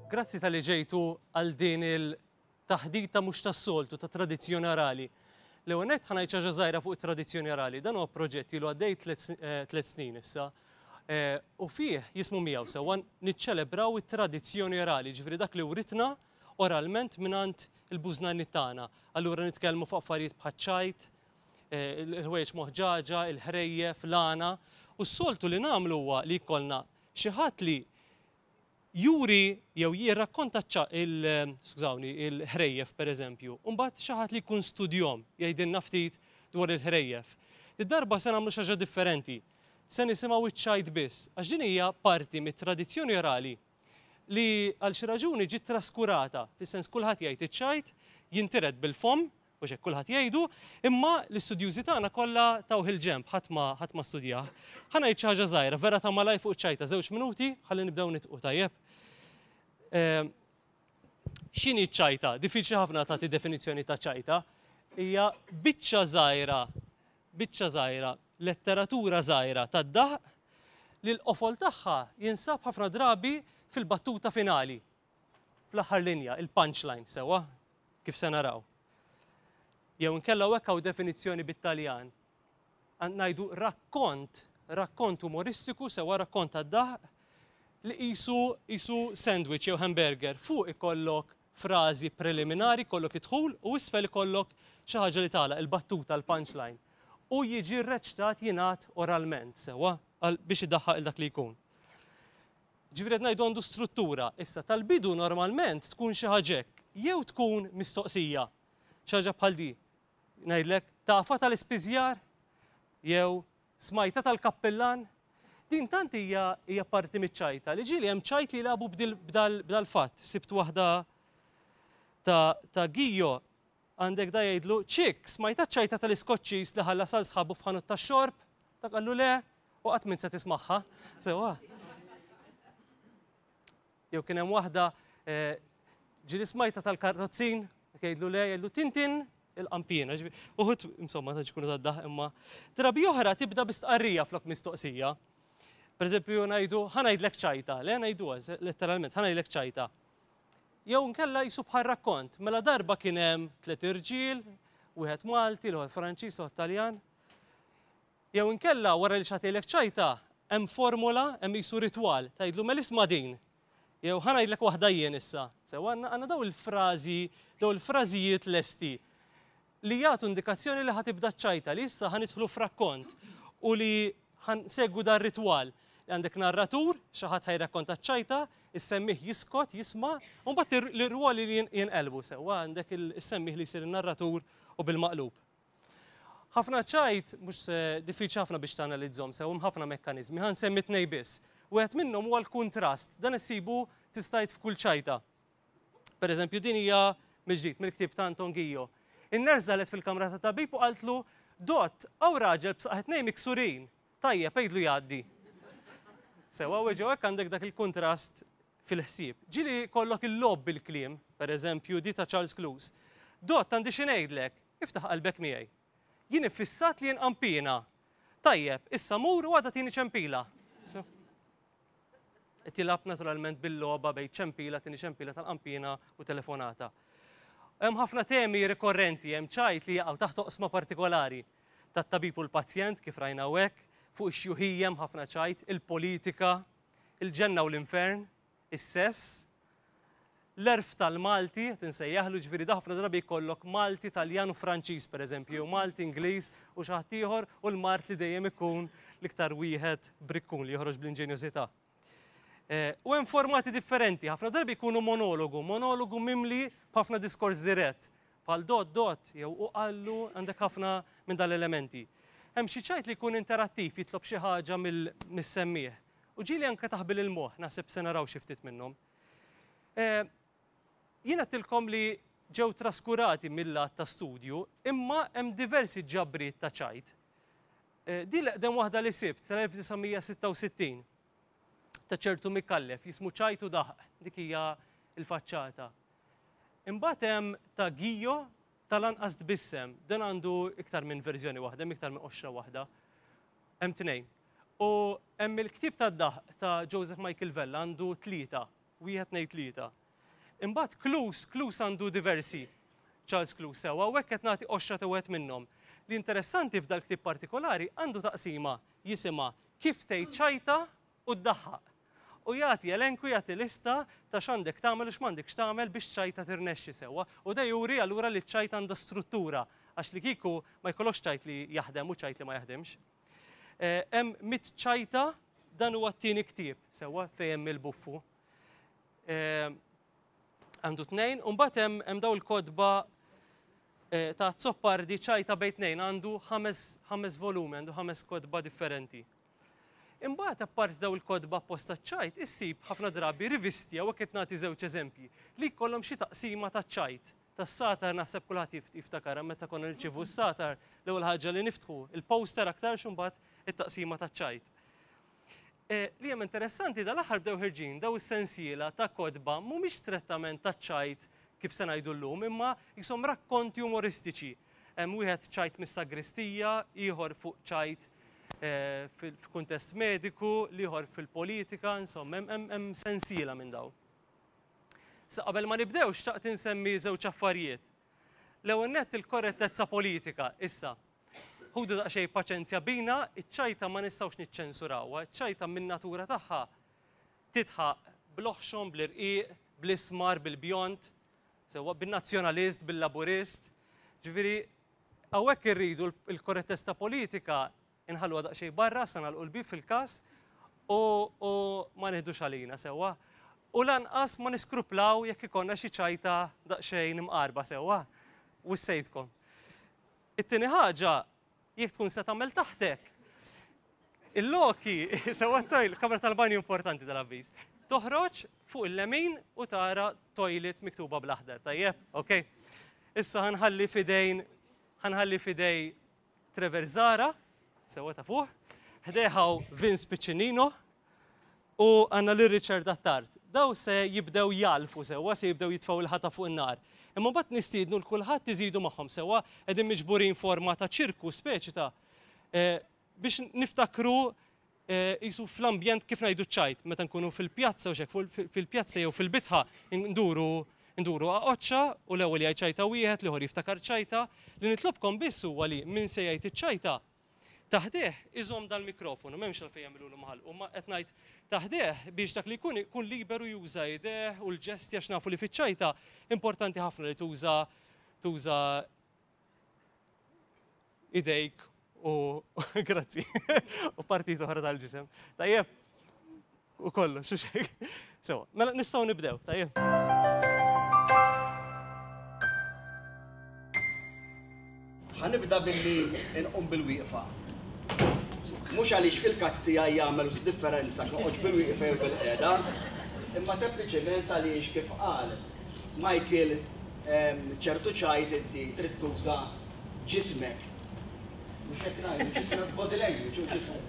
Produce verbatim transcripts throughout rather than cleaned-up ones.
Grazzi talli ġejtu għal din il-taħdita mhux tas-soltu ta' tradizzjoni orali. L-ewwel nett ħa ngħid xi ħaġa żgħira fuq it-tradizzjoni orali. Dan huwa proġett ilu għaddej tliet snin issa. U fih jismu miegħu sewwa niċċelebraw it-tradizzjoni orali, ġifieri dak li writna oralment mingħand il-bużnanni tagħna. Allura nitkellmu fuq affarijiet bħaċ-ċajt, il-ħwejjeġ moħġaġa, il-ħrejjef, l-għana. U s-soltu li nagħmlu huwa li jkollna xi ħadd li juri jew jirrakkonta il skużawni, il-ħrejjef pereżempju, u mbagħad xi ħadd li jkun studjom jgħidilna ftit dwar il-ħrejjef. Id-darba se nagħmlu xi ħaġa differenti. Se nisimgħu iċ-ċajt biss, għax din hija parti mit-tradizzjoni orali li għal xi raġuni ġiet traskurata, fis-sens kulħadd jgħid iċ-ċajt, jintiret bil-fomm, u xek kulħadd jgħidu, imma l-istudjużi tagħna kollha tawh il-ġenb, ħadd ma ħadd ma studjah. Ħa ngħid xi ħaġa żgħira, vera ta' malaj fuq iċ-ċajta, żewġ minuti, ħalli nibdew nitqu tajjeb. X'inhi ċ-ċajta? Diffiċli ħafna tagħti definizzjoni ta' ċajta. Hija biċċa żgħira, biċċa żgħira, letteratura żgħira tad-daħq li l-qofol tagħha jinsab ħafna drabi fil-battuta finali, fl-aħħar linja, il-punchline, sewwa, kif se naraw. Jew inkella hekk hawn definizzjoni bit-Taljan. Ngħidu rakkont, rakkont umoristiku, sewwa rakkont tad-daħq li qisu qisu sandwich jew hamburger. Fuq ikollok frażi preliminari, kollok idħul u isfel ikollok xi ħaġa li tagħlaq il-battuta, l-punchline. U jiġi rreċtat jingħad oralment, sewwa, biex idaħħaq il dak li jkun. Ġifieri qed ngħidu għandu struttura. Issa tal-bidu normalment tkun xi ħaġa hekk, jew tkun mistoqsija, xi ħaġa bħal di. Ngħidlek, tafa tal-ispiżjar jew smajta tal-kappellan. Din tant hija hija parti miċ-ċajta li ġieli hemm ċajt li jilagħbu b'dal-fatt. Sibt waħda ta' ta' Gio, għandek da jgħidlu, ċik, smajta ċajta tal-iskoċċis li ħallas għal sħabu f'ħanut tax-xorb? Dak qallu le, u qatt min se tismagħha. Sewwa. Jew kien hemm waħda ġieli smajta tal-karrozzin, jgħidlu le, jgħidlu tintin il-qampina. Uħud, insomma, ta' ġkunu tad-daħ imma. Drabi oħra tibda bistqarrija flok mistoqsija. Per eżempju, ngħidu, ħa ngħidlek ċajta, le ngħidu letteralment, ħa ngħidlek ċajta. Jew nkella jisu bħal rakkont, mela darba kien hemm tliet irġiel, wieħed Malti, l-ieħor Franċiż, l-ieħor Taljan. Jew inkella wara li xagħtilek ċajta, hemm formula, hemm jisu ritwal, tgħidlu mela isma' din. Jew ħa ngħidlek waħda jien issa. Sew għandna daw il-frażi, daw il-frażijiet lesti li jagħtu indikazzjoni li ħatibda ċajta li issa ħanidħlu f'rakkont u li ħansegwu dar ritwal. Għandek narratur, xi ħadd ħajrakkonta ċ-ċajta, is-semmih jiskot, jisma', u mbagħad l-irwoli li jinqelbu sewwa għandek is-semmih li jsir in-narratur u bil-maqlub. Ħafna ċajt mhux diffiċli ħafna biex tanalizzhom sew, hemm ħafna mekkaniżmi, ħa nsemmi tnej biss. Wieħed minnhom huwa l-kuntrast, dan issibu tistajt f'kull ċajta. Per eżempju, din hija mill-ġdid mill-ktieb ta' Anton Gio. In-ners dalet fil-kamra ta' tabib u qaltlu, Dott, hawn raġel b'saqajh tnejn miksurin, tajjeb għidlu jgħaddi. Sewa weġgħu hekk għandek dak il-kuntrast fil-ħsieb. Ġieli kollok il-logħob bil-kliem, per eżempju, di ta' Charles Clues. Dott, għandi xi ngħidlek, iftaħ qalbek miegħi. Jien iffissat li jinqampina. Tajjeb, issa mur u għada tini ċempila. Tilab naturalment bil-logħba bejn ċempila, tini ċempila tal-qampina u telefonata. Hemm ħafna temi rikorrenti, hemm ċajt li jaqgħu taħt oqsma partikolari tat-tabib u l-pazjent kif rajna hawnhekk, fuq ix-xjuħija hemm ħafna ċajt, il-politika, il-ġenna u l-infern, is-sess, l-erf tal-Malti, tinsejjaħlu ġifieri da ħafna drabi jkollok Malti, Taljan u Franċiż pereżempju, jew Malti, Ingliż u xi ħadd ieħor u l-Mart li dejjem ikun l-iktar wieħed brikkun li joħroġ bl-inġenjożità. U hemm formati differenti, ħafna drabi jkunu monologu, monologu mimli b'ħafna diskors dirett, bħal dot dot jew u qallu, għandek ħafna minn dal-elementi. Hemm xi ċajt li jkun interattiv, jitlob xi ħaġa mis-semmieħ. U ġieli anke taħbil il-moħħ, naħseb se naraw xi ftit minnhom. Jien għedtilkom li ġew traskurati mill-lat ta' studju, imma hemm diversi ġabriet ta' ċajt. Din l-eqdem waħda li sibt tal-elf disa' mija sitta u sittin ta' ċertu Mikallef, jismu ċajt u daħq, dik hija l-faċċata. Imbagħad hemm ta' Gio Tal-anqas tbissem, dan għandu iktar minn verżjoni waħda, hemm iktar minn qoxra waħda. Hemm tnejn. U hemm il-ktieb tad-daħq ta' Joseph Michael Vella għandu tlieta, wieħed tnejn tlieta. Imbagħad Cluse, Cluse għandu diversi. Charles Cluse sewwa, u hekk qed nagħti qoxra ta' wieħed minnhom. Li interessanti f'dal ktieb partikolari għandu taqsima jisimha kif tgħid ċajta u ddaħħaq. U jagħti elenku jagħti lista ta' x'għandek tagħmel u x'm'għandekx tagħmel biex ċajta tirnexxi sewwa. U da juri allura li ċ-ċajta għandha struttura għax li kieku ma jkollokx ċajt li jaħdem u ċajt li ma jaħdimx. Hemm mitt ċajta dan huwa t-tieni ktieb sewwa fejn hemm il-buffu. Għandu tnejn, u mbagħad hemm daw il-kotba ta' Azzopardi ċajta bejn tnejn għandu ħames volumi, għandu ħames kotba differenti. Imbagħad apparti daw il-kotba apposta ċajt, issib ħafna drabi rivisti hawnhekk qed nagħti żewġ eżempji li jkollhom xi taqsima ta' ċajt. Tas-satar naħseb kulħadd jiftakar meta konna nirċievu s-satar l-ewwel ħaġa li niftħu il-poster aktar imbagħad it-taqsima ta' ċajt. Li hemm interessanti dal-aħħar bdew ħirġin daw is-sensiela ta' kotba mhumiex strettament ta' ċajt kif se ngħidu llum, imma jisom rakkonti umoristiċi. Hemm wieħed ċajt mis-sagristija, ieħor fuq ċajt fil-kuntest mediku, l-ieħor fil-politika, insomma, hemm sensiela minn daw. Sa qabel ma nibdew xtaqt insemmi żewġ affarijiet. L-ewwel nett il-korrettezza politika issa. Ħudu daqsxejn paċenzja bina, iċ-ċajta ma nistgħux niċċensurawha, iċ-ċajta min-natura tagħha titħaq bl-oħxon, bl-irqiq, bl-ismar, bil-bjond, sewwa bin-nazzjonalist, bil-laburist. Ġifieri hawnhekk irridu l-korrettezza politika inħalluha daqsxejn barra, sa nagħlqu l-bib fil-każ u ma nieħdux għalina sewwa. U lanqas ma niskruplaw jekk ikollna xi ċajta daqsxejn imqarba sewwa. Wissejtkom. It-tieni ħaġa, jekk tkun se tagħmel taħtek, il-loki, sewwa t-toilet, kamra tal-banju importanti dal-avviż. Toħroġ fuq il-lemin u tara toilet miktuba bl-aħdar, tajjeb? Ok. Issa ħanħalli fidejn, ħanħalli fidej Trevor Zahra, sewwa ta' fuq, ħdejħaw Vince Piccinino u għandna lil Richard Attard. Daw se jibdew jalfu sewwa, se jibdew jitfgħu il-ħata fuq in-nar. Imma mbagħad nistiednu l kulħadd iżidu magħhom sewwa qegħdin miġburin forma ta' ċirku speċi ta' biex niftakru jisu fl-ambjent kif ngħidu ċajt, meta nkunu fil-pjazza u xek, fil-pjazza jew fil-bitħa nduru nduru għaqoċċa u l-ewwel jgħid ċajta wieħed, l-ieħor jiftakar ċajta. Li nitlobkom biss huwa li min se jgħid iċ-ċajta taħdeh iżomm dal-mikrofonu, m'hemmx għalfejn jagħmilulu maħal, u ma qed ngħid taħdeh biex dak li jkun ikun liberu juża ideh u l-ġesti għax nafu li fiċ-ċajta importanti ħafna li tuża tuża idejk u grazzi u partit oħra tal-ġisem. Tajjeb, u kollox, u xejn. Sewa, mela nistgħu nibdew, tajjeb. Ħanibda billi nqum bil-wieqfa. Mhux għaliex fil-każ tiegħi jagħmel differenza noqgħod bil-wieqfa jew bil-qiegħda, imma sempliċement għaliex kif qal Michael ċertu ċajt inti trid tuża ġismek. Mhux hekk ngħidu ġismek body language u ġismek.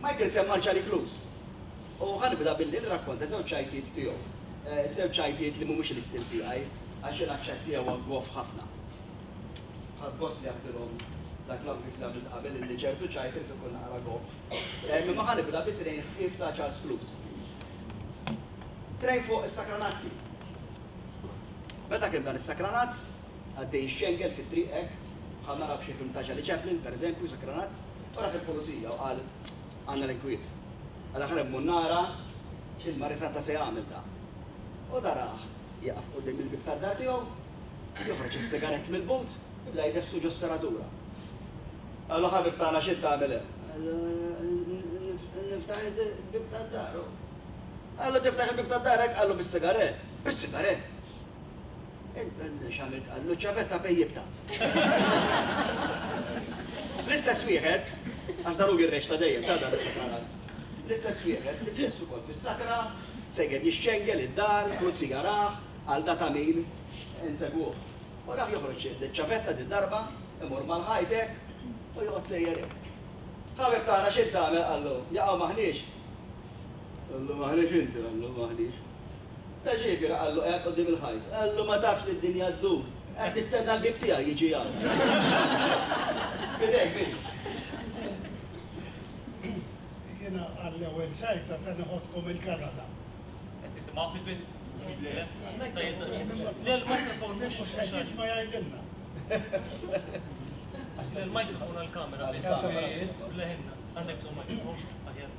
Michael semma Charlie Cluse. U ħanibda billi nirrakkonta żewġ ċajtijiet tiegħu. Żewġ ċajtijiet li mhumiex l-istil tiegħi għax l-aċċett tiegħu huwa goff ħafna. Ħadd gost li għattilhom dak l-avviż li għamilt qabel li ċertu ċajt irid ikun naqra goff. Imma ħa nibda bi trejn ħfief ta' Charles Cluse. Trejn fuq is-Sakranazzi. Meta kien dan is-Sakranazz, għaddej xengel fit-triq hekk, bħal nara f'xi film ta' Charlie Chaplin, pereżempju, Sakranazz, u raħ il-pulizija u qal għandna l-inkwiet. Għal aħħar hemm nara x'il-marisanta se jagħmel da. U daraħ jaqaf quddiem il-bib tad-dar tiegħu, joħroġ is-sigarett mill-but, jibda jdefsu ġo s-seratura. Qallu ħabib tagħna x'int tagħmel hemm? Qallu niftaħ il-bib tad-dar. Qallu tiftaħ il-bib tad-dar hekk, qallu bis-sigarett. Bis-sigarett. X'għamilt qallu ċavetta pejjibta. L-istess wieħed, għax dan hu jirreċta dejjem ta' dan is-sakranaz. L-istess wieħed, l-istess ukoll fis-sakra, sejjer jixxengel id-dar, pulizija rah, għal da ta' min insegwuh. U dak joħroġ ċavetta di darba, imur mal-ħajt hekk, u joqgħod sejjer hekk. Ħabib tagħna x'int tagħmel qallu, jaqgħu maħniex. Qallu maħniex inti, qallu maħniex. Ta' ġifieri qallu qiegħed quddiem il-ħajt. Qallu ma tafx li d-dinja ddur. Qed nistenna l-bib tiegħi jiġi għal. Fidejk biss. Jiena għall-ewwel ċajta se neħodkom il-Kanada. Qed tisimgħu il-Vince? Le, l-mikrofon mhux qed jisma' jgħidilna. Il-mikrofon għall-kamera biss. Leħinna. Għandek bżonn mikrofon? Aħjar.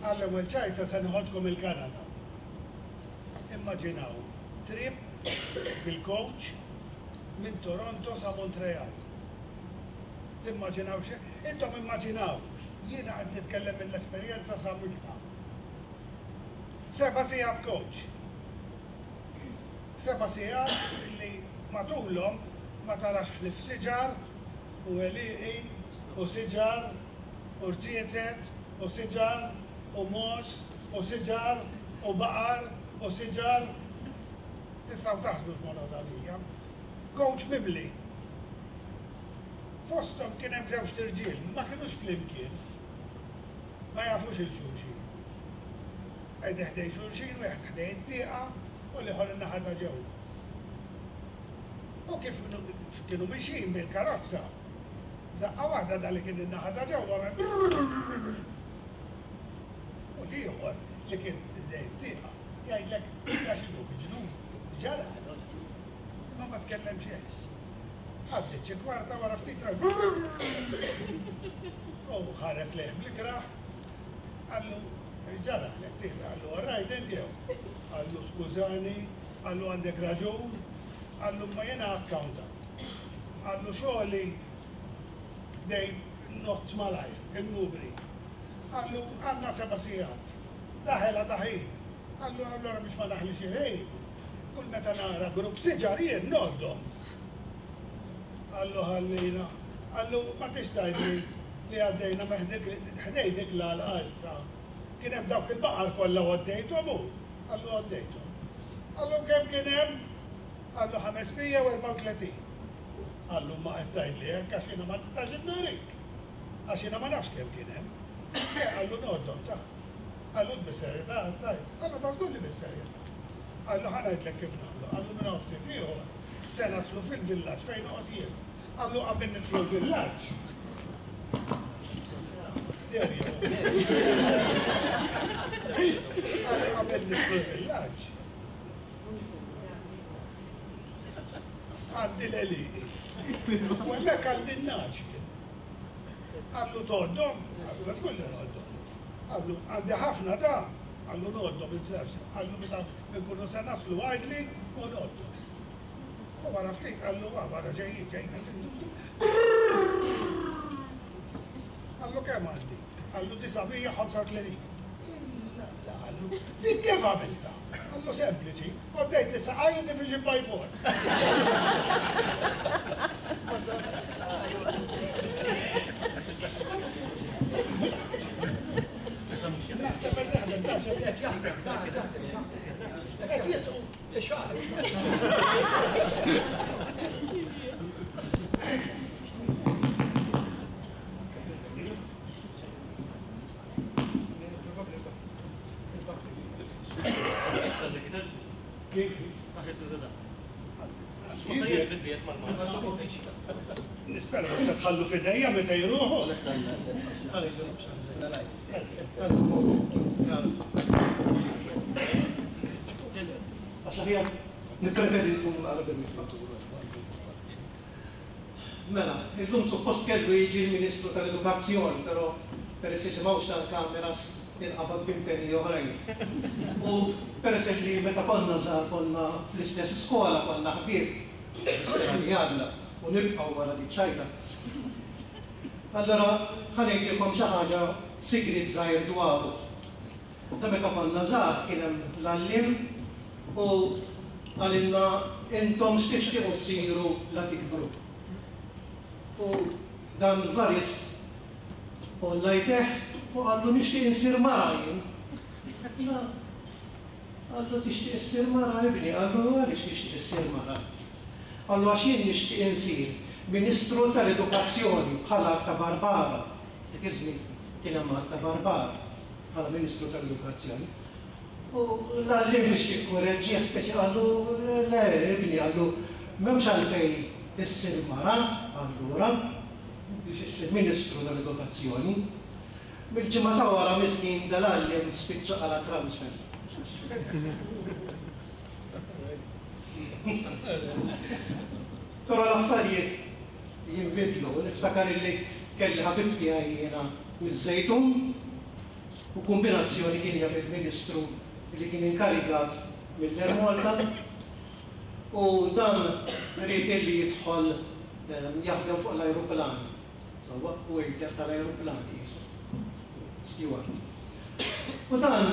Għall-ewwel ċajta se neħodkom il-Kanada. Immaġinaw trip bil-coach minn Toronto sa Montreal. Timmaġinaw xejn? Intom immaġinaw, jiena qed nitkellem mill-esperjenza sa Milta. Seba' sigħat coach. Seba' sigħat li matulhom ma tarax ħlief siġar u għelieqi u siġar u rziezet u siġar u mos u siġar u baqar u siġar. Tistgħu taħsbu x'monotonija. Coach mimli. Fosthom kien hemm żewġ tirġiel, ma kinux flimkien. Ma jafux il-xulxin. Qegħdin ħdejn xulxin, wieħed ħdejn it-tieqa u l-ieħor in-naħa ta' ġewwa. U kif kienu mixjin bil-karozza, daqqa waħda da li kien in-naħa ta' ġewwa u l-ieħor li kien ħdejn it-tieqa jgħidlek da x'inhu miġnun, ġara. Imma ma tkellem xejn. Għaddiet xi kwarta wara ftit ra. U ħares lejh bl-ikrah, qallu ġara, sir, qallu all right inti jew. Qallu skużani, qallu għandek raġun, qallu ma jiena accountant. Qallu xogħli dej not malajr, il-numri. Qallu għandna seba' sigħat, daħela ta' ħin. Qallu allura biex ma naħlix il-ħin, kull meta nara grupp siġar jien noddhom. Qallu ħallina, qallu ma tix tgħidli li għaddejna ħdej dik l-għalqa issa. Kien hemm dawk il-baqar kollha għaddejthom hu. Qallu għaddejthom. Qallu kemm kien hemm? Qallu ħames mija u erbgħa u tletin. Qallu ma qed tgħidli hekk għax jiena ma nistax innurik. Għax jiena ma nafx kemm kien hemm. Qallu noddhom ta'. Qallu bis-serjetà tajt. Qallu ta' żgur li bis-serjetà. Qallu ħa ngħidlek kif nagħmlu. Qallu minn hawn ftit ieħor se naslu fil-villaġġ fejn noqgħod jien. Qallu qabel nidħlu l-villaġġ. Stereo. Qallu qabel nidħlu l-villaġġ. Għandi l-għelieqi. U hemmhekk għandi n-naġ jien. Qallu tgħoddhom? Qallu żgur li ngħoddhom. Qallu għandi ħafna ta'. Qallu ngħoddhom ibżax. Qallu meta nkunu se naslu għidli u ngħoddhom. U wara ftit qallu wara ġejjin ġejjin. Qallu kemm għandi? Qallu disa' mija ħamsa u tletin. La, qallu, dik kif għamilta? Qallu sempliċi, għoddejt is-saqajja division by four. Naħseb qed jaħdem, taf x'qed jaħdem, qed jitqu. Kif? Nispera se tħallu fidejja meta jruħu. Għax aħjar nippreferi nkun naqra bil-miftuħ. Mela, illum suppost kellu jiġi l-Ministru tal-Edukazzjoni, però peress li m'hawnx tal-kameras inqabad b'impenji oħrajn. U peress li meta konna żgħar konna fl-istess skola, konna ħbieb, nispera li għadna u nibqgħu wara dik ċajta. Allora ħa ngħidilkom xi ħaġa sigriet żgħir dwaru. Da meta konna żgħar kien hemm l-għalliem u qalilna intom x'tixtiequ ssiru la tikbru. U dan Varist u lajteħ U qallu nixtieq insir mara jien. Qallu tixtieq issir mara ibni, qallu għaliex tixtieq issir mara? Qallu għax jien nixtieq insir Ministru tal-Edukazzjoni bħala ta' Barbara. Dik iż-żmien kien hemm ta' Barbara bħala Ministru tal-Edukazzjoni. U l-għalliem biex jikkoreġġih speċi qallu le ibni, qallu m'hemmx għalfejn issir mara allura biex issir Ministru tal-Edukazzjoni. Mill-ġimgħa ta' wara miskin dal-għalliem spiċċa għala transfer. Però l-affarijiet jinbidlu. Niftakar illi kelli ħabib tiegħi jiena miż-Żejtun u kombinazzjoni kien jaf il-Ministru li kien inkarigat mill-Air Malta u dan ried illi jidħol jaħdem fuq l-ajruplan. Sewwa, waiter tal-ajruplan qisu. Steward. U dan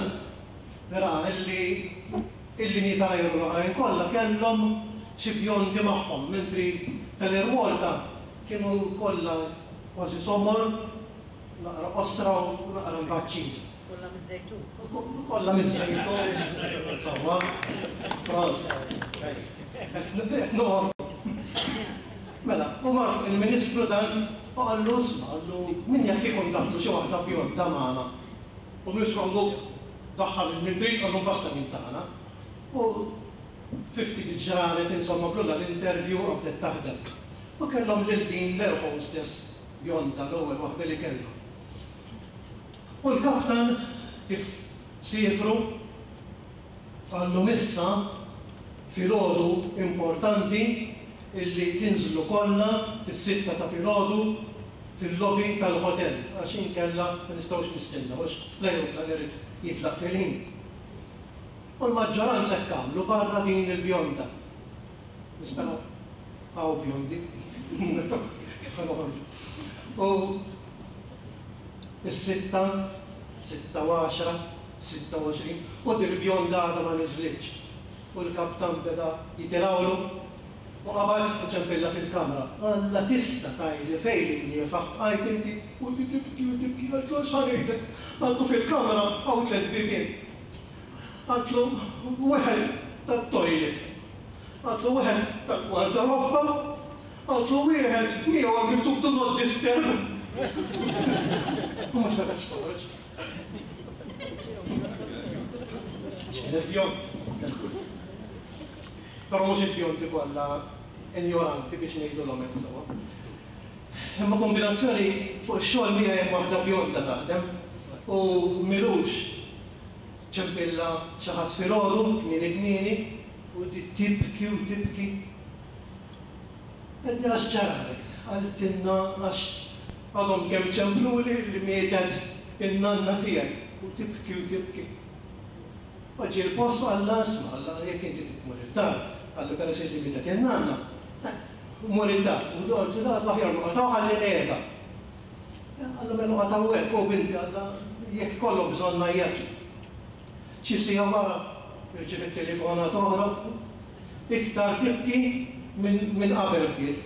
ra illi il-linji tal-ajru l-oħrajn kollha kellhom xi bjondi magħhom, mentri tal-Air Malta kienu kollha kważi somor, naqra qosra u naqra mbaċċin. Kollha miż-Żejtun. Kollha miż-Żejtun. Sewwa. Prosa. Qed noqgħod. Mela, u mar il-Ministru dan u qallu isma', qallu min jaf kieku ndaħlu xi waħda bjonda magħna. U l-Ministru qallu daħħal il-mintri, qallu basta minn tagħna. U fifty ġranet insomma blulla l-interview u bdiet taħdem. U kellhom lil din l-air hostess bjonda l-ewwel waħda li kellhom. U l-kaptan kif siefru qallu issa filgħodu importanti illi tinżlu kollha fis-sitta ta' filgħodu fil-lobby tal-hotel għax inkella ma nistgħux nistennew għax l-ajruplan irid jitlaq fil-ħin. U l-maġġoranza hekk għamlu barra din il-bjonda. Nispera hawn bjondi. U is-sitta, sitta u għaxra, sitta u għoxrin, u dil-bjonda għadha ma niżlitx. U l-kaptan beda jitilgħulu u qabad u ċempilla fil-kamra. Alla tista' tgħidli fejn inniefaħ bqajt inti u tibki u tibki qaltlu x'ħa ngħidlek. Qaltlu fil-kamra hawn tliet bibien. Qaltlu wieħed tat-toilet. Qaltlu wieħed tal-gwardarobba. Qaltlu wieħed miegħu hemm miktub do not disturb. U ma setgħetx toħroġ. Kienet bjond. Però mhux il-bjondi kollha injoranti biex ngħidulhom hekk sewwa. Imma kombinazzjoni fuq ix-xogħol miegħi hemm waħda bjonda taħdem u milux ċempilla xi ħadd filgħodu kmieni kmieni u tibki u tibki. Għedtilha x'ġaralek? Qaltilna għax għadhom kemm ċempluli li mietet in-nanna tiegħi u tibki u tibki. U ġie l-post qalla isma' qalla jekk inti tmur id-dar, qallu peress li mietet in-nanna, mur id-dar. U qaltu aħjar noqgħod hawn ħalli ngħidha. Qallu mela noqgħod hawnhekk u binti qalla jekk ikollok bżonn ngħajjatli. Xi siegħa wara irċievit telefonata oħra iktar tibki minn qabel bdiet.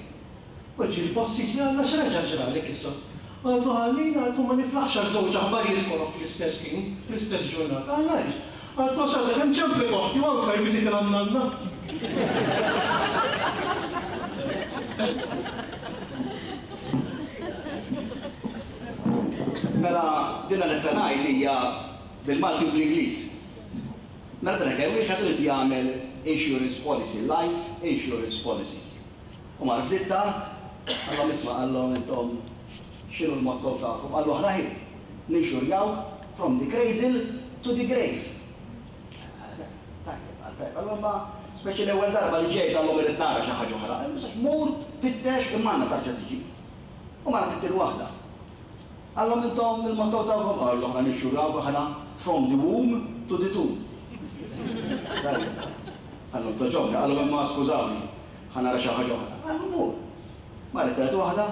U ġie l-boss jiġri qalla x'reġa' ġralek issa. Qaltu ħallina, qaltu ma niflaħx għal żewġ aħbarijiet kollha fl-istess ħin, fl-istess ġurnata. Qalla għaliex? Qaltu għax għadha kemm ċemplet oħti u anke jmititilha n-nanna. Mela dinha li se ngħid hija bil-Malti u bl-Ingliż. Mela dan kemm wieħed irid jagħmel insurance policy, life insurance policy. U mar f'ditta, qallhom isma' qallhom intom x'inhu l-motto tagħkom? Qallu aħna ħin ninxurjawk from the cradle to the grave. Tajjeb, qal tajjeb, qallu imma speċi l-ewwel darba li ġejt qallhom irid nara xi ħaġa oħra. Mur fittex imma għandna tarġa' tiġi. U ma tittil waħda. Qallhom intom il-motto tagħkom, qallu aħna ninxurjawk aħna from the womb to the tomb. Tajjeb, qallhom toġobni, qallhom imma skużawni, ħa nara xi ħaġa oħra. Qallu mur. Marret tielet waħda,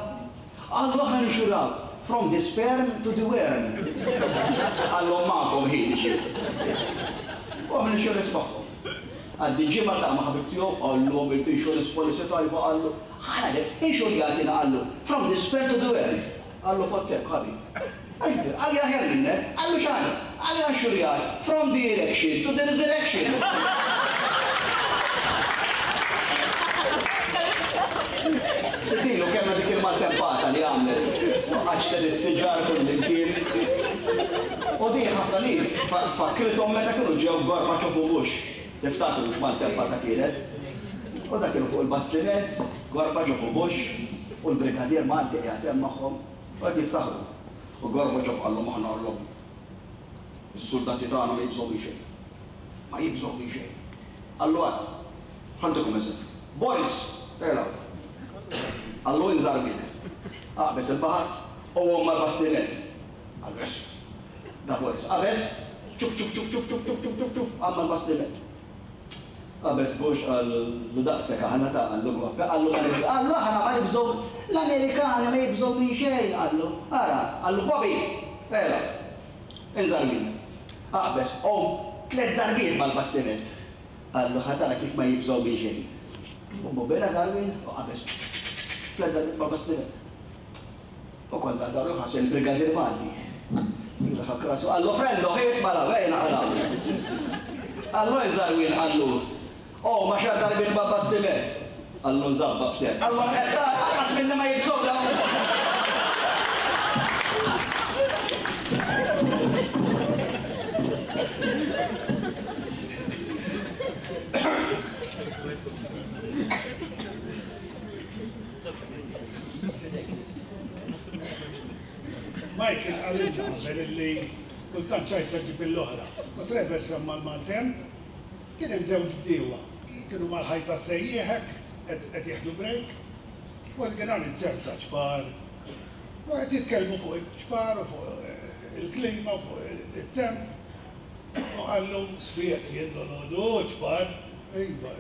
qallu aħna ninxurjawk from the sperm to the worm. Qallhom magħkom ħin ġie. U għamel insurance magħhom. Għaddi ġimgħa ta' ma' ħabib tiegħu, qallu għamilt insurance policy tajba, qallu ħa ngħidlek, inxurjatina qallu from the sperm to the worm. Qallu fottek, ħabib. Qalli aħjar minnek, qallu x'għana? Qalli għax-xurjar, from the election to the resurrection. Sitilu kemma dik il-maltempata li għamlet, għaxtet is-siġar kull imkien. U di ħafna nies fakkrithom meta kienu ġew Gorbachev u Bush. Tiftakru x'maltempata kienet? U dak kienu fuq il-bastiment, Gorbachev u Bush, u l-brigadier Malti qiegħed hemm magħhom, u qed jiftaħru. U Gorbachev qallhom aħna qallhom is-soldati tagħna ma jibżgħu minn xejn. Ma jibżgħu minn xejn. Qallu għad, ħa ntikom eżempju. Boris, ela. Qallu inżar bidek. Aqbeż il-baħar u għom mal-bastiment. Qallu jessu. Da Boris, qabeż, ċuf ċuf ċuf ċuf ċuf ċuf ċuf ċuf ċuf, għamma l-bastiment. Qabeż Bush qallu daqsek aħna ta' qallu gwappa, qallu ma nibżgħu, qallu aħna ma nibżgħu, l-Amerikani ma jibżgħu minn xejn, qallu. Ara, qallu Bobby, ela, inżar minna. Aqbeż, għom tliet darbiet mal-bastiment. Qallu ħa tara kif ma jibżgħu minn xejn. U Bobby nażar min u qabeż tliet darbiet mal-bastiment. U konna daru ħax il-brigadier Malti. Daħak rasu, qallu frendo, isma' la, vejna għala. Qallu inżar min, qallu. Oh, ma xar darbiet ma' bastiment. Qallu nżabba b'ser. Qallu qed anqas minni ma jibżgħu dawn. Michael għalinta qabel illi kultant ċajta ġib l-oħra. U Trevor semma l-maltemp, kien hemm żewġ bdiewa. Kienu mal-ħajta sejjieħek, qed jieħdu break, u qed kien għal ċerta ċpar. U qed jitkellmu fuq iċ-ċpar u fuq il-klima u fuq it-temp. U qallu sfiq jien dolodu ċpar. Iva,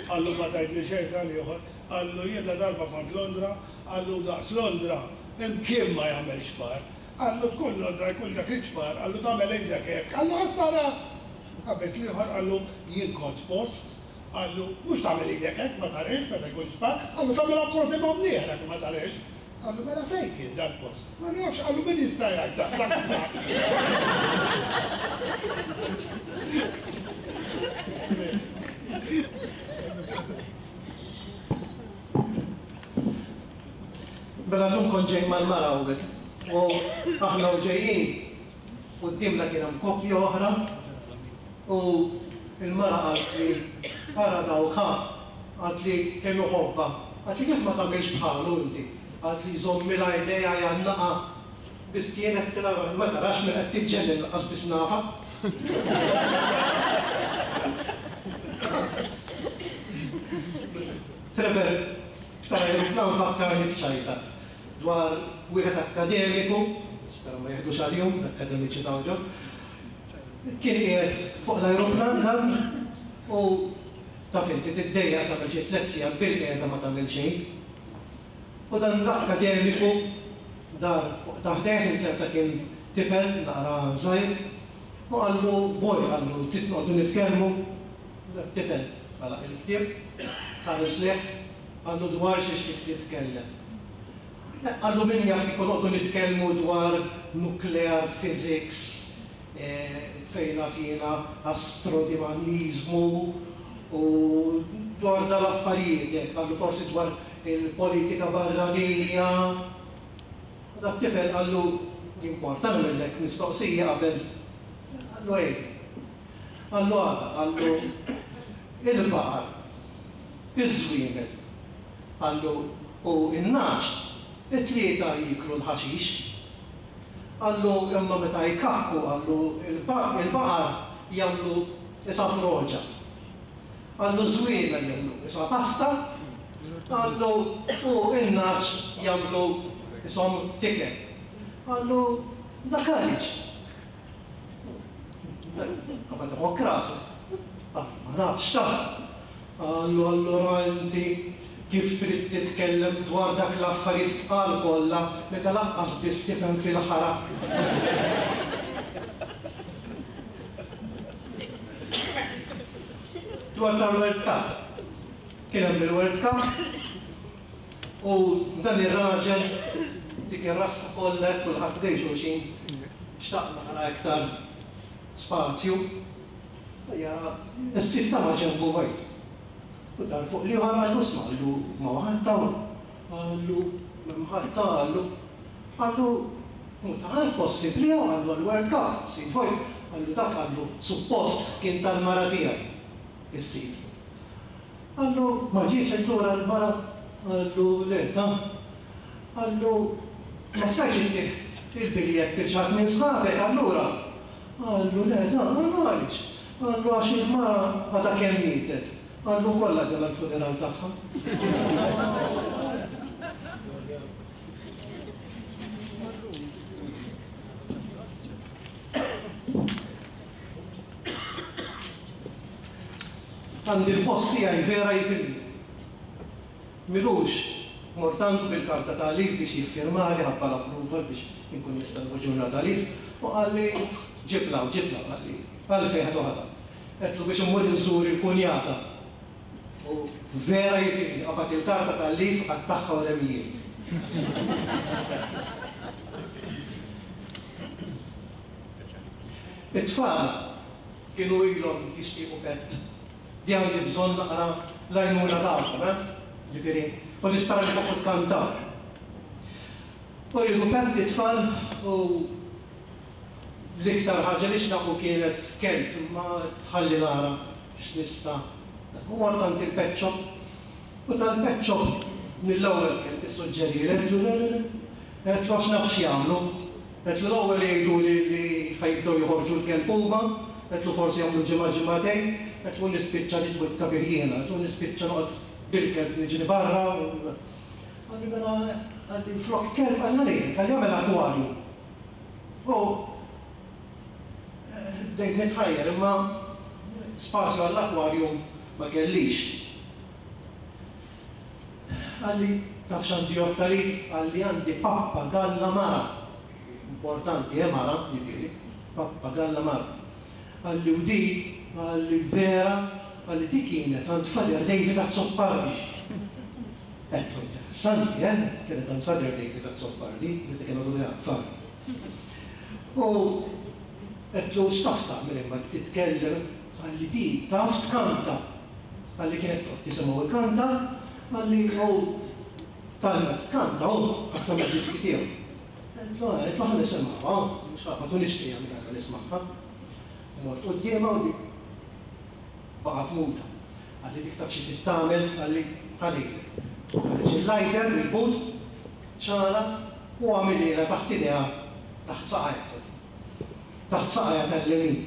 qallu ma tgħidli xejn tal-ieħor. Qallu jien la darba kont Londra, qallu daqs Londra, imkien ma jagħmel ċpar. Qallu tkun Londra jkun dak iċ-ċpar, qallu tagħmel idek hekk, qallu ħastara. Qabeż l-ieħor qallu jien kont post, qallu mhux tagħmel idek hekk ma tarix meta jkun ċpar, qallu tagħmilha kważi ma' mnieħrek ma tarix. Qallu mela fejn kien dal-post? Ma nafx, qallu min jista' jgħid daqshekk. Mela llum kont ġej mal-mara hawnhekk. U aħna u ġejjin, quddiemna kien hemm koppja oħra u il-mara qalt li ara dawk ħa, qalt li kemm iħobbha. Qalt li kif ma tagħmilx bħalu inti? Qalt li jżommilha idejha jgħannaqha. Biss kienet tilha ma tarax min qed tiġġennin lanqas biss nafha. Trevor, tal-ajruplan fakkarni f'ċajta dwar wieħed akkademiku, spera ma jeħdux għal-jum, l-akkademiċi ta' kien qiegħed fuq l-ajruplan dan u taf inti tiddejjaq tagħmel xi tliet sigħat bil-qiegħda ma tagħmel xejn. U dan l-akkademiku dar fuq taħdejh inserta kien tifel naqra żgħir u qallu boj qallu trid noqogħdu nitkellmu. Tifel għalaq il-ktieb, ħares leh, qallu dwar xiex trid titkellem. Qallu min jaf kieku noqogħdu nitkellmu dwar nuclear physics, fejn naf jiena astrodinamizmu u dwar dal-affarijiet hekk, qallu forsi dwar il-politika barranija. U dak tifel qallu jimporta nagħmellek mistoqsija qabel. Qallu ej. Qallu għada, qallu il-baqar, iż-żwiemel, qallu u in-nagħaġ, it-tlieta jiklu l-ħaxix. Qallu imma meta jkakku, qallu il-baqar jagħmlu isa froġa. Qallu żwiemel jagħmlu isa pasta, qallu u in-nagħaġ jagħmlu ishom tiket. Qallu dak għaliex? Qabad iħokk rasu. Ma nafx ta'. Qallu allura inti kif trid titkellem dwar dak l-affarijiet tqal kollha meta lanqas biss tifhem fil-ħara. Dwar tal-World Cup. Kien hemm il-World Cup u dan ir-raġel Dik ir-rassa kollha kulħadd ħdejn xulxin, xtaqna ħala iktar spazju. Is-sit ta' ġenbu vojt. U dar fuq li ħa qallu sma' qallu ma ħadd hawn. Qallu m'hemm ħadd qallu. Qallu mhu ta' ħadd possibbli hawn qallu għall-World Cup, sit vojt. Qallu dak qallu suppost kien tal-mara tiegħi is-sit. Qallu ma ġietx allura l-mara? Qallu le ta. Qallu ma stajtx ittih il-biljett lil xi ħadd minn sħabek allura? Qallu le ta, qallu għaliex? Qallu għax il-mara għadha kemm mietet. Qallu kollha għadna l-funeral tagħha. Għandi l-post tiegħi vera jifhimni. M'ilux mort għandu bil-karta ta' leave biex jiffirmali ħabba l-approval biex inkun nista' nieħu ġurnata leave u qalli ġib 'l hawn, ġib 'l hawn, qalli għalfejn ħa toħodha. Għedtlu biex immur inżur il-kunjata. U vera jifhimni, qabad il-karta tal-leave qattagħha u remijieli. It-tfal kienu ilhom jixtiequ pet. Di għandi bżonn naqra l-għajnuna tagħkom, eh? Ġifieri, u nispera li tafu tkantaw. U rridu pet it-tfal u l-iktar ħaġa li xtaqu kienet kelb, imma tħalli nara x'nista'. U mort għand il-pet shop u tal-pet shop mill-ewwel kelb issuġġerili, għedtlu le le le, għedtlu għax naf x'jagħmlu. Għedtlu l-ewwel jgħidu li li ħajbdew joħorġu l-kelb huma, għedtlu forsi jagħmlu ġimgħa ġimgħatejn, għedtlu nispiċċa nitwikka bih jiena, għedtlu nispiċċa noqgħod bil-kelb niġri barra. Qalli mela, qalli flok kelb qalli għalejk, qalli agħmel akwarju. U bdejt nitħajjar imma spazju għall-akwarjum ma kellix. Qalli taf x'għandi jotta li? Qalli għandi pappa galla mara. Importanti, eh, mara, ġifieri, pappa galla mara. Qalli u di, qalli vera, qalli di kienet għand Father David Azzopardi. Għedtlu interessanti, eh? Kienet għand Father David Azzopardi, meta kienu għadu jaqfar. U għedtlu x'taf tagħmel imma titkellem, qalli di taf tkanta. Qalli kienet toqgħod tisimgħu l-kanta, qalli u talma tkanta hu ħafna mid-diski tiegħu. Għedtlu għedtlu ħa nisimgħuha, mhux ħa ma nixtieqha minn għandha nismagħha. Mort quddiemha u dik baqgħet muta. Qalli dik taf xi trid tagħmel, qalli ħa ngħidlek. Ħareġ il-lighter mill-but, xagħla u għamililha taħt idejha taħt saqajha. Taħt saqajha tal-lemin.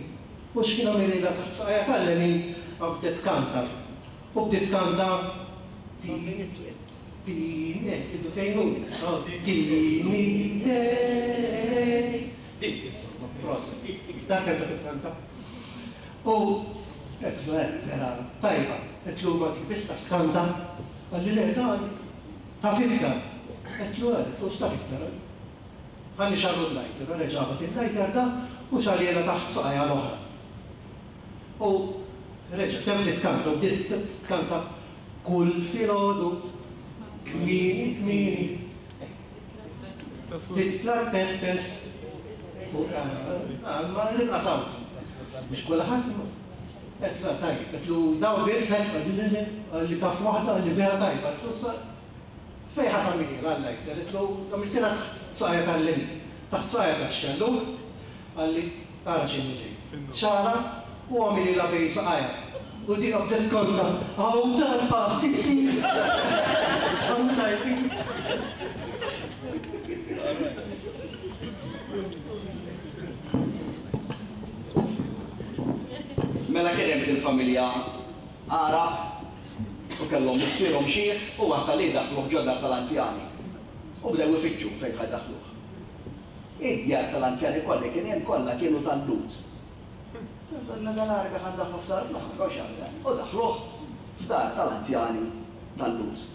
U x'kien għamililha taħt saqajha tal-lemin bdiet tkanta. U bdiet tkanta Bambin iswed. Tini, eh, tiddu tgħinuni, tini dej. Dik insomma, proset. Dak kemm taf tkanta. U għedtlu eh, vera tajba, għedtlu ma dik biss taf tkanta. Qalli le ta' taf iktar. Għedtlu eh, għedtlu x'taf iktar. Ħalli xagħlu l-lighter, reġa' ġabat il-lighter ta' u xagħlielha taħt saqajha l-oħra. U reġa' kemm bdiet tkanta, u bdiet tkanta kull filgħodu kmieni kmieni. Titla' pes fuq ma l-inqas hawn. Mhux kulħadd imma. Għedtlu tajjeb, għedtlu daw biss, qalli le le, qalli taf waħda, qalli vera tajba, għedtlu sa fejn ħa tagħmilha l-lighter, għedtlu għamiltilha taħt saqajha tal-lemin, taħt saqajha tax-xellug, qalli ara x'inhu ġej. Xagħla u għamililha bejn saqajha. U di bdiet tkanta, hawn tal-pastizzi. Sħan tajbin. Mela kien hemm il-familja Għarab u kellhom missierhom xiħ u wasal li jdaħħluh ġo dar tal-anzjani. U bdew ifittxu fejn ħa jdaħħluh. Id-djar tal-anzjani kollha kien hemm kollha kienu tal-Lhud. Donna dal-Għarbi ħa ndaħħlu f'dar fl-aħħar kont x'għamel. U daħħluh f'dar tal-anzjani tal-Lhud.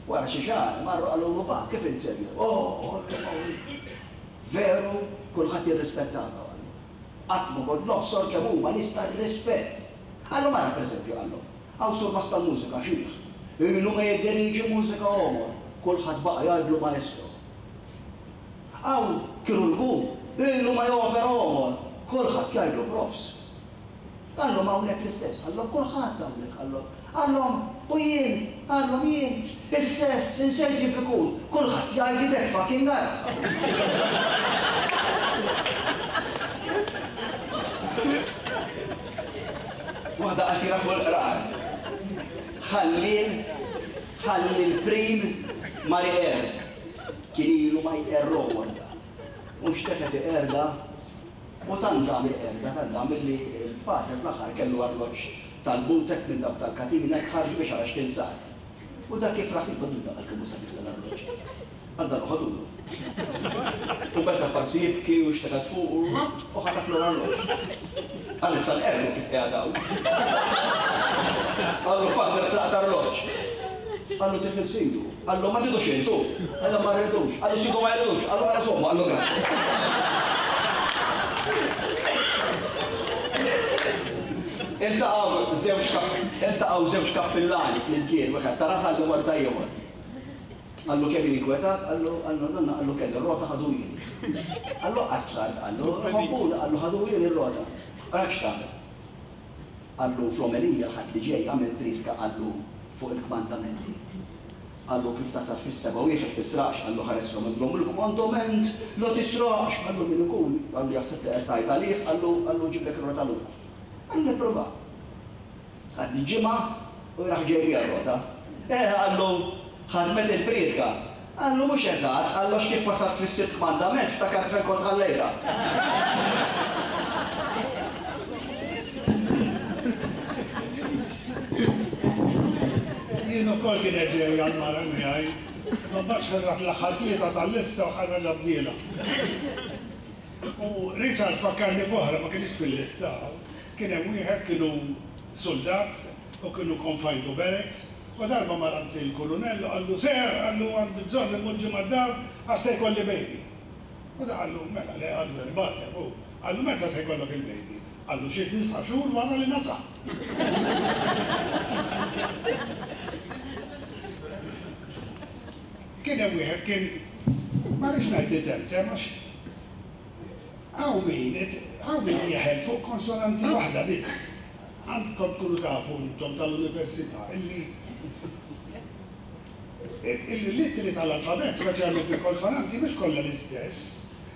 Wara xi xahar marru qalulu pa kif int sejjer? Oh, veru kulħadd jirrispettana qallu. Qatt ma kont nobsor kemm huma nies tar-rispett. Qallu mara pereżempju qallu, hawn surmast tal-mużika xiħ. Ilu ma jiddiriġi mużika għomor. Kulħadd baqa' jgħidlu maestro. Hawn kirurgu, ilu ma jopera għomor, kulħadd jgħidlu profs. Qallhom hawnhekk l-istess, qallhom kulħadd hawnhekk, qallhom. Qallhom u jien, qallhom jien, is-sess insejt kif ikun, kulħadd jgħidli that fucking guy. Waħda qasira fuq il-qrar. Ħallil, ħalli l-prim mar iqerr. Kien ilu ma jqerr għomor da. U xtefet iqerda, u tant dam iqerda, tant dam illi l-pater fl-aħħar kellu arloġġ tal-butek minn dawk tal-katina, ħarġu biex għara x'kien sar. U dak kif raħ jibgħadu daqqa kemm hu sabiħ dal-arloġġ. Għadda noħodulu. U beda parsi jibki u xteħet fuq u ħataf l-arloġġ. Għal issa nqerru kif qiegħed hawn. Qallu father sraqt arloġġ. Qallu tifel sidu. Qallu ma tidux intu. Qallu ma rridux. Qallu sidu ma jridux. Qallu mela somma, qallu grazzi. Iltaqgħu żewġ iltaqgħu żewġ kappillani flimkien, wieħed ta' raħal u wara ta' ieħor. Qallu kemm jien inkwetat, qallu qallu donna qallu kelli r-rota ħaduni. Qallu qas bsart, qallu ħobbuna, qallu ħaduni r-rota. Għalhekk x'tagħmel? Qallu fl-omelija l-Ħadd li ġej għamel priedka qallu fuq il-kmandamenti. Qallu kif tasal fis-seba' wieħed tisraqx, qallu ħareslhom għandhom il-kmandament la tisraqx, qallu min ikun, qallu jaħseb li qed tgħid għalih, qallu qallu ġiblek ir-rota lura. Qallu nipprova. Għaddi ġimgħa u raħ ġej biha r-rota. Eh, qallu ħadmet il-priedka. Qallu mhux eżatt, qallu għax kif wasalt fis-sitt kmandament ftakart fejn kont ħallejtha. Jien ukoll kienet ġej għall-mara miegħi, imma mbagħad ħarrat l-aħħar tlieta tal-lista u ħarraġha bdiela. U Richard fakkarni f'oħra ma kienx fil-lista. Kien hemm wieħed kienu soldat u kienu confined to barracks u darba mar għand il-kolonell u qallu ser, qallu għandi bżonn immur ġimgħa d-dar għax se jkolli baby. U da qallu mela le qallu nibgħatek u qallu meta se jkollok il-baby? Qallu xi disa' xhur wara li nasal. Kien hemm wieħed kien ma rridx ngħid itemtem għax hawn min hawn min jeħel fuq konsonanti waħda biss. Għandkom tkunu tafu intom tal-università illi illi l-ittri tal-alfabet, speċjalment il-konsonanti, mhux kollha l-istess.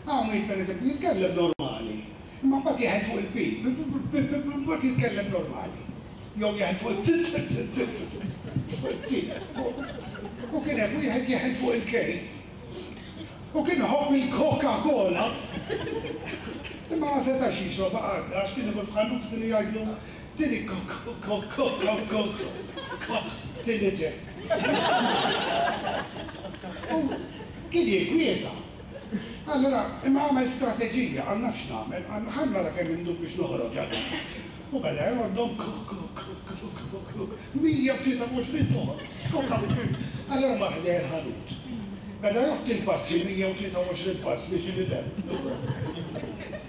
Hawn min pereżempju jitkellem normali, imma mbagħad jeħel fuq il-P, mbagħad jitkellem normali. Jew jeħel fuq it-T, fuq it-T. U kien hemm wieħed jeħel fuq il-K. U kien iħobb il-Coca-Cola. Imma ma setax jixrob għadda għax kien imur f'ħanut kienu jgħidlu tini ko-ko-ko-ko-ko-ko tini te. U kien jinkwieta. Allora, imma għamel strateġija, għal nafx nagħmel, għal ħa nara kemm indum biex noħroġ għadha. U beda jgħoddhom ko-ko-ko-ko-ko mija u tlieta u għoxrin toħroġ. Allora mar ħdejn il-ħanut. Beda jgħodd il-passi mija u tlieta u għoxrin pass biex inidem.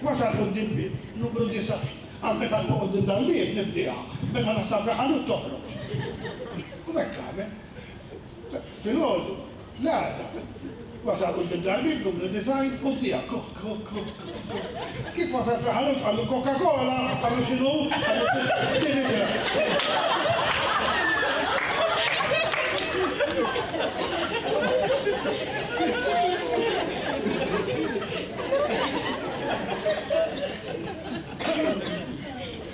Wasal quddiem bieb, numru disa'. Għal meta nkun quddiem dal-bieb nibdiha, meta nasal fi ħanut toħroġ. U hekk għamel. Filgħodu, l-għada, wasal quddiem dal-bieb numru design u bdiha ko ko ko ko. Kif wasal fi ħanut qallu Coca-Cola, qallu x'inhu, qallu tini te.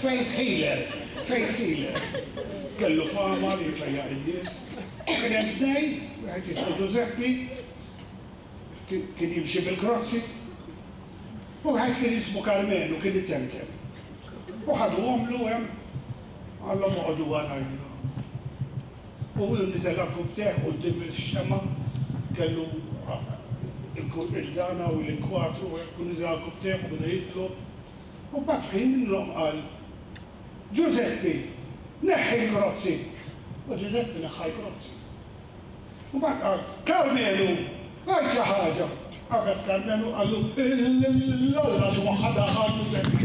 Faith healer, faith healer. Kellu fama li jfejjaq in-nies. U kien hemm tnejn, wieħed jismu Giuseppe, kien jimxi bil-krozzi, u wieħed kien jismu Carmenu, kien itemtem. U ħaduhomlu hemm, qallhom oqogħdu warajja. U hu niżel għall-kubteh quddiem ix-xemgħa, kellu il-dana u l-inkwatru, u niżel għall-kubteh u beda jitlob. U mbagħad f'ħin minnhom qal, Giuseppe, neħħi l-krozzi. U Giuseppe neħħa l-krozzi. U mbagħad qal, Carmenu, għid xi ħaġa. Qabeż Carmenu qallu, l-Alla xi waħda daħal Giuseppe.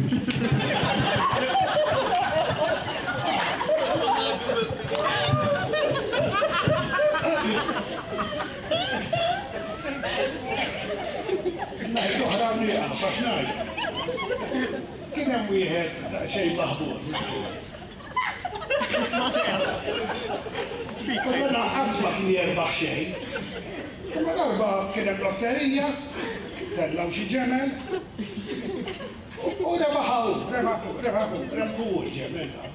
Ħa nieqaf għax ngħid. Kien hemm wieħed daqsxejn maħbur, miskin. U dan qatt ma kien jerbaħ xejn. Imma darba kien hemm lotterija, tellgħu xi ġemel, u rebaħaw, rebaħu, rebaħu, rebħu l-ġemel da.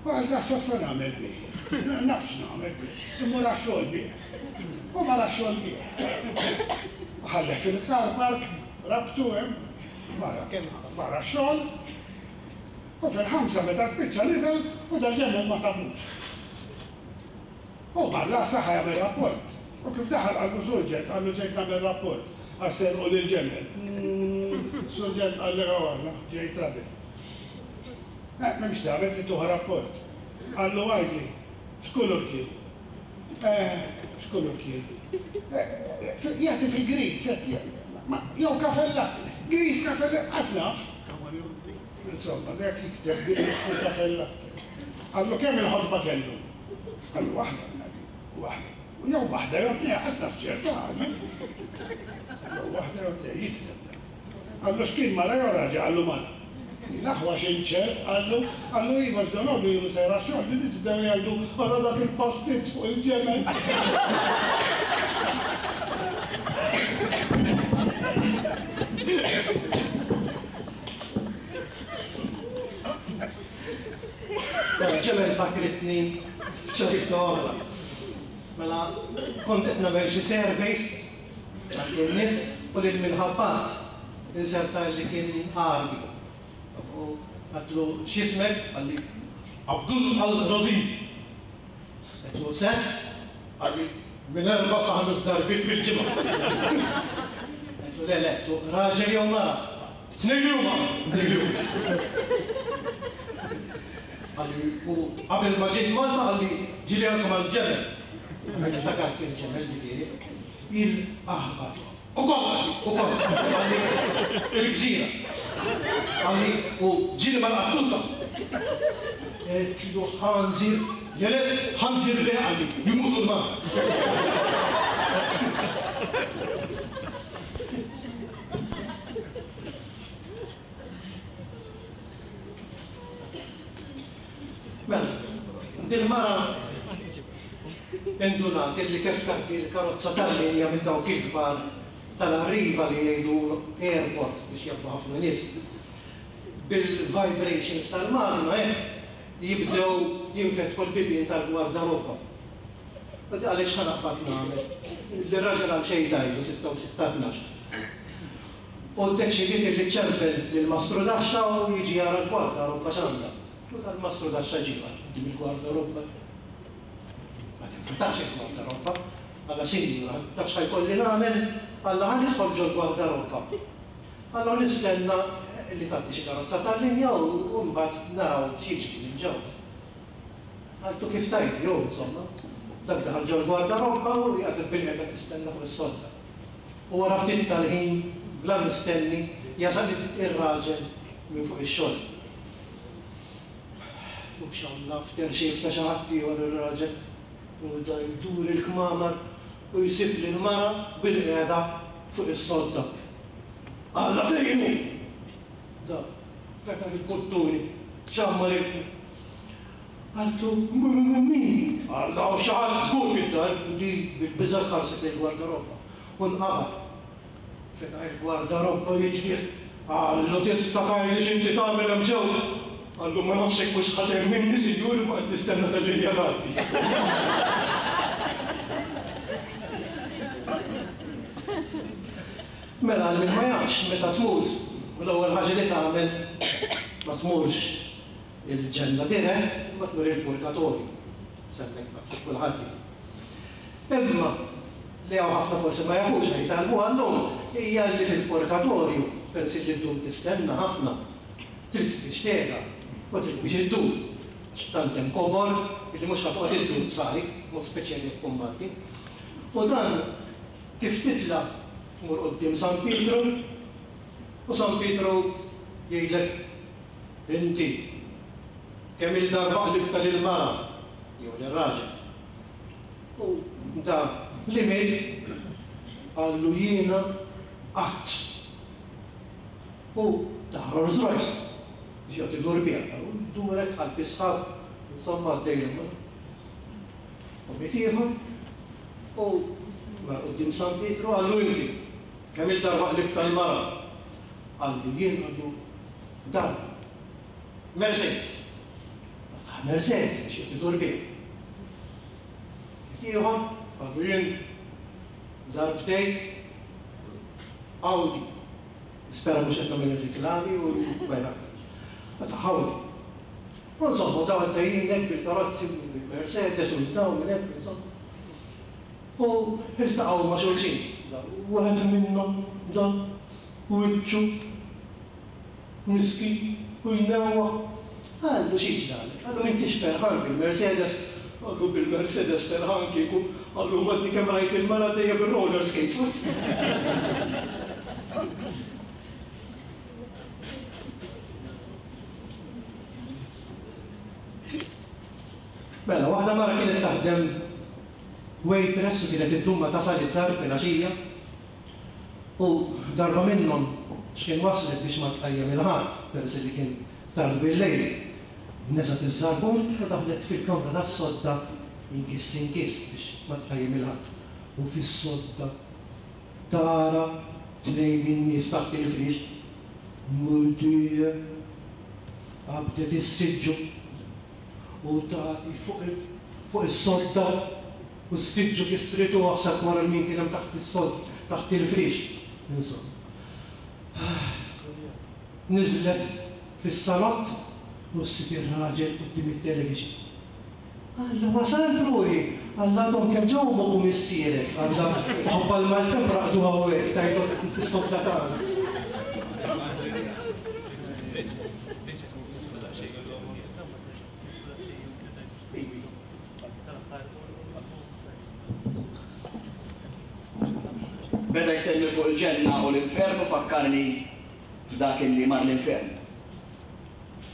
U qal da s'issa nagħmel bih. Nafx nagħmel bih. Immur għax-xogħol bih. U mar għax-xogħol bih. Ħalleh fil-car park, rabtu hemm, mar għax-xogħol. U fil-ħamsa meta spiċċa niżel u dal-ġemel ma sabux. U mar l-għassa ħa jagħmel rapport. U kif daħal qallu surġent, qallu ġejt nagħmel rapport għax serqu lill-ġemel. Surġent qalli għalla, ġejt rabi. Eh, m'hemmx tagħmel li tuħa rapport. Qallu għidli, x'kulur kien? Eh, x'kulur kien? Jagħti fil-gris, jew kafè latte. Gris kafè latte, asnaf. Insomma, dak jikteb gris fuq kafè latte. Qallu kemm il-ħotba kellu? Qallu waħda, waħda. Jew waħda jew tnejn, asnaf ċerta qallu. Jew waħda jew tnejn, jikteb da. Qallu x'kien mara jew raġel, qallu mara. L-aħwa xinċert, qallu, qallu iva x'dalodu jienu sejra x-xogħol, li nies bdew jgħidu ara dak il-pastizz fuq il-ġemel. Ġemel fakritni f'ċerta oħra. Mela kont qed nagħmel xi surveys għand in-nies u lil minħabbat inserta li kien Għarbi. U għedtlu x'ismek? Qalli Abdul Al-Razim. Għedtlu sess? Qalli minn erba' sa ħames darbiet fil-ġimgħa. Għedtlu le le, għedtlu raġel jew mara? Tnejn li huma, tnejn li huma. Qalli u qabel ma ġejt Malta qalli ġieli anke mal-ġemel. Niftakar fil-ġemel ġifieri. Il-aħbar. U kollha, u kollha. Qalli il-gżira. Qalli u ġieli mal-qattusa. Għedtlu ħanżir, le le, ħanżir le qalli, jien Musulman. Mela, dil-mara indunat illi kif tgħaddi l-karozza tal-linja minn dawk il-kbar tal-Arriva li jgħidu airport biex jabbu ħafna nies. Bil-vibrations tal-magna hekk jibdew jinfetħu l-bibien tal-gwardarobba. U di għaliex ħa naqbad nagħmel? Lir-raġel għal xejn tajlu sitta u sitta tnax. U ddeċidiet illi ċempel lil mastru daxxa u jiġi jara l-gwardarobba x'għandha. U tal-mastru daxxa ġie quddiem il-gwardarobba. Ma tinfetax il-gwardarobba. Alla sinjura, taf x'ħa jkolli nagħmel? Alla ħa nidħol ġol-gwardarobba. Alla nistenna li tgħaddi xi karozza tal-linja u mbagħad naraw x'jiġri minn ġewwa. Għaltu kif tajt, jew insomma, dak daħal ġol-gwardarobba u jgħaddi bil-qiegħda tistenna fuq is-sodda. U wara ftit tal-ħin bla mistenni jasal ir-raġel minn fuq ix-xogħol. U xalla after shave ta' xi ħadd ieħor ir-raġel u da jdur il-kmamar u jsib lil mara bil-qiegħda fuq is-sodda. Alla fejn hu? Da fetaħ il-buttuni, xammar il- Għaltu min? Alla u xi ħadd żgur fid-dar li bil-biża' tħarset il-gwardarobba. U nqabad. Fetaħ il-gwardarobba jiġri. Qallu tista' tgħidli x'inti tagħmel hemm ġewwa? Qallu ma nafx hekk mhux ħadd minni sinjur imma qed nistenna tal-linja tgħaddi. Mela għal min ma jafx meta tmut, l-ewwel ħaġa li tagħmel ma tmurx il-ġenna dirett, ma tmur il-purgatorju. Semmek naħseb kulħadd. Imma li hawn ħafna forsi ma jafux jitgħallmu għallum hija li fil-purgatorju peress li ddum tistenna ħafna trid biex tgħida u trid biex iddur. Għax tant hemm kobor li mhux ħa toqgħod iddur b'sajk, mod speċjali jekk tkun Malti. U dan kif titla' tmur quddiem San Pietru u San Pietru jgħidlek inti kemm il-darba qlibta lil-mara jew lir-raġel. U da li miet qallu jiena qatt. U ta' Rolls Royce, biex joqgħod idur biha, u jdurek għal bisħab, insomma għaddejjem. U miet ieħor, u mar quddiem San Pietru qallu inti, kemm il-darba qlibt tal-mara? Qallu jien qallu darba. Mercedes. Ta' Mercedes biex joqgħod idur biha. Miet ieħor, qallu jien darbtejn Audi. Nispera mhux qed nagħmel reklami u ma ta' Audi. U insomma daw għaddejjin hekk bil-karozzi bil-Mercedes u daw minn hekk insomma. U iltaqgħu ma' xulxin. Wieħed minnhom dan wiċċu miskin u jnewwa. Qallu xi ġralek? Qallu m'intix ferħan bil-Mercedes. Qallu bil-Mercedes ferħan kieku. Qallu madni kemm rajt il-mara dejja bil-roller skates. Mela, waħda mara kienet taħdem waitress u kienet iddum ma tasal id-dar filgħaxija u darba minnhom x'kien waslet biex ma tqajjem il-ħadd peress li kien tard bil-lejl. Neżgħet iż-żarbun u daħlet fil-kamra tas-sodda inkiss inkiss biex ma tqajjem il-ħadd. U fis-sodda tara tnejn min-nies taħt il-friex mudija qabdet is-siġġu u tagħti fuq is-sodda u s-siġġu kisritu aħseb wara min kien hemm taħt is-sodda taħt il-friex. Insomma. Niżlet fis-salott u ssib ir-raġel quddiem it-television. Alla wasalt ruħi, alla għadhom kemm ġew ommok u missierek, alla ħabba l-maltemp raqdu hawnhekk tajthom fis-sodda tagħna. Beda jsemmi fuq il-ġenna u l-infern u fakkarni f'dak illi mar l-infern.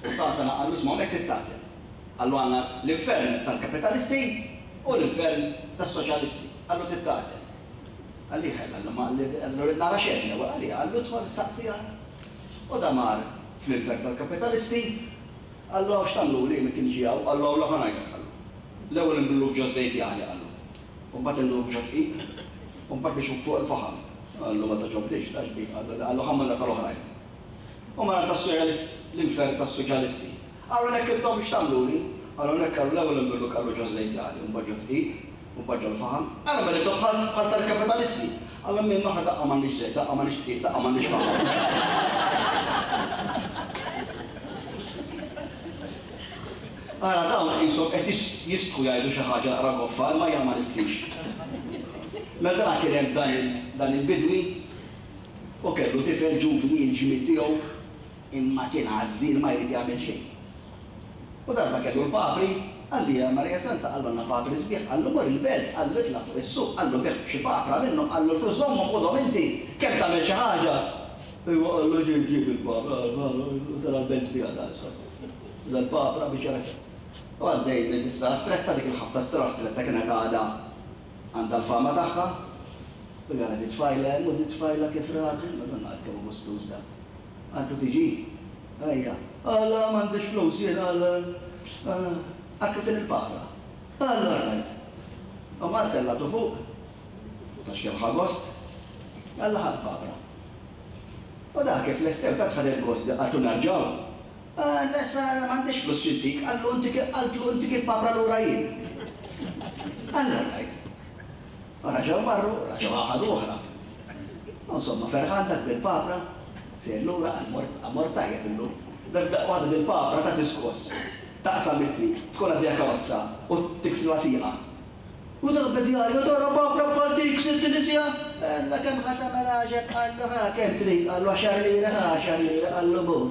U Satana qallu isma' hawnhekk tittagħżel. Qallu għandna l-infern tal-kapitalisti u l-infern tas-soċjalisti. Qallu tittagħżel. Qalli ħel, qallu ma qallu nara xejn l-ewwel, qalli qallu dħol saqsija. U da mar fl-infern tal-kapitalisti, qallu hawn x'tagħmluli min kien ġie hawn, qallu hawn ħa ngħidlek qallu. L-ewwel inbilluk ġo żejt jaħli qallu. U mbagħad inbilluk ġo dqiq, u mbagħad biex fuq il-faħam. Qallu ma togħġobniex, ta' xbik, qallu qallu ħammilna tal-oħrajn. U mara tas-soċjalist, l-infern tas-soċjalisti. Qallu hekk intom x'tagħmluli? Qallu hekk qallu l-ewwel inbilluk qallu ġo żejt jaħli, u mbagħad ġo dqiq, u mbagħad ġo l-faħam. Qallu mela intom bħal bħal tal-kapitalisti. Qallu minn maħna daqqa m'għandniex żejt, daqqa m'għandniex dqiq, daqqa m'għandniex faħam. Ara dawn qishom qed jistħu jgħidu xi ħaġa naqra goffa, imma jien ma nistħix. Mela dan kien hemm dan il-bidwi u kellu tifel ġuvni il-ġmiel tiegħu imma kien għażżien ma jrid jagħmel xejn. U darba kellu l-papri, qalli ja Marija Santa, qallu għandna papri sbieħ, qallu mor il-belt, qallu itla' fuq is-suq, qallu bih xi papra minnhom, qallu l-flus żommhom ħudhom inti, kemm tagħmel xi ħaġa. Iwa qallu ġib ġib il-papra, u tara l-belt biha da issa. Dal-papra biex jara. U għaddej minn strada stretta, dik il-ħabta strada stretta kienet għadha għandha l-fama tagħha. U jara di tfajla hemm u di tfajla kif ratu, Madonna għad kemm hu gustuż da. Għandu tiġi, ejja, Alla m'għandix flus jien għal għatlu din il-papra. Alla rajt. U mar tellatu fuq, tax kemm ħa gost, Alla ħa l-papra. U da kif lestew ta' ħadet gost għatlu narġaw. Alla sa m'għandix flus xintik, qallu intik qaltlu intik il-papra lura jien. Alla rajt. U raġaw marru, raġaw ħadu oħra. U insomma ferħan dak bil-papra, sejjer lura għal mort tajjeb illum. Dak daqqa waħda dil-papra ta' tiskos, taqsam it-triq, tkun għaddejja karozza u tiksilha sieqa. U dak beda jgħajjat, tara papra bħal dik sirt sieqa. Alla kemm ħa tagħmel għaġeb, qallu ħa kemm trid, qallu għaxar lira, ħa għaxar lira, qallu mur.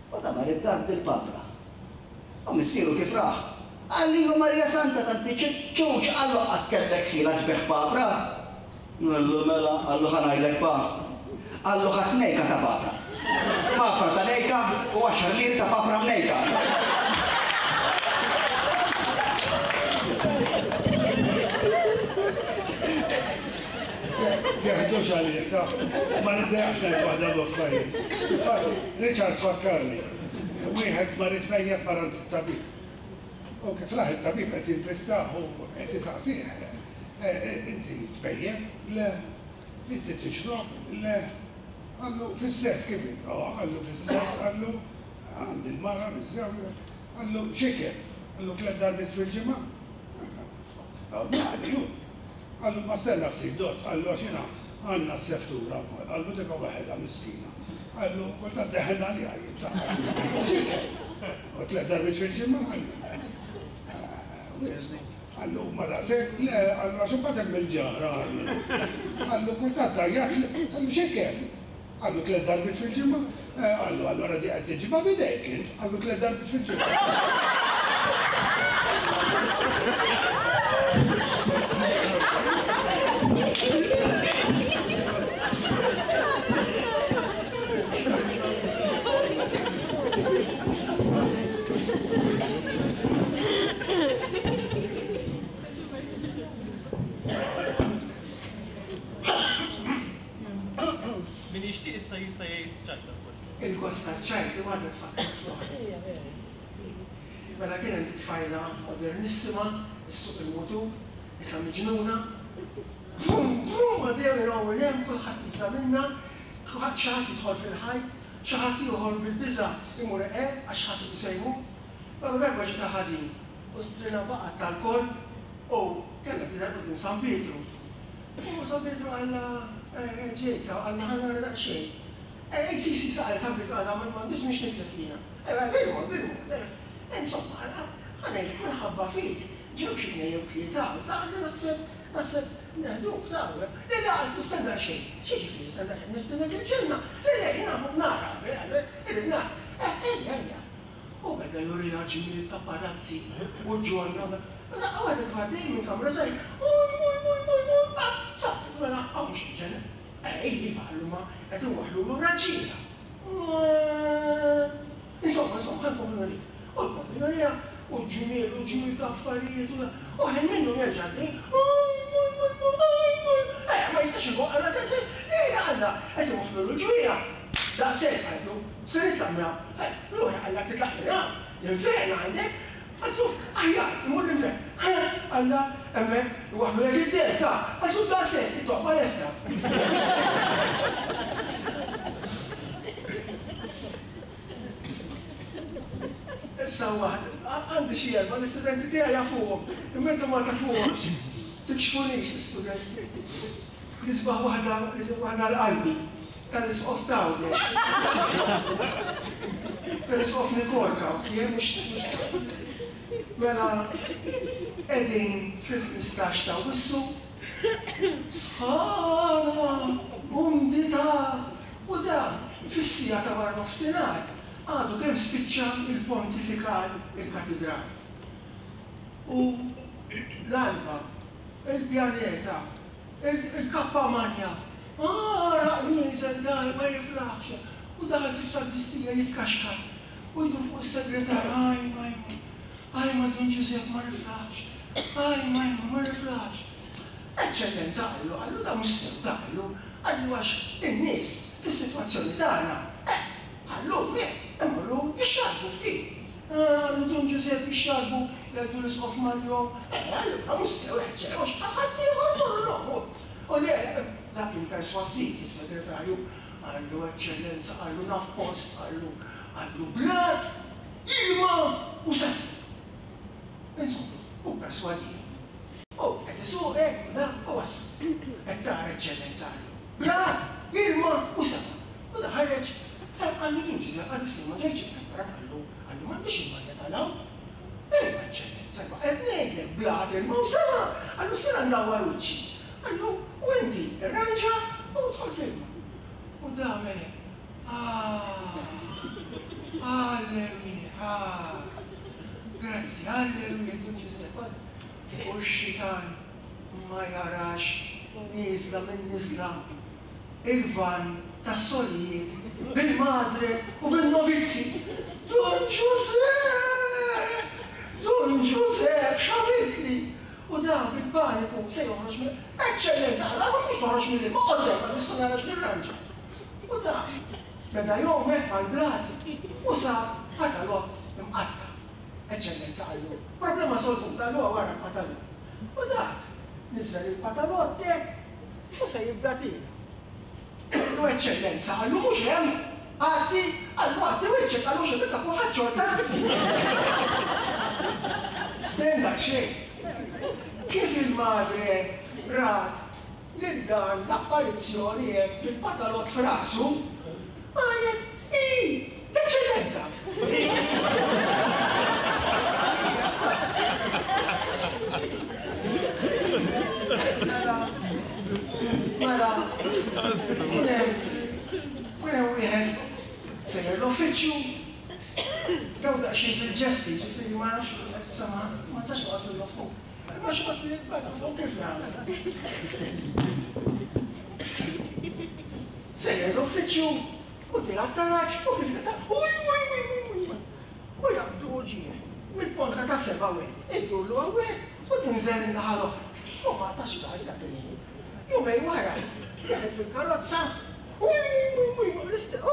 U da mar id-dar dil-papra. U missieru kif raħ? Qalli ju Marija Santa tanti ċuċ, qallu qas kellek ħila tbigħ papra. Qallu mela, qallu ħa ngħidlek pa. Qallu ħadd nejka ta' papra. Papra ta' nejka u għaxar liri ta' papra mnejka. Teħdux għalija, ta' ma niddejaqx ngħid waħda b'affarijiet. Richard fakkarni, wieħed mar itmejjeb mar għand it-tabib. U kif raħ it-tabib qed jinvistah u qed isaqsih. Inti tmejjeb? Le. Inti tixrob? Le. Qallu fis-sess kif? Qallu fis-sess, qallu għandi l-mara miżżewja. Qallu x'ikel? Qallu tliet darbiet fil-ġimgħa? Għali hu. Qallu ma stenna ftit dott, qallu għax jiena għandna s-seftura wkoll, qallu dik waħedha miskina. Qallu kultant deħen għaliha jien ta' x'ikel? U tliet darbiet fil-ġimgħa qallu. Qallu ma daqshekk, le, qallu għax imbagħad hemm il-ġara qallu. Qallu kultant tgħajjat, qallu x'ikel? Qallu tliet darbiet fil-ġimgħa, qallu allura di qed tiġibha b'idejk int, qallu tliet darbiet fil-ġimgħa. Min jixtieq issa jista' jgħid ċajta wkoll. Il-gost taċ-ċajt li waħda tfakkar fl-oħra. Mela kien hemm tfajla modernissima, issuq il-mutur, issa miġnuna. Bum, bum, għaddejja minn hawn minn hemm, kulħadd jibża' minnha, kulħadd xi ħadd jidħol fil-ħajt, xi ħadd ieħor bil-biża' imur eqel għax ħaseb li se jmut. Però darba ġietha ħażin u strina baqgħet tal-koll u kellha tidher quddiem San Pietru. U San Pietru qallha ġejta, qallha ħa nara daqsxejn. Si, si, saqal San Pietru qallha m'għandix mhux nitlef jiena. Bil-mod, bil-mod. Insomma, ħa ngħidlek minħabba fik, ġew xi tnejn jew tlieta u ta' naħseb naħseb neħduk ta' le le qal nistenna xejn. X'jiġifieri nistenna xejn? Nistennek il-ġenna. Le le jiena nara, irrid nara. Ejja, ejja. U beda juriha ġmiel ta' palazzi u ġonna. Daqqa waħda kif għaddej minn kamra żgħir, uj, uj, uj, uj, uj, sabet mela hawn mhux il-ġenna. Ej, iva qallu ma qed inwaħħlulu raġġiela. Insomma, insomma, ħa nkomplu nuri. U jkompli juriha u ġmiel u ġmiel ta' affarijiet u ħin minnhom jerġa' għaddej, uj, uj, uj, uj, uj, eh, ma jistax ikun qalla le, le, qalla, qed inwaħħlulu l-ġwieja. Daqshekk qallu, se nitlaq minn hawn. Ruħi qallak titlaq minn hawn, l-infern għandek. Qallu, aħjar, imur l-infern. Qalla, hemmhekk iwaħħlulek id-dell ta' qallu daqshekk, it-toqba lesta. Issa waħda, għandi xi erba' l-istudenti tiegħi jafuhom, imma intom ma tafuhomx. Tikxfunix l-istudenti. L-isbaħ waħda, l-isbaħ waħda l-qalbi tal-isqof t'Għawdex. Tal-isqof Nikolka, kien mhux mela qegħdin fil-ħmistax ta' Awwissu, sħana, umdità, u dan fis-siegħa ta' wara nofsinhar għadu kemm spiċċa il-pontifikal il-katedral. U l-alba, il-pjaneta, il-kappa manja, għaraq nieżel dar ma jiflaħx, u daħal fis-sagristija jitkaxkar, u jdur fuq is-segretar, aj ma aj ma Dun Ġużepp ma niflaħx, aj ma ma niflaħx. Eċċellenza qallu, qallu da mhux sew ta' qallu, qallu għax in-nies fis-sitwazzjoni tagħna, qallu imorru jixxarbu ftit. Qallu Dun Ġużepp jixxarbu, jgħidu l-isqof Mario, allura mhux sew eċċellenza, għax ħadd ieħor morru. U le, dak kien persważiv is-segretarju, qallu eċċellenza, qallu naf post, qallu, qallu blat, ilma u sema. Insomma, u perswadih. U qed isuq hekk u da u wasal. Qed tara eċċellenza qallu. Blat, ilma u sema. U da ħareġ, qallu Dun Ġużepp, qallu sema ġejx ippreparat, qallu, qallu m'għandix il-malja tal-hawn. Ejwa eċċellenza, imma qed ngħidlek blat, ilma u sema. Qallu sena ndawwar wiċċi. Qallu, u inti irranġa u dħol fl-ilma. U da għamel hekk. Ah, alleluja, ah. Grazzi, alleluja, Dun Ġużepp. U x-xitan ma jarax nieżla minn niżla il-van tas-sorijiet bil-madre u bil-novizzi. Dun Ġużepp! Dun Ġużepp, x'għamiltli? U da bil-paniku se joħroġ mill Eċċellenza, qallu mhux toħroġ mill-ilma, oqgħod hemm, qallu issa nara x'nirranġa. U da beda jgħum hekk mal-blat u sab patalott imqatta'. Eċċellenza qallu, problema solvuta, qallu wara l-patalott. U dak niżel il-patalott hekk u se jibda tiela'. Qallu eċċellenza, qallu mhux hemm, għaddi, qallu għaddi wiċċek, qallu x'ibda kulħadd xorta. Stenna xejn. Kif il-madre rat lil dan l-apparizzjoni hekk bil-patalott f'rasu, qalet, i, l-eċċellenza! Mela, mela, kien hemm, kien hemm wieħed sejjer l-uffiċċju, daw daqsxejn bil-ġesti, ġifieri ma nafx, issa ma nistax noqgħod fil-nofs. Imma xi ħadd li jitbagħtu kif nagħmel. Sejjer l-uffiċċju u tilgħab taraġ u kif nita' uj uj uj uj uj u jaqbdu uġigħ mill-ponta ta' seba' hekk, iddurlu hawnhekk u tinżel in-naħa l-oħra. U ma tax każ dak il-ħin. Jumejn wara, daħel fil-karozza, uj uj uj uj l-istess, uj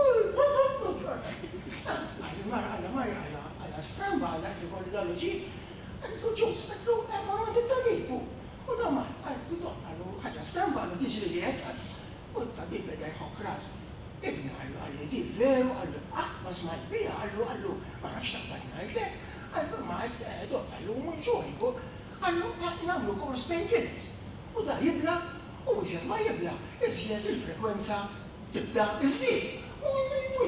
Qal il-mara, qalla Marja, qalla qalla stramba, qalla qed ikolli dan l-uġigħ. Qaltlu ġus, qaltlu hemm mar għand it-tabib hu. U dan mar, qaltlu dott, qallu ħaġa stramba, qallu tiġri li hekk, u t-tabib beda jħokk rasu. Ibni qallu, qallu di veru, qallu qatt ma smajt biha, qallu, qallu ma nafx taqbad ngħidlek, qallu ma qed dott, qallu mhux ġuħ, qallu nagħmlu kors painkillers. U da jibla, u iżjed ma jibla, iżjed il-frekwenza tibda iżżid. U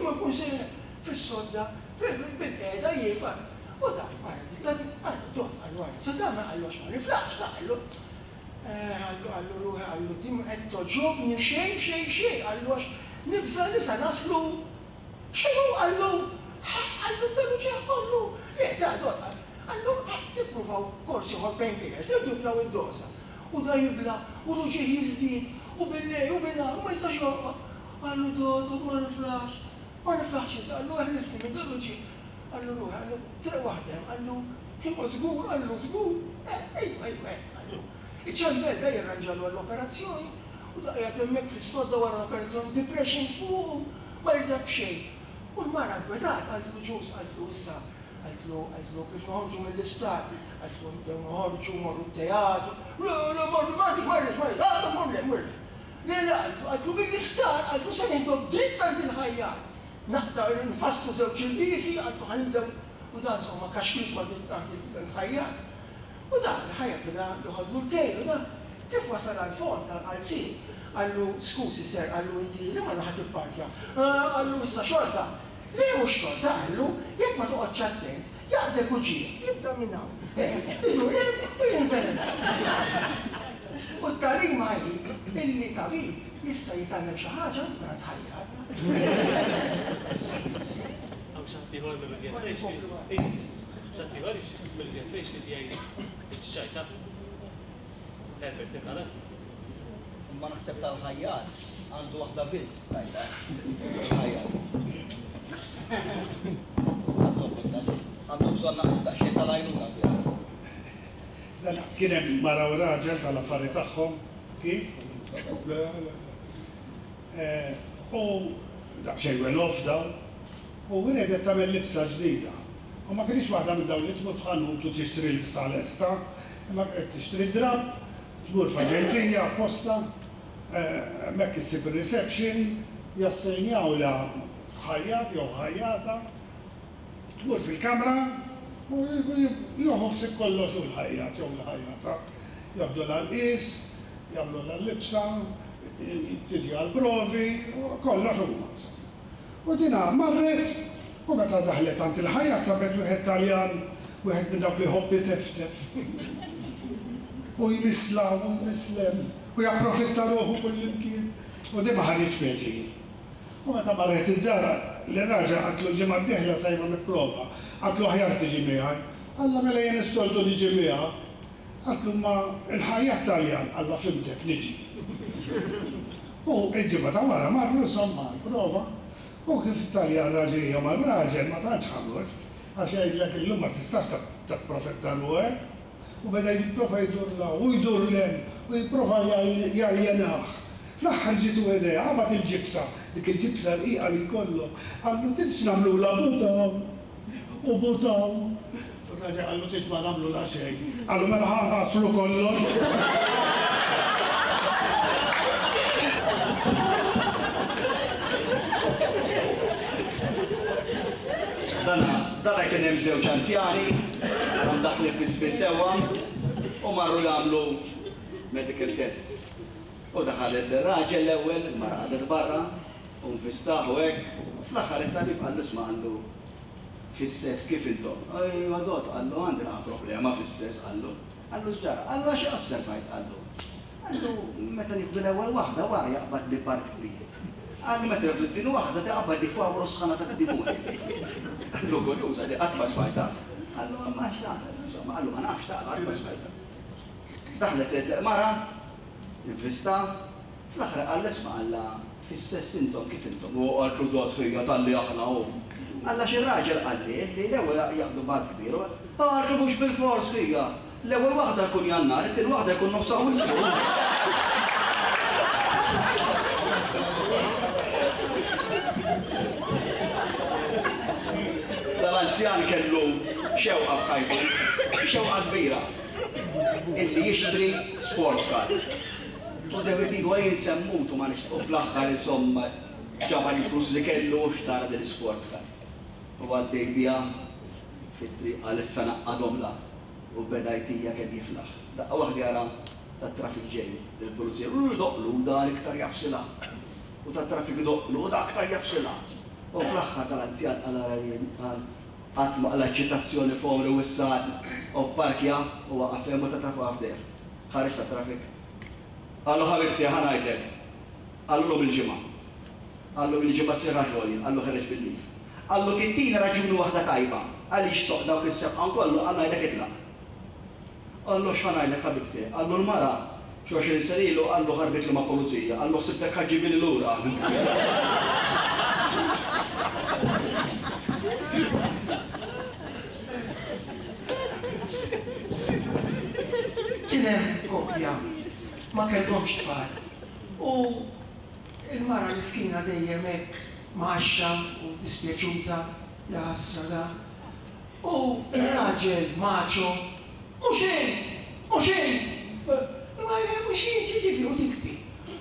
ma jkun sejjer fis-sodda, bil-qiegħda jiekol. U dak wara it-tabib qallu dott, qallu ara se tagħmel, qallu għax ma niflaħx, ta' qallu. Qallu, qallu ruħi, qallu di ma qed togħġobni xejn, xejn, xejn, qallu għax nibża' li se naslu. X'inhu, qallu? Qallu dan uġigħ kollu. Le, ta' dott, qallu nippruvaw kors ieħor painkillers, irduplaw id-doża. U da jibla, u l-uġigħ jiżdied, u bil-lejl u bin-nhar, u ma jistax jorqod. Qallu dott, ma niflaħx, ma niflaħx iżda, qallu eħlisni minn dan l-uġigħ. Qallu ruħi, qallu triq waħda hemm, qallu imma żgur, qallu żgur, ejwa, ejwa hekk, qallu. Iċ-ċembel da jirranġalu għall-operazzjoni u da qiegħed hemmhekk fis-sodda wara l-operazzjoni, depression fuqu, ma jirtab xejn. U l-mara nkwetat, qaltlu ġus, qaltlu issa, qaltlu, qaltlu kif noħorġu mill-isptar, qaltlu nibdew noħorġu, morru t-teatru, le, le, morru, ma rridx, ma rridx, ma rridx, ah, mur le, mur le. Le, le, qaltlu, qaltlu mill-isptar, qaltlu se nieħdok dritt għand il-ħajjat. Naqta' nfasslu żewġ ilbiesi, qaltlu ħa nibdew, u dan insomma kaxkit ma' il-ħajjat. U dan il-ħajjat beda joħodlu l-kejl, u dan kif wasal għall-fond tal-qalziet, qallu skużi ser, qallu inti li ma naħa tipparkja. Qallu issa xorta. Le mhux xorta, qallu, jekk ma toqgħodx attent, jaqbdek uġigħ, jibda minn hawn. Idur hemm u jinżel hemm. U t-tagħlima hi illi tabib jista' jitgħallem xi ħaġa anke mingħand ħajjat. Hawn xi ħadd ieħor mill-udjenza jixtieq. Xi ħadd ieħor mill-udjenza jixtieq jgħid ix-xajta. Herbert inqalad. Imma naħseb tal-ħajjat għandu waħda biss tajba. Il-ħajjat. Għandu bżonn daqsxejn tal-għajnuna fiha. Dan kien hemm mara u raġel tal-affari tagħhom, kif? Le, le, le. U daqsxejn well off dawn, u riedet tagħmel libsa ġdida. U ma kienx waħda minn dawn li tmur f'ħanut u tixtri libsa lesta, imma qed tixtri drapp, tmur f'aġenzija apposta, hemmhekk issib ir-reception, jassenjawlha ħajjat jew ħajjata, tmur fil-kamra u jieħu ħsieb kollox hu l-ħajjat jew l-ħajjata. Joħdulha l-qies, jagħmlulha l-libsa, tiġi għall-provi, kollox huma. U dina marret, u meta daħlet għand il-ħajjat sabet wieħed Taljan, wieħed minn dawk li jħobb iteftef. U jmisla u jmislem, u japprofitta ruħu kullimkien, u di ma ħaditx pjaċir. U meta marret id-dar, l-raġel qaltlu l-ġimgħa d-dieħla sejra nipprova, qaltlu aħjar tiġi miegħi. Alla mela jien is-soltu niġi miegħek. Qaltlu ma il-ħajjat Taljan, alla fimtek niġi. U il-ġimgħa ta' wara marru insomma għall-prova, u kif it-Taljan raġel mar-raġel ma tantx ħa gost, għax jgħidlek illum ma tistax tapprofitta ruħek. U beda jipprova jdur la u jdur lem u jipprova jaljenah. Fl-aħħar ġietu idea, qabad il-ġibsa, dik il-ġibsa rqiqa li jkollhom, qallu tridx nagħmlulha butaw u butaw. U r-raġel qallu tridx ma nagħmlulha xejn. Qallu mela ħa nħassru kollox. Dana, dana kien hemm żewġ anzjani, għadhom daħlin fi żmien sewwa, u marru jagħmlu medical test. U daħal ir-raġel l-ewwel, il-mara qagħdet barra, u nvistaħ u hekk, u fl-aħħar it-tabib qallu isma' qallu fis-sess kif intom? Ejwa dot, qallu għandi naqa' problema fis-sess, qallu. Qallu x'ġara? Qallu għax osservajt, qallu. Qallu meta nieħdu l-ewwel waħda wara jaqbad li part kbir. Qallu meta nieħdu t-tieni waħda taqbad li fawru sħana tad-dimuni. Qallu kurjuż, għadi qatt ma smajtha. Qallu ma x'tagħmel, insomma, qallu ma nafx tagħmel, qatt ma smajtha. Daħlet il-mara, invista, fl-aħħar qal isma' qalla fis-sess intom kif intom. U qaltlu dot ħija talli aħna hu. Qalla xi raġel qalli li l-ewwel jaqbdu bad kbir. Qaltlu mhux bil-fors ħija. L-ewwel waħda jkun Jannar, it-tieni waħda jkun nofs Awwissu. Dal-anzjan kellu xewqa f'ħajtu, xewqa kbira, illi jixtri sports car. U devet idu għajn semmutu ma nix, u fl-aħħar insomma ġabar il-flus li kellu u xtara din sports car. U għaddej biha fit-triq għal issa naqqadhom la u beda jtija kemm jiflaħ. Daqqa waħda jara tat-traffic ġej, il-pulizija, u doqlu dan iktar jafsilha. U tat-traffic doqlu u dak iktar jafsilha. U fl-aħħar tal-anzjan qal ara jien qal qatt ma qala ċitazzjoni f'għomri u issa u pparkja u waqaf hemm u tat-traffic waqaf dejjem. Ħareġ tat-traffic. Qallu ħabibti ħa ngħidlek. Qallu llum il-ġimgħa. Qallu il-ġimgħa sieħa xogħol jien, qallu ħereġ bil-lif. Qallu kien raġuni waħda tajba għaliex soq dawk is-sebqan kollu qallu ngħidlek itlaq. Qallu x'ħa ngħidlek ħabibti, qallu l-mara xi għoxrin sena ilu qallu ħarbitli ma' pulizija, qallu ħsibtek ħa ġġibili lura. Kien hemm koppja ma kellhomx tfal. U il-mara miskina dejjem hekk mgħaxxa u dispjaċuta, jaħasra da. U ir-raġel maċo, mhux int, mhux int, ma mhux int, jiġifieri u tikbi.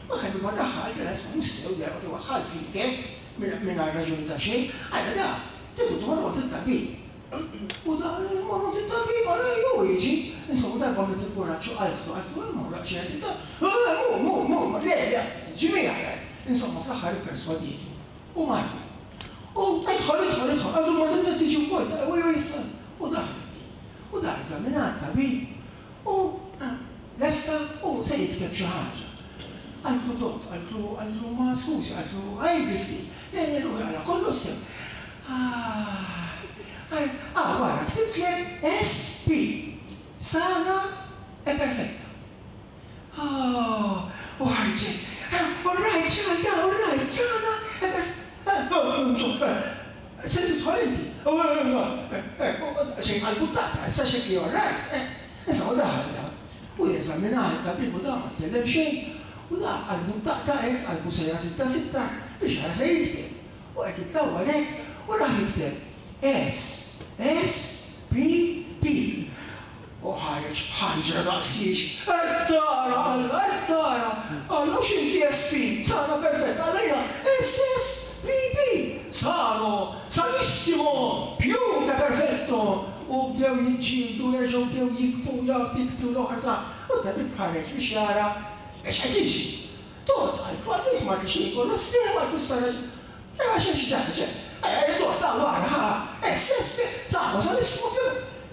Ma kellu ma daħħal, kien isma' mhux sew jara tiwaħħal fik hekk mingħajr raġuni ta' xejn, għalla da, tibdu tmorru għand it-tabib. U da morru għand it-tabib, għalla jew jiġi, insomma darba għamlet il-kuraġġ u qaltlu, qaltlu, morru għand xi għand it-tabib. Mu, mu, mu, le, le, tiġi miegħi. Insomma fl-aħħar ipperswadietu. U marru. U idħol, idħol, idħol, għandu marru tiġi wkoll, u jew issa. U daħlet. U da eżaminat tabib u lesta u se jikteb xi ħaġa. Qaltlu dott, qaltlu, qaltlu ma skużi, qaltlu għajdi ftit. Le, le, le, għala kollu sew. Ah, wara, ktibtlek S P, sana e perfetta. Ah, u ħarġet, all right, ċalta, all right, sana e perfetta. Se tidħol inti. Xejn qalbu tata, issa xekli all right. Issa u daħal da. U jeżaminah it-tabib u da ma tkellem xejn. U da qalbu taqta' hekk, qalbu sejra sitta sitta biex jara se jikteb. U qed jittawwal hekk u raħ jikteb S, S, P, P. U ħareġ b'ħanġra daqsiex. Qed tara, Alla, qed tara. Alla mhux inti S P, sana perfetta, Alla jiena S, S, P, P. Sano, sanissimo, più che perfetto. U bdew jiġġieldu, jerġgħu bdew jikbu, jagħtu l-oħra ta' u t-tabib ħareġ biex jara biex qed jiġri. Tot qaltlu, qaltlu int ma rridx jkollu s-sew, qaltlu issa raġel. Imma xejn xi ġara, ġara. Tot, ta' wara, ha, S, S, P, sano, sanissimo, più.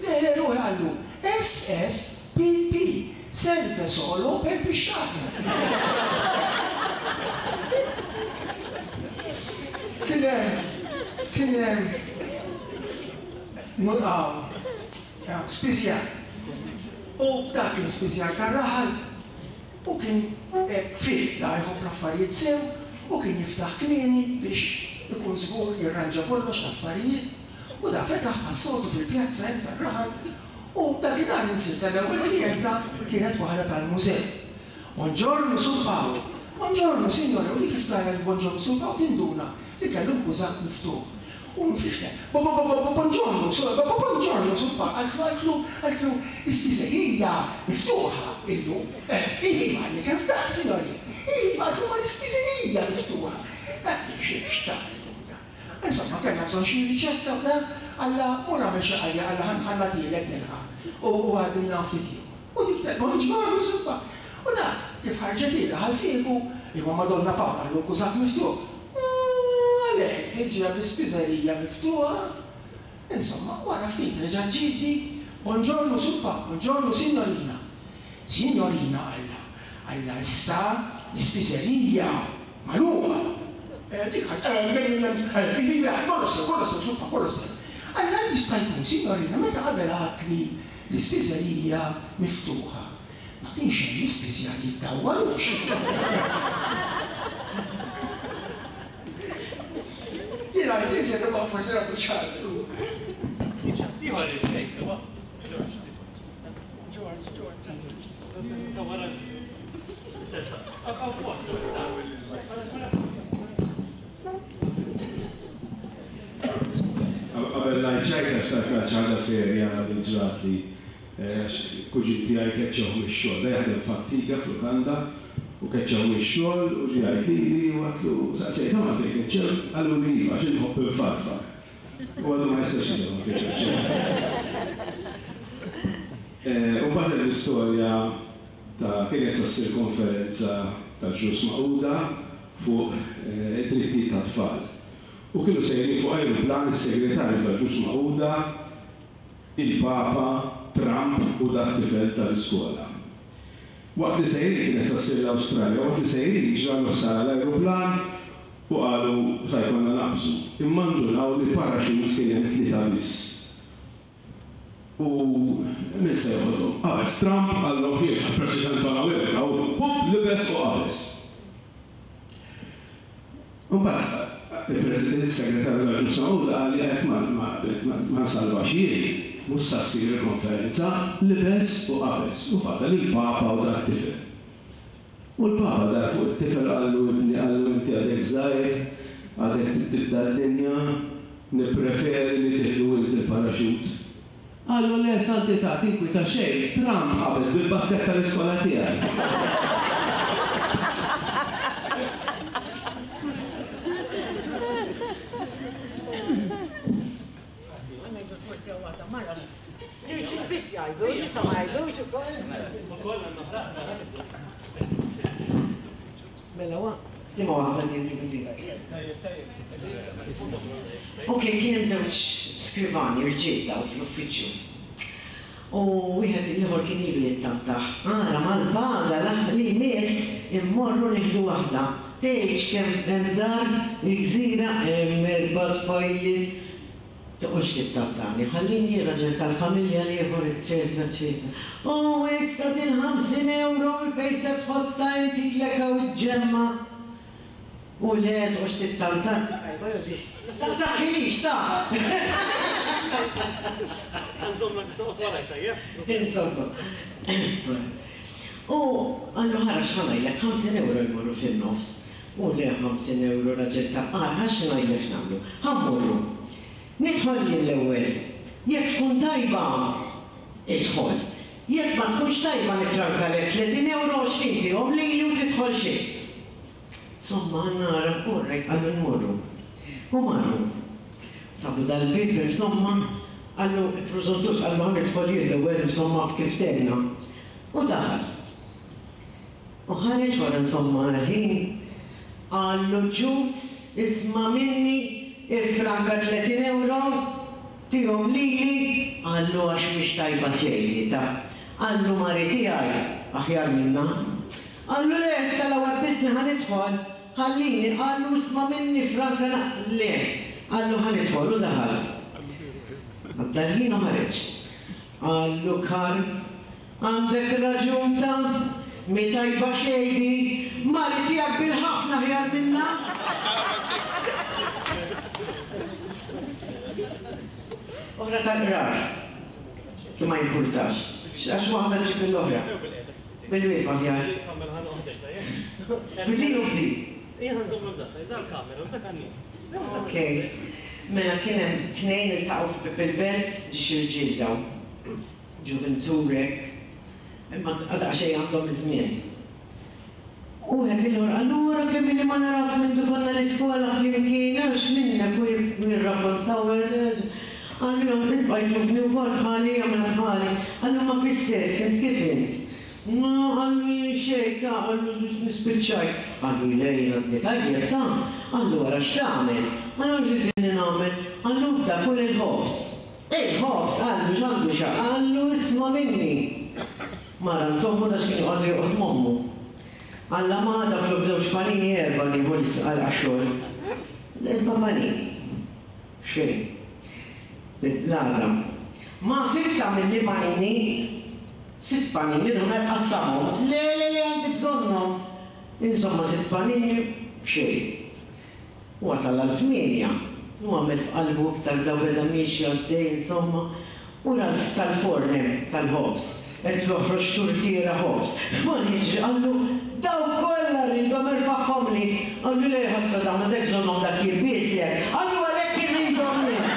Le, le, ruħi qallu, S, S, P, P, serve solo per pisciare. Kien hemm, kien hemm spiżjar. U dak kien spiżjar tar-raħal u kien hekk fit da jħobb l-affarijiet sew u kien jiftaħ kmieni biex ikun żgur jirranġa kollox l-affarijiet u da fetaħ bħas-soltu fil-pjazza hemm tar-raħal U dakinhar insilta l-ewwel klijenta kienet waħda tal-mużew. Buongiorno Sur Paolo, buongiorno signore, u li kif tara buongiorno Sur Paolo tinduna li kellu l-kużat miftuħ. U nfixle, buongiorno, buongiorno Sur Paolo, għaltlu, għaltlu, għaltlu, l-ispiżerija miftuħa illum. Iva, għalli kif taħt, signori, iva, għaltlu ma l-ispiżerija miftuħa. Xiex ta' Insomma, kellna bżonn xi riċetta u da, għalla mur għamel xi ħaġa, għalla ħanħallatilek nilqa' u għadilna ftit ieħor. U dik ta' buongiorno Sur Paolo. U da, kif ħarġet ilha ħalsieku, imma Madonna Paola għallu kużat miftuħ. Għalhekk, tiġi bl-ispiżerija miftuħa. Insomma, wara ftit reġa' ġieti, buongiorno Sur Paolo, buongiorno signorina. Signorina għalla, għalla issa l-ispiżerija magħluqa. Dik kollox sew, kollox sew, Sur Paolo, kollox sew. Alla jista' jkun, signorina, meta qabel għad li l-ispiżerija miftuħa. Ma kienx hemm l-ispiżjar jiddawwarux. Jiena l-iżjed imma forsi nagħtu ċansu. Ieħor irid ngħid sewa. George, George. Ta' wara. Qabel ngħid ċajta xtaqt ngħid xi ħaġa serja li ġrat li kuġin tiegħi keċċew mix-xogħol, da jaħdem f'Antiga f'Lukanda u keċċew mix-xogħol u ġie jgħid lili u għatlu saqsejt ma fejn keċċew, qallu li iva għax inħobb infarfar. U għadu ma jistax jifhem fejn keċċew. U mbagħad hemm l-istorja ta' kienet sa ssir konferenza tal-Ġnus Magħquda fuq id-drittijiet tat-tfal. U kienu sejrin fuq ajruplan is-segretarju tal-Ġnus Magħquda, il-Papa, Trump u dat tifel tal-iskola. Waqt li sejrin kienet sa ssir l-Awstralja, waqt li sejrin ġralu ħsara l-ajruplan u qalu sa jkollna naqbżu. Imma ndunaw li parachutes kien hemm tlieta biss. U min se joħodhom? Qabeż Trump qallu jien President tal-Amerika u hup libes u qabeż. Imbagħad il-President Segretarju tal-Ġnus Magħquda qal li hekk ma nsalvax jien, mhux sa ssir il-konferenza, libes u qabeż u fadal il-Papa u dak tifel. U l-Papa dar fuq it-tifel qallu ibni qallu inti għadek żgħir, għadek tibda d-dinja, nippreferi li tieħdu inti l-paraxut. Qallu le santità tinkwita xejn, Trump qabeż bil-basket tal-iskola tiegħi. L-irġiel biss jgħidu, n-nisa ma jgħidux ukoll. Ukoll għandna ħraqna. Mela wa, liema waħda din kif inti. Ok, kien hemm żewġ skrivani rġiel daw fl-uffiċċju. U wieħed ieħor kien ilu jittantaħ. Ara mal-paga li jmiss immorru nieħdu waħda. Tgħidx kemm hemm dar il-gżira hemm erba' tfajliet. Toqgħodx tittantani, ħallini raġel tal-familja l-ieħor, eċċetera, eċċetera. U issa din ħamsin euro minn fejn se tħossha inti lek hawn iġġemma. U le toqgħodx tittantani. Tajba jew di? Tantaħilix ta'. Nżommlek toqgħod warajk tajjeb. Insomma. U qallu ħara x'ħa ngħidlek, ħamsin euro jmorru fin-nofs. U le ħamsin euro raġel ta' qar, ħax ngħidlek x'nagħmlu. Ħa mmorru. Nidħol jien l-ewwel. Jekk tkun tajba, idħol. Jekk ma tkunx tajba nifrankalek tletin euro għoxrin tihom lili u tidħol xejn. Insomma, nara, u rajt qallu nmorru. U marru. Sabu dal-bib, insomma, qallu il-prużuntus qallu ħa nidħol jien l-ewwel, insomma, kif tenna. U daħal. U ħareġ wara insomma ħin, qallu ġus, isma' minni, ifranka tletin euro, tihom lili, qallu għax mhix tajba xejn ta' qallu mari tiegħi aħjar minna. Qallu le, issa l-ewwel bidni ħa nidħol, ħallini, qallu isma' minni franka le, qallu ħa nidħol u daħal. Għadda l-ħin u ħareġ. Qallu Karl, għandek raġun ta' mi tajba xejn di, mari tiegħek bil-ħafna aħjar minna. Oħra tal-qrar. Kif ma jimpurtax. Għax waħda ġib l-oħra. Bil-wieqfa aħjar. Bidin u bdin. Okej. Mela kien hemm tnejn iltaqgħu bil-belt xi rġiel daw. Ġuventurek. Imma għadha xejn għandhom iż-żmien. U għed il-ħor, allura kemm li ma narak minn konna l-iskola flimkien, għax minnek u jirrakkontaw Għallu jom nibqa ġuvni u kol bħali jagħmel bħali. Għallu ma fis-sess, int kif int? No, għallu xejn ta' għallu nispiċċaj. Għallu lej għadni tajjeb ta' għallu wara x'tagħmel? Għallu x'idni nagħmel? Għallu bda kull il-ħobż. Il-ħobż għallu x'għandu xa, għallu isma' minni. Mara ntommu da x'kien joqgħod joqgħod mommu. Alla ma għada flok żewġ panini erba' nieħu għal xogħol. Erba' panini. Xejn. L-għada. Ma sitta mill-li panini, sitt panini, rumet qassamhom. Le, le, le, għandi bżonnhom. Insomma, sitt panini, xejn. U wasal għal tmienja. U għamel f'qalbu iktar daw beda miexi għaddej, insomma. U ra tal-forn hemm, tal-ħobż. Qed joħroġ turtiera ħobż. Ma jiġri qallu, daw kollha rridhom irfagħhomli. Qallu le ħassa dawn għandek bżonnhom dak jilbislek. Qallu għalhekk irridhom jien.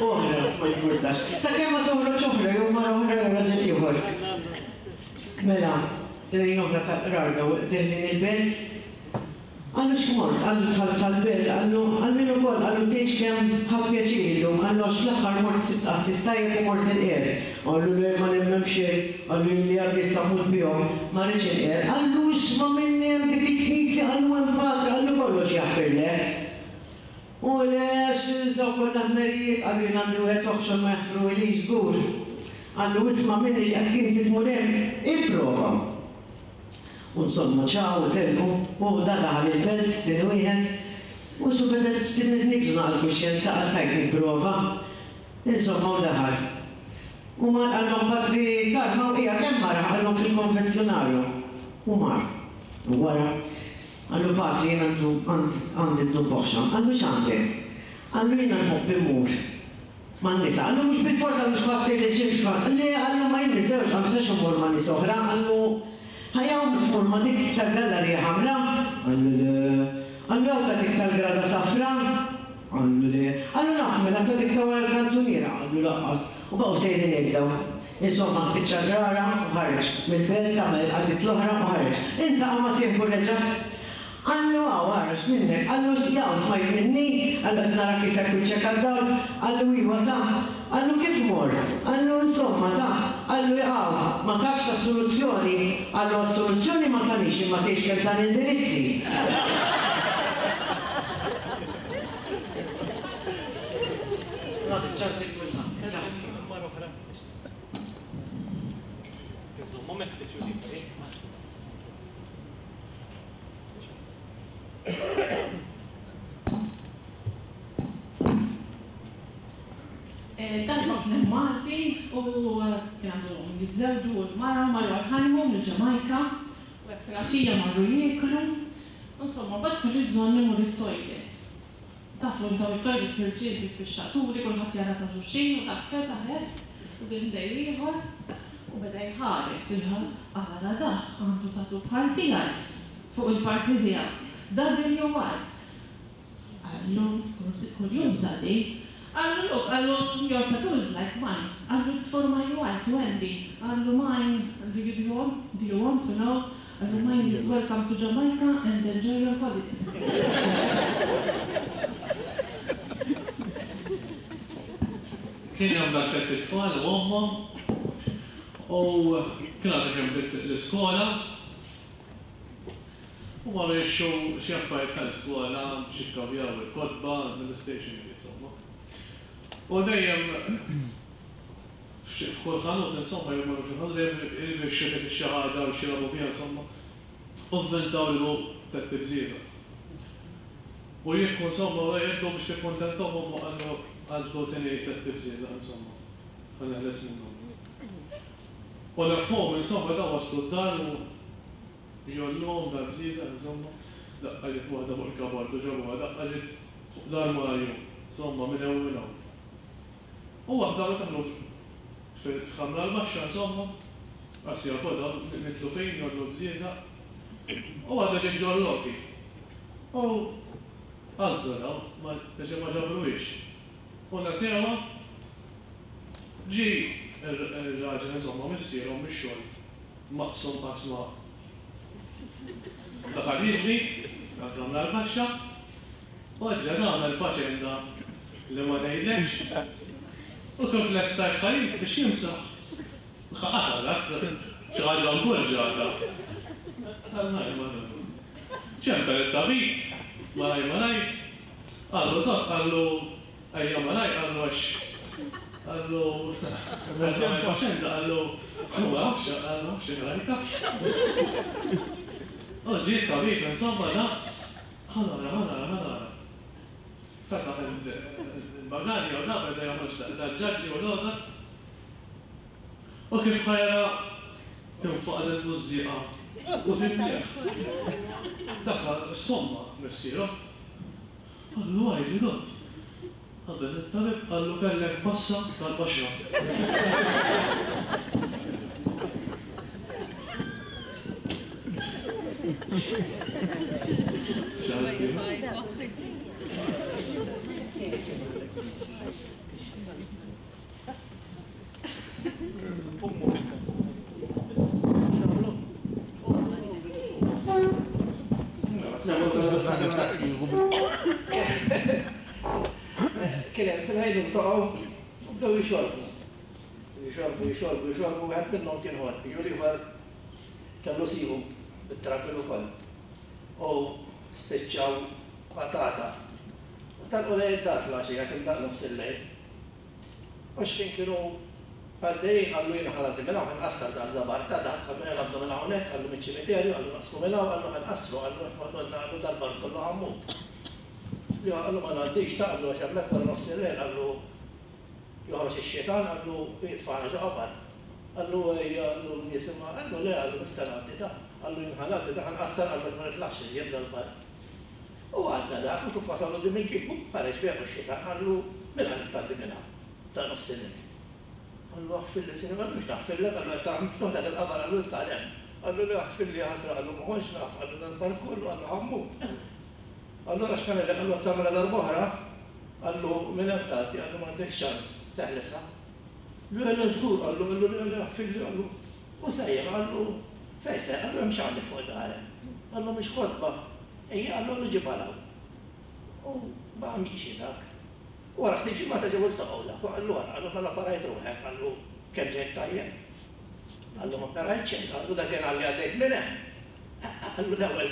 Oħra, ma jimpurtax. Sakemm ma toħroġ oħra, jew mara oħra jew raġel ieħor. Mela, tnejn oħra tal-qrar daw deħlin il-belt. Għallu x'mort, għallu dħalt sal-belt, għallu għallu ukoll, għallu tgħidx kemm ħadt pjaċir illum, għallu għax fl-aħħar mort sibt qassis tajjeb u mort inqer. Għallu le ma nemmen xejn, għallu li għandi issa mmut bihom, ma rridx inqer. Għallu isma' minni hemm dik il-knisja, għallu hemm patri, għallu kollox jaħfirlek. U le x'inżaw kollha ħmerijiet, għallu jien għandi wieħed oħxon ma jaħfruhilix żgur. Għallu isma' minni jekk inti tmur hemm, ipprova. U insomma ċaw u telqu, u da daħal il-belt, tieni wieħed, u su beda tinniżnikżu naqal kuxjenza għal tajt nipprova. Insomma u daħal. U mar qallhom Patri Karma u hija kemm mara qallhom fil-konfessjonarju. U mar. U wara qallu Patri jien għandu għandi dnub oħxon. Qallu x'għandek? Qallu jiena nħobb immur man-nisa. Qallu mhux bil-forza mhux ħadd irriġil x'ħadd. Le qallu ma jien miżewġ ma nistax immur ma' nies oħra. Qallu ħajja tmur ma' dik tal-gallerija ħamra? Qallu le. Qallu jew ta' dik tal-grada safra? Qallu le. Qallu naf mela ta' dik ta' wara l-kantuniera? Qallu laqqas. U baqgħu sejrin jibdew. Insomma spiċċa grara u ħareġ. Mill-belt tagħmel il-qaddiet l-oħra u ħareġ. Intaqa' ma' sieħbu reġa'. Qallu hawn ħareġ minnek. Qallu jaw smajt minni? Qallu qed narak isek wiċċek għad-dawl. Qallu iwa ta'. Qallu kif mort? Qallu insomma ta'. Qallu jaqaw, ma takx assoluzzjoni. Qallu assoluzzjoni ma tanix imma tgħix kemm tan indirizzi. Nagħti ċans il kulħadd. Darba kien hemm Malti u kien għandhom jiżżewġu u l-mara marru għall-honeymoon il-Ġamajka u hekk filgħaxija marru jieklu. Insomma, mbagħad kellu bżonn imur it-toilet. Tafu daw it-toilet l-irġiel bil-pixxaturi, kulħadd jara ta' xulxin u dak fetaħ hekk u kien dej ieħor u beda jħares ara da għandu tatu bħal tiegħi fuq il-parti tiegħu. W Y. Qallu kuljum sadi. Qallu look, qallu your tattoo is like mine. Qallu it's for my wife, Wendy. Qallu mine, do you want, do you want to know? Qallu mine is welcome to Jamaica and enjoy your holiday. Kien hemm dak tliet itfal u ommhom u kien għadha kemm bdiet l-iskola u marru jixtru xi affarijiet tal-iskola biex jikkavjaw il-kotba mill-stationery insomma. U dejjem f'kull ħanut insomma jew marru f'xi ħanut dejjem iridu jixtru dik xi ħaġa biex jilagħbu biha insomma. U vvintaw li hu tliet tibżieda. U jekk insomma jibdew biex tikkuntentahom u qallu għażlu tieni tliet tibżieda insomma. Ħa neħles minnhom. U nefhom insomma daw waslu d-dar u jolluhom dal-bżieda insomma. Daqqa ġiet waħda fuq il-kabart u ġabuha, daqqa ġiet fuq l-armarju. Insomma, minn hawn minn hawn. U waħda meta daħlu fil-ħamra l-baxxa, insomma, għas jafu dawn mitlufin jgħollu bżieżaq. U waħda ġiet ġol-lobby. U għażżu dawn, ma ġabruhiex. U nasewha ġie ir-raġel insomma missierhom mix-xogħol maqsum qasma. Daħal jiġri, għal-ħamra l-baxxa, u għadġa għamel faċenda li ma ngħidlekx. U kif lesta jħajjib biex jimsaħ. Ħaqata dak, xi ħaġa mburġa dak. Għal-naj ma ċempel it-tabib, malaj malaj, qallu dak, qallu ejja malaj, qallu għax, qallu għamel faċenda, qallu ma nafx, qallu nafx rajta. U ġie t-tabib, insomma, dak, ħanara, ħanara, ħanara. Fetaħ il-bagalja u dak, beda joħroġ dal-ġaġġi u l-għodat. U kif ħajra tinfaq l-mużieqa u tinnieħ. Dakha s-somma missieru. Qallu għajdi dott. Qabel it-tabib qallu kellek bassa tal-qoxra. Kien hemm tnejn iltaqgħu u bdew jixorbu. Jixorbu, jixorbu, jixorbu, wieħed minnhom kien ħodbi u l-ieħor kellu sibu bit-trabil ukoll. U spiċċaw patata. U telqu lejn id-dar fil-għaxija kien daq nofs il-lejl. U x'kien kienu għaddejjin qallu jiena ħa ngħaddi minn hawn ħa nqassar da' żabar ta' dak, qallu ejja ngħaddu minn hawnhekk, qallu miċ-ċimiterju, qallu naqsmu minn hawn, qallu ħa nqassru, qallu għax Madonna qallu dal-bar kollu ħa mmut. Li qallu ma ngħaddix ta' qallu għax hemmhekk wara nofs il-lejl qallu joħroġ ix-xitan qallu jitfagħna ġo qabar. Qallu ejja qallu n-nies imma qallu le qallu issa ngħaddi ta' qallu jien ħa ngħaddi ta' ħa nqassar qallu ma niflaħx iżjed dal-bar. U għadda dak u kif wasal quddiem il-bieb ħareġ fih ix-xitan qallu mela qed tgħaddi minn hawn ta' nofs il-lejl. Qallu aħfirli sinjur, qallu mhux naħfirlek, qallu qed tara miftuħ dak il-qabar qallu tgħal hemm. Qallu le aħfirli ħasra qallu ma kontx naf, qallu dal-bar kollu qallu ħa mmut. Allura x'kan qed qallu qed tagħmilha darb'oħra, qallu minn hemm tgħaddi, qallu m'għandekx ċans teħlesha. Le le żgur, qallu qallu le le aħfirli qallu. U sejjer qallu fejn sejjer, qallu hemm x'għandek fuq darek. Qallu mhix ħotba. Ejja qallu qallu ġibha 'l hawn. U baqa' miexi dak. Wara ftit ġimgħa ġew iltaqgħu dak u qallu wara qallu mela parajt ruħek, qallu kemm ġejt tajjeb. Qallu ma parajt xejn, qallu dakinhar li għaddejt minn hemm. Qallu l-ewwel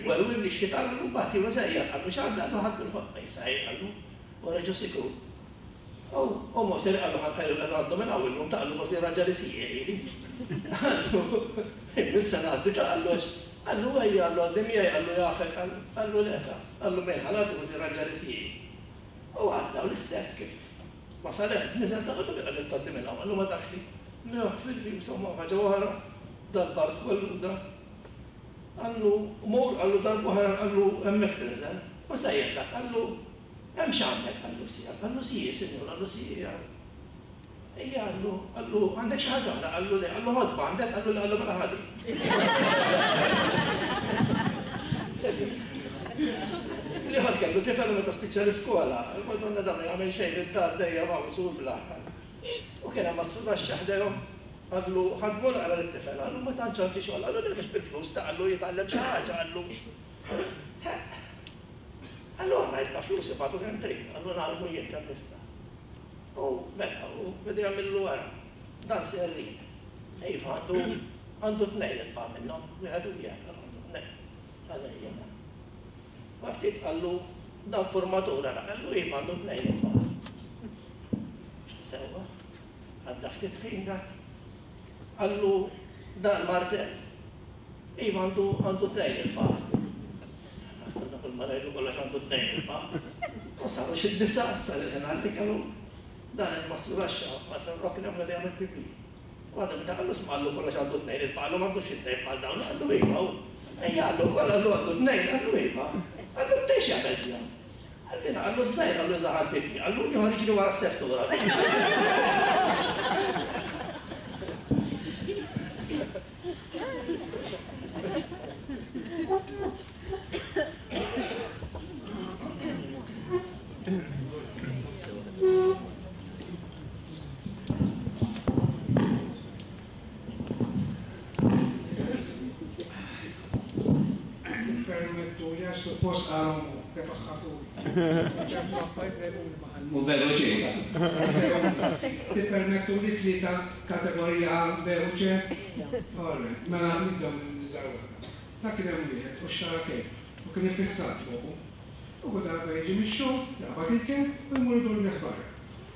werwimli x-xitan qallu mbagħad jiena sejjer, qallu x'għandha, qallu ħadt il-ħotba jisajr, qallu wara ġo sikur. U Mosè qallu qallu għandu minn hawn illum ta' qallu forsi raġa' li sieħ lili. Qallu issa ngħaddi ta' qallu għax qallu ejja qallu għaddi miegħi qallu jafek qallu le ta' qallu mejn ħa ngħaddi forsi raġa' li sieħ. U għadda u l-istess kif wasal hemm, niżel ta' qallu qallu tgħaddi minn hawn, qallu ma tafx li. Naħfirli insomma ħaġa oħra dal-bard kollu da. Qallu mur qallu darb'oħra qallu hemmhekk tinżel. U sejjer dak qallu hemm x'għandek qallu sija, qallu sija sinjur, qallu sija. Ejja qallu qallu għandek xi ħaġa oħra, qallu le, qallu ħodba għandek, qallu le, qallu mela ħadi. L-ieħor kellu tifel meta spiċċa l-iskola, il-Madonna dan ma jagħmel xejn id-dar dejjem hawn sur bl-aħħar. U kien hemm mastru tax-xaħ dejjem qallu ħadmu naqra lit-tifel, qallu ma tantx għandi xogħol, qallu le mhux bil-flus ta' qallu jitgħallem xi ħaġa, qallu. Qallu aħna jibqa' flus ibagħtu kemm trid, qallu nagħlmu jien kemm nista'. U mela, u beda jagħmillu wara, dan serrin. Iva għandu għandu tnejn inba' minnhom, wieħed u wieħed, qallu għandu tnejn. Qallu ejja dan. Ma ftit qallu dan formatur ara, qallu iva għandu tnejn inba'. Sewwa, għadda ftit ħin dak. Qallu dan martell. Iva għandu għandu tnejn il-pa. Għandu kull ma ngħidu kollox għandu tnejn il-pa. U saru xi disa, sar il-ħin għalli kellu dan il-mastru raxxa ma rokna hemm li jagħmel pipi. U għadha meta qallu sma' qallu kollox għandu tnejn il-pa, qallu m'għandux xi tnejn bħal dawn, qallu iva. Ejja qallu kollha qallu għandu tnejn, qallu iva. Qallu tnejn x'jagħmel bihom? Għallina, għallu z-zajr, għallu zaħal pipi, għallu liħor iġri wara s-seftura. Permettu li għax suppost għalomu, tefaxħa fuqi. ċertu affarijiet dejquni ma ħallmu. U veru xejn. Tippermettu li tlieta kategorija A, B u C? All right, mela nibdew minn iżgħar waħda. Dak kien hemm wieħed u xtara kelb u kien iffissat fuqu. U kull darba jiġi mix-xogħol, jaqbad il-kelb u jmur idur bih barra.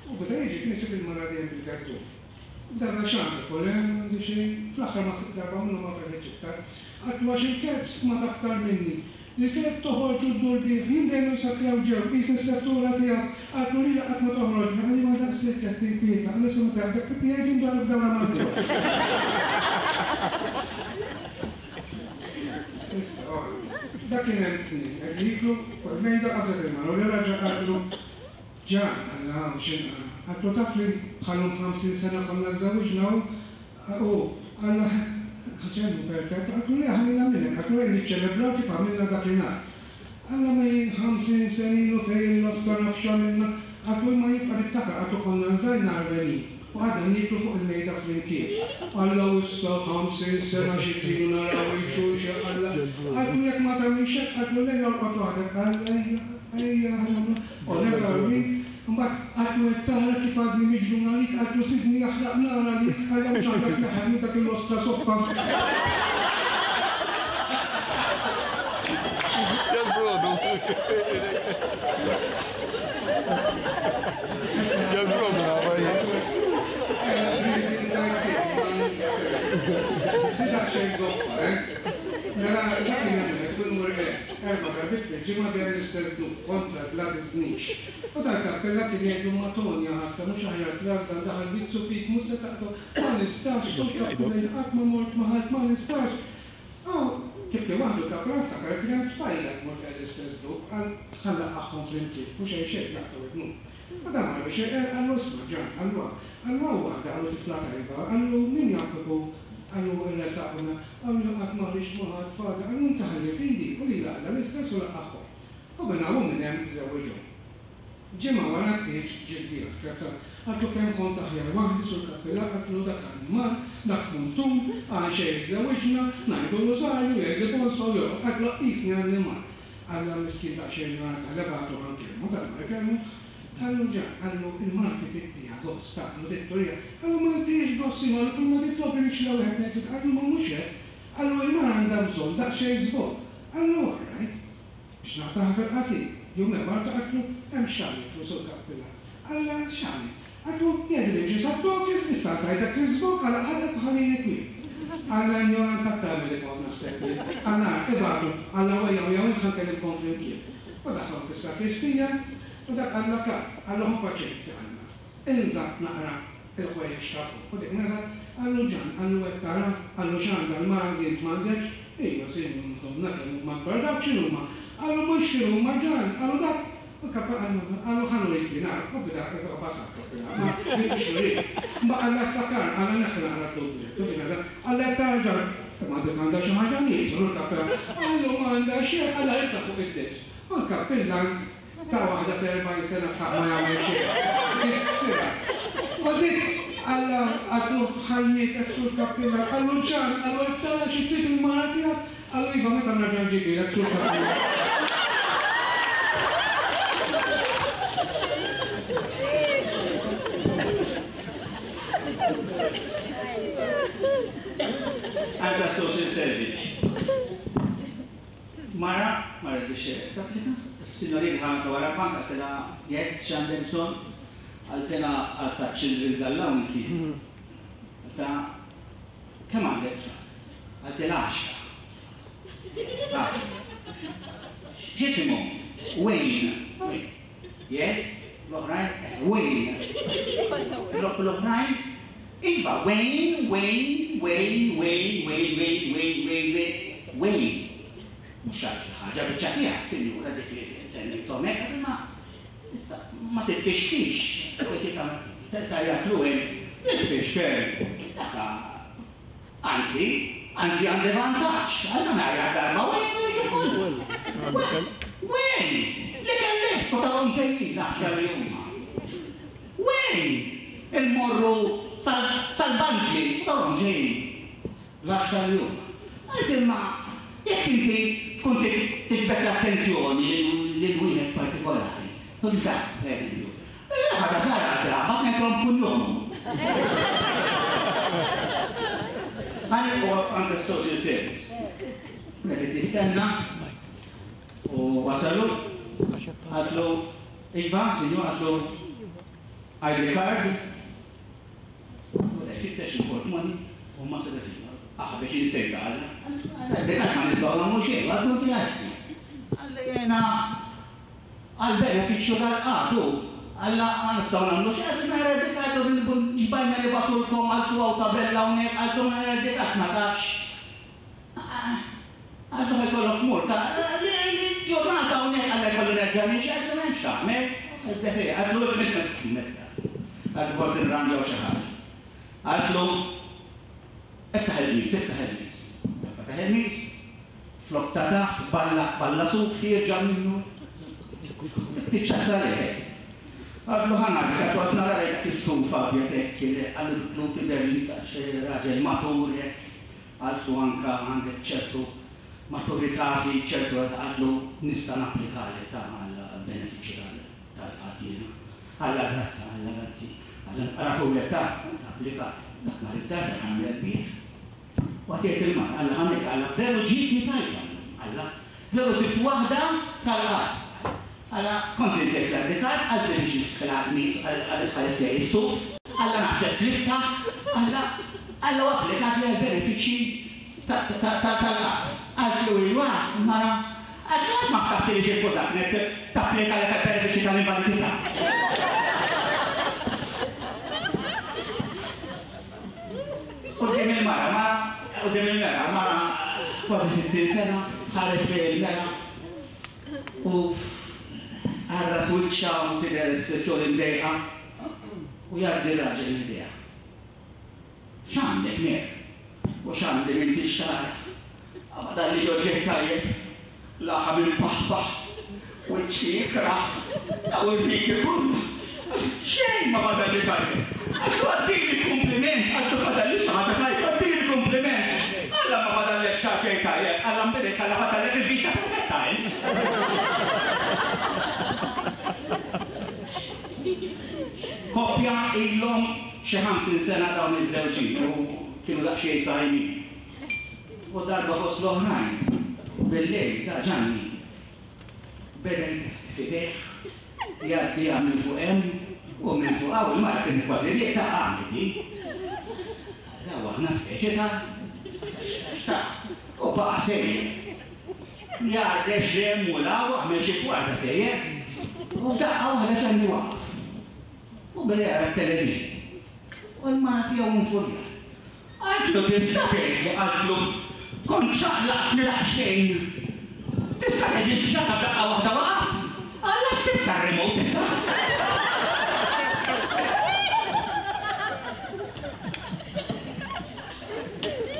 U meta jiġi kien isib il-mara dejjem bil-gardun. Darba x'għandek u le m'għandi xejn, fl-aħħar ma darba minnhom ma felħitx iktar. Għatlu għax il-kelb smat aktar minni. Il-kelb toħorġ u ddur bih, jien dejjem insakraw ġew, qis is-settura tiegħek, għatlu lili qatt ma toħroġ, ħalli ma daqshekk qed tinkwieta, għal issa meta jaqbdek pipi jgħid indur b'dawra mal-ġewwa. Issa, dak kien hemm tnejn qed jieklu fuq il-mejda qabdet il-mara u l-raġel qallu Ġan, qalla hawn x'inqala. Għatlu taf li bħalhom ħamsin sena konna żżewwiġna u qalla ħaġa perfett, għatlu le ħallina minnek, għatlu ejja niċċelebraw kif għamilna dakinhar. Alla ma jien ħamsin senin u fejn l-ostra naf x'għamilna, għatlu imma jibqa' niftakar, għatlu konna nżajna għarwenin u għadna nieklu fuq il-mejda flimkien. Alla u issa ħamsin sena xi tridu naraw il-xulxin, alla. Għatlu jekk ma tagħmilx hekk, għatlu lejn orqod waħdek, qal ejja, ejja, u nerġa' Mbagħad għatlu qed tara kif għadni miġnun għalik, għatlu sidni jaħraq nar għalik, alla mhux għandek tneħħel minn dak il-ostra soppa. Ġal-brodu. Ġal-brodu nafa jien. Dak xejn goffa, eh? Mela dak kien hemm kun mur erba' darbiet fil-ġimgħa dejjem l-istess dnub kontra la tiżnix. U dal-kappella kien jgħidlu ma Tonja ħassa mhux aħjar trażżan daħal vizzu fik mhux se taqta' ma nistax, sur kappella qatt ma mort ma ħadd ma nistax. Aw kif kien waħdu l-kappella ftakar kien hemm tfajla tmur l-istess dnub qal ħallaqaħhom flimkien u xejn xejn jaqtgħu id-dnub. U dan mar biex iqer qallu isma' Ġan qallu qallu hawn waħda qallu tifla tajba qallu min jaf kieku qallu rresaqna qallu qatt ma rridx ma ħadd fada qallu inti ħalli f'idi u lili għadha l-istess u laqaħhom. U minn hawn u minn hemm żewwiġhom. Ġimgħa wara t-tieġ ġie d-djak, għatlu kemm kont aħjar waħdi sur kappella għatlu dak annimal, dak muntun, għal xejn żewwiġna, ngħidu r-rużarju, jgħidli bonsa u jorqod, għatlu qisni annimal. Alla miskin daqsxejn ignorant għalha bagħtu ħa nkellmu, dak mar ikellmu, qallu Ġan, qallu il-marti tittiha gost, qallu titturija, qallu ma ntihiex gost imma kull ma titlob irridx la wieħed ngħidlek, qallu ma mhux hekk, qallu il-mara għandha bżonn daqsxejn żvog, qallu all right, biex naqtaha fil-qasir. Jum ieħor għatlu hemm x'għamiltlu sur kappilla. Alla x'għamil? Għatlu jgħidli imxi sat-tokis, issa tajt dak iż-żvog għala ħalqek u ħallini kwiet. Alla ignorant għat tagħmel li kont naħseb jien. Alla ibagħtu, alla wejja u jew int ħa nkellimkom flimkien. U daħħalhom fis-sakristija u dak alla kap, qallu ħu paċenzja Alla. Inża' naqra il-ħwejjeġ ta' fuq. U dik neżgħet, qallu Ġan, qallu qed tara, qallu x'għandha l-mara li int m'għandekx? Iva, sinjur Madonna, kemm huma kbar dawk x'inhuma? Qallu mhux x'inhuma Ġan, qallu dak. U l-kappa qallu, qallu ħa nurik jien, ara, u beda basaq kappilla, ma biex nurik. Ma qalla s-sakar, qalla neħħi naqra d-dublet, u dik għadha, qalla qed tara Ġan, imma dik għandha xi ħaġa nieqsa, u l-kappella, qallu m'għandha xejn, qalla ridha fuq id-desk. U l-kappillan ta' waħda ta' erbgħin sena sħaq ma jagħmel xejn. Kissirha. U dik qalla għatlu f'ħajjietek sur kappillan, qallu Ġan, qallu qed tara xi trid il-mara tiegħek, qallu iva meta nerġa' nġibilek sur kappillan. Għandha social service. Mara, marret biex tapplika, is-signorin ħanka wara l-bank qaltilha yes x'għandek bżonn, qaltilha għal ta' children's allowance. Qaltilha kemm għandek tfal? Qaltilha għaxra. Għaxra. X'isimhom? Wayne. Wayne. Yes, l-oħrajn? Wayne. L-oħrajn? Iva, Wayne, Wayne, Wayne, Wayne, Wayne, Wayne, Wayne, Wayne, Wayne, Wayne. Mhux raġel ħaj. Ħaġa biċċa tiegħek, sinjura, ġifieri semmejthom hekk, imma ma titfixkix. Tajjatlu hekk, nitfixkel. Dak anzi, anzi għandi vantaġġ, għandna ngħajja darba wejn jiġu kollu. Wejn! Li kellek tarhom ġejjin l-għaxra li huma. Wejn! Il-morru sal-bankli tarhom ġejjin l-għaxra li huma. Għalt imma jekk inti tkun tiġbed l-attenzjoni lil wieħed partikolari, tkun dak, pereżempju. Ħaġa żgħira għad-drama ngħidlhom kuljomhom. Għal huwa għand is-social service. Qed tistenna u wasalu, għatlu iva, sinjur, għatlu I D card, u fittex il-portmoni u ma setax aħ biex insejta għalla. I D card ma nistgħu nagħmlu xejn, għadlu tiegħek. Għalla jiena għall-benefiċċju tal-qatu, għalla ma nistgħu nagħmlu xejn, għallu ma I D card ġbajna li batulkom għaltu għaw tabella hawnhekk, għaltu ma I D card ma tafx. Għaltu ħajkollok multa, ġurnata hawnhekk għalla jkollu nerġa' niġi, għaltu m'hemmx tagħmel. Għaltu għaltu forsi nranġaw xi ħaġa. Għaltu iftaħ il-mis, iftaħ il-mis. Ftaħ il-mis, flok ta' taħt, balla, balla suf, ħierġa minnu. Tiċċassa lejk. Għallu ħana, għallu għad nara lejk is-suf abjad hekk, għallu tidher li ta' raġel matur hekk, għallu anka għandek ċertu maturità fi ċertu għallu nista' napplikalek ta' għall-benefiċċju tal-qagħad jiena. Alla grazza, alla grazzi. Alla nqrafulek ta' applika. Dak nhar id-darba għamlet bih. U għad jgħid il-mara, alla ħanek, alla veru ġietni tajba, alla veru sibt waħda tal-qagħad. Alla kont insejt l-I D card, għalli biex niftħilha nies għal ħares lejn is-suf, alla naħseb lifta, alla alla applikat li għall-benefiċċji tal-qagħad. Għallu iwa, mara, għallu għax ma ftaħtilix il-kużaknet tapplika lek għall-benefiċċji tal-invalidità. Quddiem il-mara, mara, quddiem il-mera, mara kważi sittin sena, ħares lejn il-mera u għarra wiċċha u tidher espressjoni mdejqa u jgħaddi r-raġel l-idea. X'għandek mer? U x'għandi m'intix tara? Għabada li oġġett tajjeb, laħam imbaħbaħ, wiċċi ikrah, daw ir-riki kollha. Xejn ma fadalli tajjeb. Għallu għaddini kompliment, għallu fadalli xi ħaġa tajba, għaddini kompliment. Alla ma fadallekx ta' xejn tajjeb, alla mbirek, alla fadallek il-vista perfetta int. Koppja ilhom xi ħamsin sena dawn iż-żewġin u kienu daqsxejn sajmin. U darba fost l-oħrajn, bil-lejl da Ġanni beda jteftef idejh, jgħaddiha minn fuq hemm u minn fuq hawn, il-mara kienet kważi rieqda qamet hi. Daw aħna speċi ta' x'taf. U baqa' sejjer. Jgħarrex hemm u 'l hawn għamel xi kwarta sejjer. U f'daqqa waħda Ġanni waqaf. U beda jara t-television. U l-mara tiegħu infurjat. Għaltlu tista' tgħidlu, għaltlu kont ċaqlaqtni daqsxejn. Tista' tgħidli xi xagħta f'daqqa waħda waqaft? Alla ssibt tar-remote issa.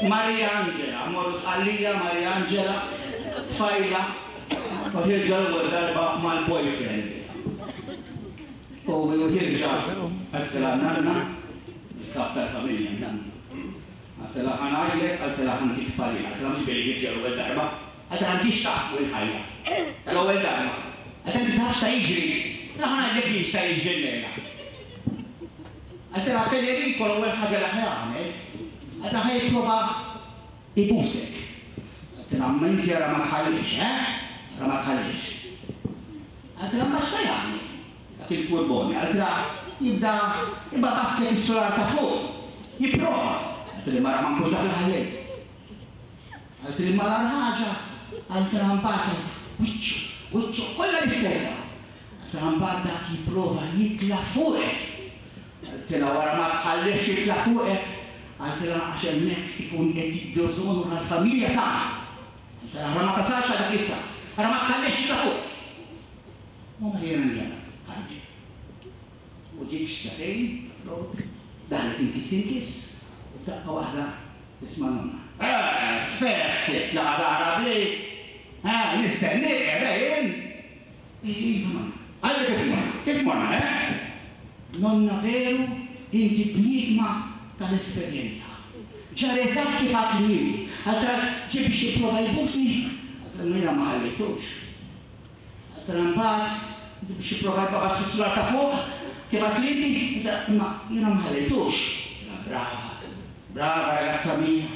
Maria Angela, morru Sqallija, Maria Angela, tfajla, u ħirġa l-ewwel darba mal-boyfriend. U ħirġa għaltilha nanna, il-kap tal-familja nanna. Għaltilha ħa ngħidlek, għaltilha ħa ntik parir, għaltilha mhux billi ħirġa l-ewwel darba, għaltilha m'intix taf fuq il-ħajja. Tal-ewwel darba. Għaltilha inti taf x'ta jiġri, għaltilha ħa ngħidlek li x'ta jiġri llejla. Għaltilha Federico l-ewwel ħaġa li ħa jagħmel, għaltilha ħa jipprova ibusek. Għaltilha ma inti ara ma tħallix, eh? Ara ma tħallix. Għaltilha ma x'ta jagħmel? Dak il-furboni, għaltilha jibda jibda basket is-solar ta' fuq, jipprova. Għaltilha mara ma nkunx naf il-ħallejt. Għaltilha ma l ħaġa, għaltilha mbagħad wiċċu, wiċċu kollha l-istess. Għaltilha mbagħad dak jipprova jitla' fuqek. Għaltilha wara ma tħallix jitla' fuqek, għaltilha għax hemmhekk ikun qed jiddiżonora l-familja tagħna. Għaltilha ma tasalx għal dak l-istat. Ara ma tħallix jitla' fuq. U ma jiena njara, ħarġet. U ġiet x'satejn, daħlet inkiss inkiss, u f'daqqa waħda nisma' nonna. Eh, fessit, laqa dara bli. Eh, nistennik qiegħda jien. Iva nonna. Għalli kif morna, kif morna, eh? Nonna veru, inti bniedma tal-esperjenza. Ġara eżatt kif għad li inti. Għaltra ġie biex jipprova jbusni, għaltra jiena ma ħallejtux. Għaltra mbagħad biex jipprova jbaqas fis-sular ta' fuq, kif għad li inti, imma jiena ma ħallejtux. Brava, brava ragazza mia.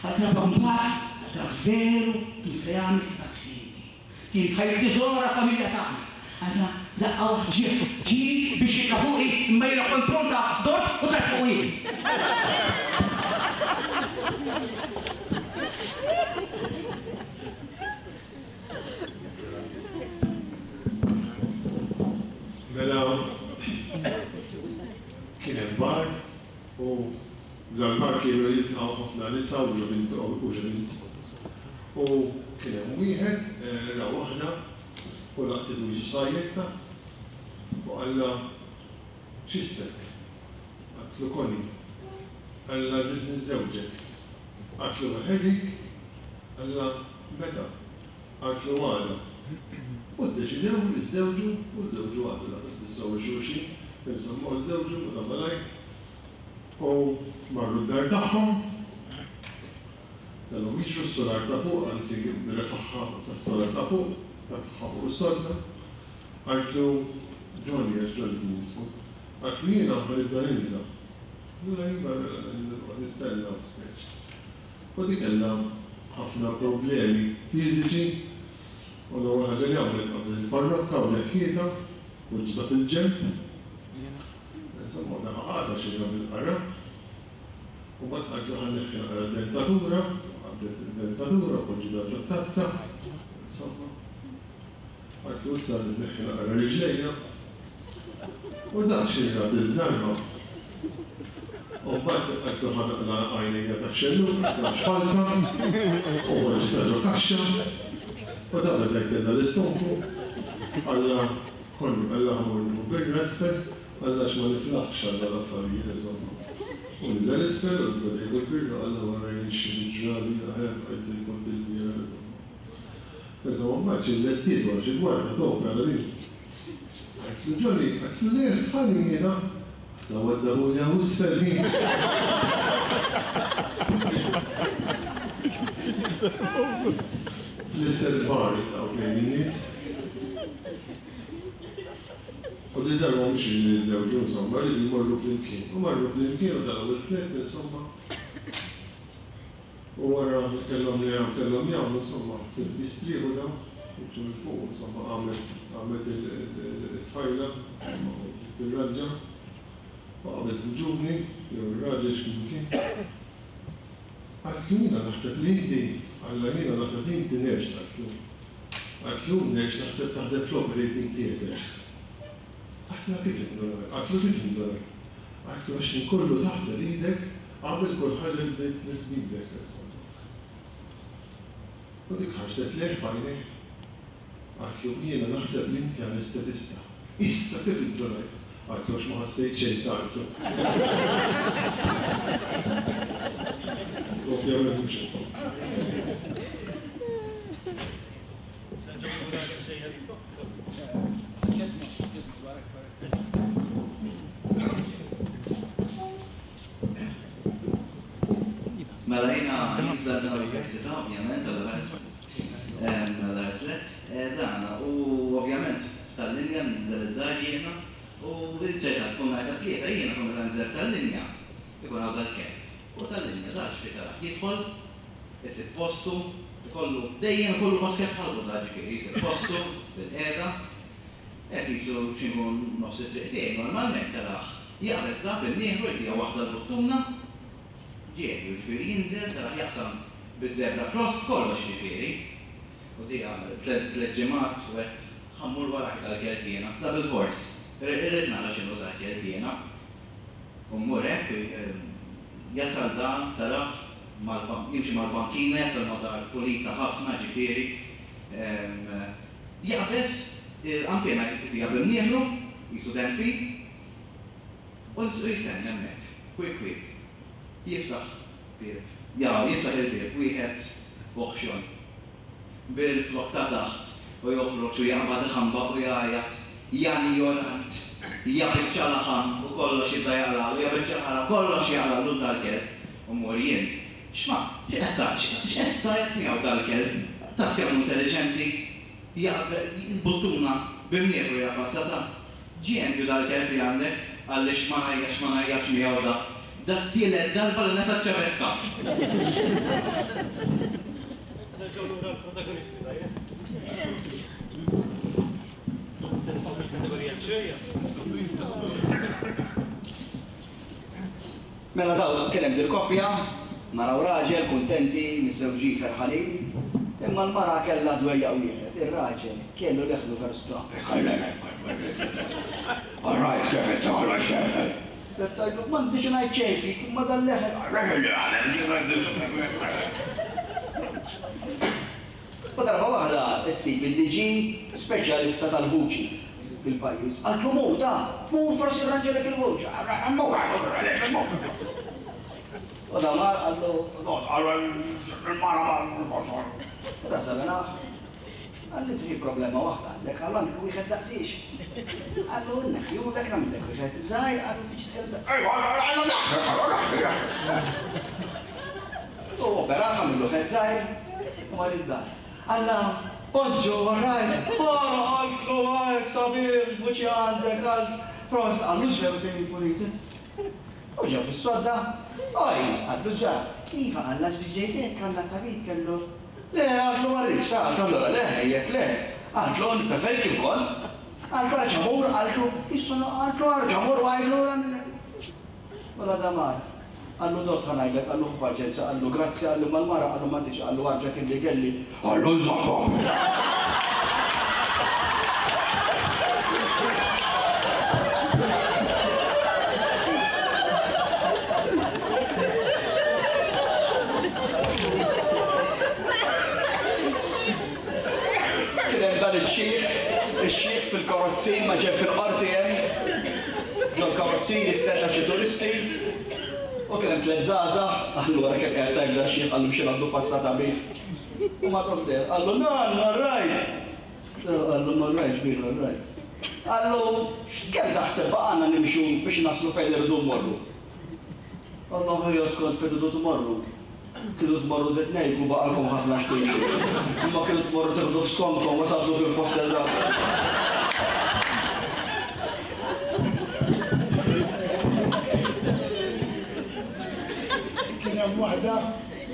Għaltra mbagħad, għaltra veru kien se jagħmel kif għad li inti. Kien bħal diżonora familja tagħna. Għaltra daqqa waħda ġie, ġie biex jitla' fuqi, imma jiena kont pronta dort u tlajt fuq jien. Mela kien hemm bar u dal-bar kienu jiltqgħu ħafna nisa u ġuvint. U kien hemm wieħed ra waħda u laqtet wiġi sajjetta u qallha x'ismek? Qatlu Connie. Qallha rrid niżżewġek. Qatlu weħedik? Qallha meta? Qatlu għada. U ddeċidew li żżewġu u żżewġu għada laqas bissew xulxin, insomma żżewġu u malajr. U marru d-dar tagħhom. Dalhom jiġru s-solar ta' fuq, anzi refaħħa sas-solar ta' fuq, taħħa fuq is-sodda. Qaltlu Johnny, għax Johnny kien jismu, qaltlu jiena ħa nibda ninża'. Allura iva mela nistenna u speċi. U dik kellha ħafna problemi fiżiċi u l-ewwel ħaġa li għamlet qabdet il-parrokka u leħħietha u ġita fil-ġenb. Insomma, daħ għadha xi bil-qara. U mbagħad qaltlu ħa neħħi naqra d-dentatura, qabdet id-dentatura u poġġietha ġo tazza. Insomma, qaltlu issa neħħi naqra riġlejja. U dak xi rat iż-żarma. U mbagħad qaltlu ħa naqla għajnejja tax-xellug, qaltlu għax falza, u poġġietha ġo kaxxa. U da beda jtella l-istonku, qalla Connie, qalla ħa mmur nieħu birra isfel, qalla għax ma niflaħx għal l-affarijiet insomma. U niżel isfel u beda jieħu l-birra, qalla wara jien xi ġrali aħjar bqajt fejn kont il-bieraħ insomma. Insomma mbagħad xi lestiet wara xi kwarta t'opera din. Qaltlu Johnny, qaltlu lest ħalli jiena. Qaltla waddabuni hawn isfel ħin. Fl-istess bar jiltaqgħu tnejn min-nies. U di darba mhux iridu jiżżewġu insomma, rridu jmorru flimkien. U marru flimkien u telgħu il-flett insomma. U wara li kellhom li kellhom jagħmlu insomma, kienu jistrieħu dawn, wiċċu minn fuq insomma għamlet għamlet it-tfajla insomma u bdiet tirranġa. U qabeż il-ġuvni jew ir-raġel x'kien kien. Qaltlu jiena naħseb li inti, qallha jiena naħseb li inti nurse qaltlu. Qaltlu nurse naħseb taħdem fl-operating theatres. Qaltla kif indunajt? Qaltlu kif indunajt? Qaltlu għax ħin kollu taħsel idek qabel kull ħaġa li bdejt tmiss b'idek insomma. U dik ħarset lejh f'għajnejh. Qaltlu jiena naħseb li inti anestetista. Issa kif indunajt? Qaltlu għax ma ħassejt xejn ta' qaltlu. Ovvjament mhux hekk. Mela jiena nisbda tal-università ovvjament għal le, dan u ovvjament tal-linja ninżel id-dar jiena u ċerta tkun nhar ta' tlieta jiena kont meta ninżel tal-linja ikun hawn dal-kelb. U tal-linja dar xi tara jidħol, isib postu, ikollu dejjem ikollu basket ħalqu da ġifieri, jsib postu bil-qiegħda. Hekk qisu xi nkun nofs it-triq tiegħi normalment tarah jaqbeż da b'imnieħru jtiha waħda l-buttuna, ġieli, jiġifieri jinżel tarah jaqsam biż-zebra cross kollox jiġifieri. U dija tliet ġimgħat u għedt ħa mmur warajh dal-kelb jiena, da bilfors. Irrid nara x'inhu dal-kelb jiena. U mmur hekk jasal da tarah jimxi mal-bankina, jasal ma' dar pulita ħafna ġifieri. Jaqbeż il-qanpiena jtija b'imnieħru, jisu denfi, u jistenna hemmhekk, kwiet kwiet. Jiftaħ bieb, jaw, jiftaħ il-bieb, wieħed oħxon. Bil-flok ta' taħt u joħroġ u jaqbad iħambaq u jgħajjat, ja njorant, ja biċċa laħam u kollox jibda jaqlalu, ja biċċa ħara kollox jaqlalu dal-kelb. U mmur jien, x'ma, x'qed tgħid, x'qed tgħid miegħu dal-kelb? Taf kemm intelliġenti, il-buttuna b'imnieħru jafassa ta' ġenju dal-kelb li għandek, għaliex ma ngħajjatx ma ngħajjatx miegħu da. Da t-tielet darba li nesa ċ-ċavetta. Nerġgħu lura l-protagonisti tajjeb. Se nibqgħu fil-kategorija ċejja. Mela daw kien hemm dil-koppja, mara u raġel kuntenti, miżżewġin ferħanin, imma l-mara kellha dwejjaq wieħed, ir-raġel kellu leħnu veru strappi. All right, kif inti kollox xejn. Tgħidlu m'għandix ngħid xejn fik, imma dal-leħen. U darba waħda issib illi ġie speċjalista tal-vuċi fil-pajjiż. Qaltlu mur ta, mur forsi rranġalek il-vuċi. U da mar qallu, il-mara ma. U da żabenaħ. Qalli inti problema waħda għandek, qallu għandek wieħed daqsiex. Qallu nneħħjulek nagħmlek wieħed żgħir, qallu tiġi tkellem. Ejwa, qallu neħħi, qallu neħħi. U operaħ għamillu wieħed żgħir u mar id-dar. Alla, bonġu, all right, ora qaltlu hekk sabiħ, vuċi għandek, għal prost, qallu x'veru kien puliti. U ġew fis-sodda, oj, qallu ġa, iva qalla x'biżejt hekk, qalla tabib kellu. Le, qaltlu ma rridx, qaltlu allura le, ejjek le. Qaltlu nippreferi kif kont. Qaltlu arġa' mur, qaltlu, issa qaltlu arġa' mur u għidlu. Mela damar. Qallu dott ħa ngħidlek, qallu ħu paċenza, qallu grazzi, qallu mal-mara, qallu m'għandix, qallu arġa' kien li kelli. Qallu nżommhom. Kien hemm dan ix-xiħ, ix-xiħ fil-karozzin ma ġeb il-qorti hemm. Ġol-karozzin jistenna xi turisti. U kien hemm tliet żgħażagħ, qallu wara kemm qiegħed hekk dan ix-xiħ qallu xi għandu passata bih. U marru ħdejh, qallu nann, all right. Qallu ma rajtx bin, all right. Qallu x'kemm taħseb baqgħna nimxu biex naslu fejn irridu mmorru. Qallu ħija skont fejn tridu tmorru. Kienu tmorru titnejku baqalkom ħafna x'timxu. Imma kienu tmorru tieħdu f'skonkom u sabdu fil-post eżatt. Kien hemm waħda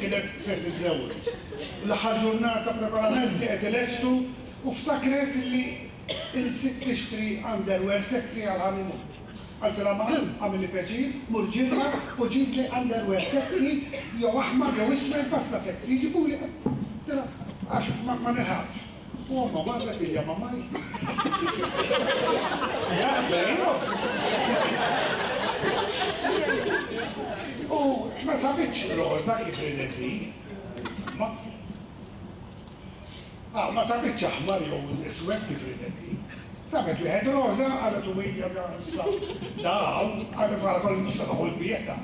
kienet se tiżżewweġ. L-aħħar ġurnata preparamenti qed ilestu u ftakret li insiet tixtri underwear sexy għal honeymoon. Qaltilha ma għamilli pjaċir, mur ġirra u ġibli underwear sexy jew aħmar jew iswed basta sexy, ġibuli. Qaltilha għax ma nilħaqx. U omma marret ilja mamaj. Jafferu. U ma sabitx roża kif ridet hi, insomma. Ah, ma sabitx aħmar jew iswed kif ridet hi. Sabet wieħed roża, qalet u hija daw, qalet wara kollu mhux se noħol bih da.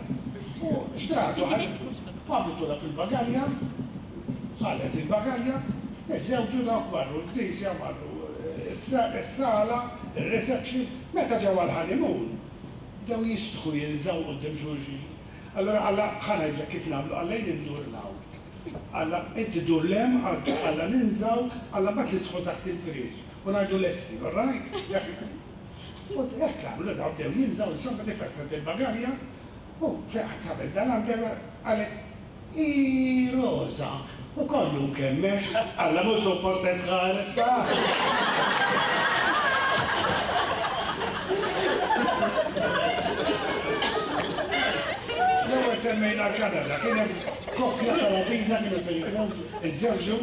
U xtratu ħallitu, għamlitulha fil-bagalja, qalet il-bagalja, iżżewġu dawk marru l-knisja, marru is-sala, ir-reception, meta ġew għall-honeymoon, bdew jistħu jinżaw quddiem xulxin. Allora qalla ħa ngħidlek kif nagħmlu, qalla jien indur 'l hawn. Qalla inti ddur 'l hemm, qalla ninżaw, qalla mbagħad nidħlu taħt il-friex u ngħidu lesti, all right? U hekk għamlu daw bdew jinżaw, insomma li fetħet il-bagalja u fejn sabet dal-underwear qalet i roża u kollu nkemmex, qalla mhux suppost qed tħares ta'. L-ewwel semmejna l-Kanada, kien hemm koppja Kanadiża kienu se jiżżewġu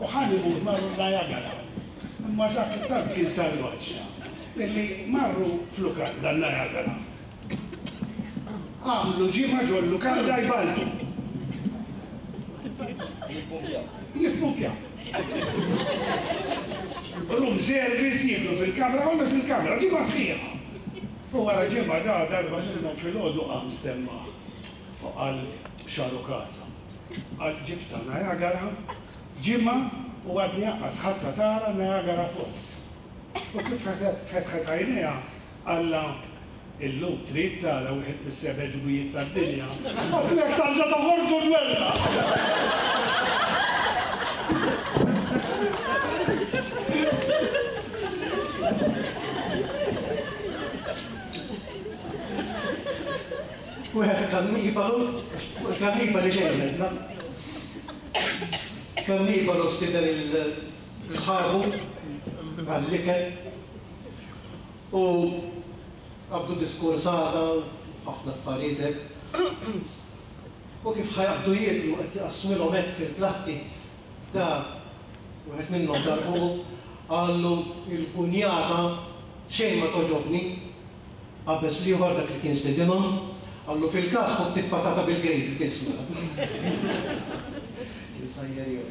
u honeymoon marru Niagara. Imma dak tant kien salvaġġ illi marru f'lukanda Niagara. Għamlu ġimgħa ġol-lukanda jbaltu. Jippumpjaw. Room service jiklu fil-kamra, kollox fil-kamra, ġimgħa sħiħa. U wara ġimgħa da darba minnhom filgħodu qam stemmaħ u qal xaru kaza. Qal ġibta Niagara, ġimgħa u għadni anqas ħadd tara Niagara Falls. U kif fetħet għajnejha qalla illum trid tara wieħed mis-seba' ġubijiet tad-dinja. U jekk tarġa' toħorġu l-werda. Wieħed kannibalu, kannibali xejn għedna. Kannibalu stieden il-sħabu għall-ikel u qabdu diskursata ħafna affarijiet hekk. U kif ħajqabdu jieklu qed jaqsmilhom hekk fil-platti da wieħed minnhom dar fuqu qallu il-kunjata xejn ma toġobni. Qabeż l-ieħor dak li kien stedinhom qallu fil-każ ħu ftit patata bil-gravy tisma'. Kien sajjer jew.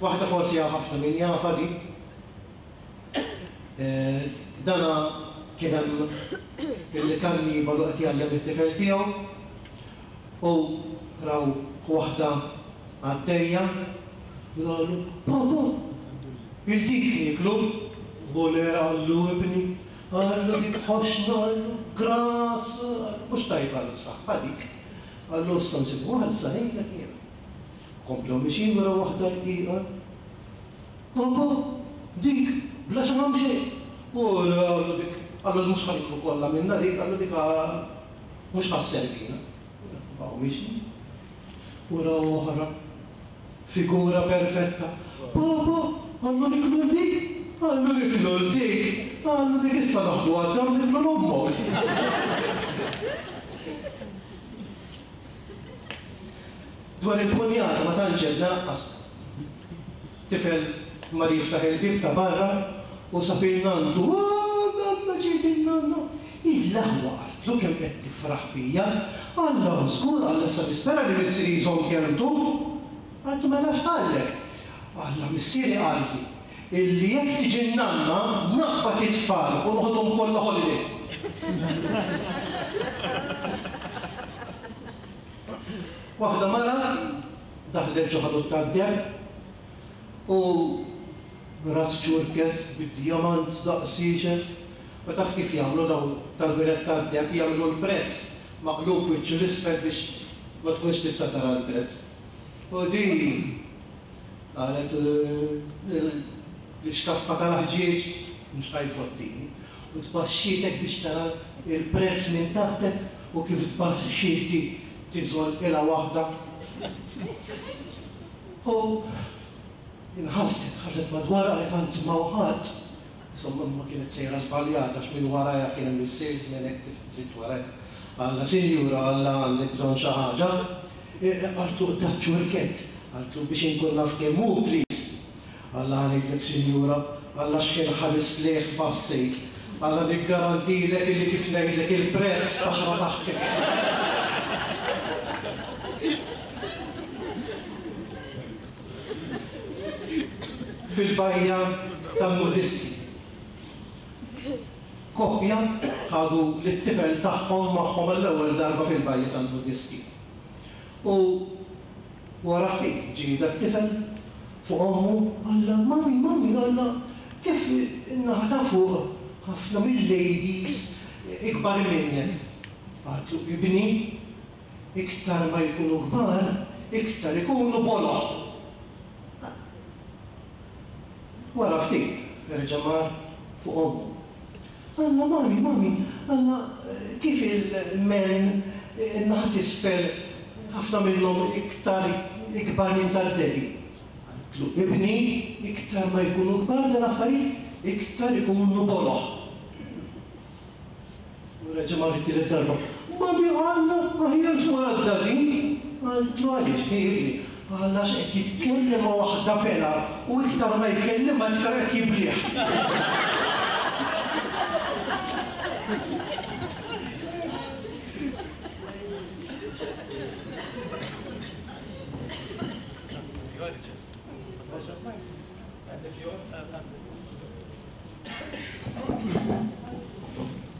Waħda forsi ħafna min jafa di. Dana kien hemm il-kannibalu qed jgħallem it-tifel tiegħu u raw waħda għaddejja u qalu "Papa, il-dik nieklu?" U le qallu ibni, qallu dik ħoxna, qallu gras, mhux tajba għas-saħħa dik. Qallu issa nsibu waħda issa ngħidlek jiena. Komplew mixjin wara waħda rqiqa. "Papa, dik bla xaħam xejn." U le qallu dik, qallu mhux ħa niklu kollha minnha dik, qallu dik mhux ħa sservina. Baqgħu mixjin. Wara oħra, figura perfetta. "Papa, qallu niklu dik, qallu niklu dik, qallu dik issa naħdu għad-dar niklu l-ommok." Dwar il-punjata ma tantx għedna lanqas. Tifel mar jiftaħ il-bieb ta' barra u sab il-nandu, "Oh, nanna ġiet il-nanna." Il-aħwa qaltlu kemm qed tifraħ bija. Alla żgur, alla issa nispera li missieri jżomm kelmtu. Qaltlu mela x'qallek? Alla missieri qalli illi jekk tiġi n-nanna naqbad it-tfal u noħodhom kollha holiday. Waħda mara daħlet ġo ħanut tad-deheb u rat ċurket bid-djamant daqs ieċel. U taf kif jagħmlu dawn tal-ħwienet tad-deheb, jagħmlu l-prezz maqlub wiċċu l-isfel biex ma tkunx tista' tara l-prezz. U di qalet l-ixkaffa tal-ħġieġ mhux ħajfottini. U tbaxxietek biex tara il-prezz minn taħtek u kif tbaxxieti tiżol ilha waħda. U inħasset, ħarġet madwar qalet anzi ma ħadd. Insomma ma kienet sejra żbaljata għax minn warajha kien hemm is-salesman hekk trid warajha. Alla sinjura, alla għandek bżonn xi ħaġa. Qaltu daċ-ċurkett, qaltu biex inkun naf kemm hu please. Alla ngħidlek sinjura, alla x'kien ħares lejh bassejt. Alla niggarantilek illi kif ngħidlek il-prezz taħra taħtek. Fil-bajja tan-nudisti. Koppja ħadu lit-tifel tagħhom magħhom għall-ewwel darba fil-bajja tan-nudisti. U wara ftit ġie dat-tifel fuq ommu qalla "Mami, mami, qalla kif in-naħa ta' fuq ħafna mill-ladies ikbar minnek." Qaltlu ibni, iktar ma jkunu kbar, iktar ikunu boloh. Wara ftit reġa' mar fuq ommu. Alla mami, mami, alla kif il-men in-naħa t'isfel ħafna minnhom iktar ikbar minn tad-daddy. Qaltlu ibni, iktar ma jkunu kbar dal-affarijiet, iktar ikunu boloh. U reġa' mar it-tielet darba. "Mami, alla, aħjar tmur għad-daddy." Qaltlu għaliex, hi ibni? Alla x'qed jitkellem ma' waħda bela u iktar ma jkellimha iktar qed jiblih.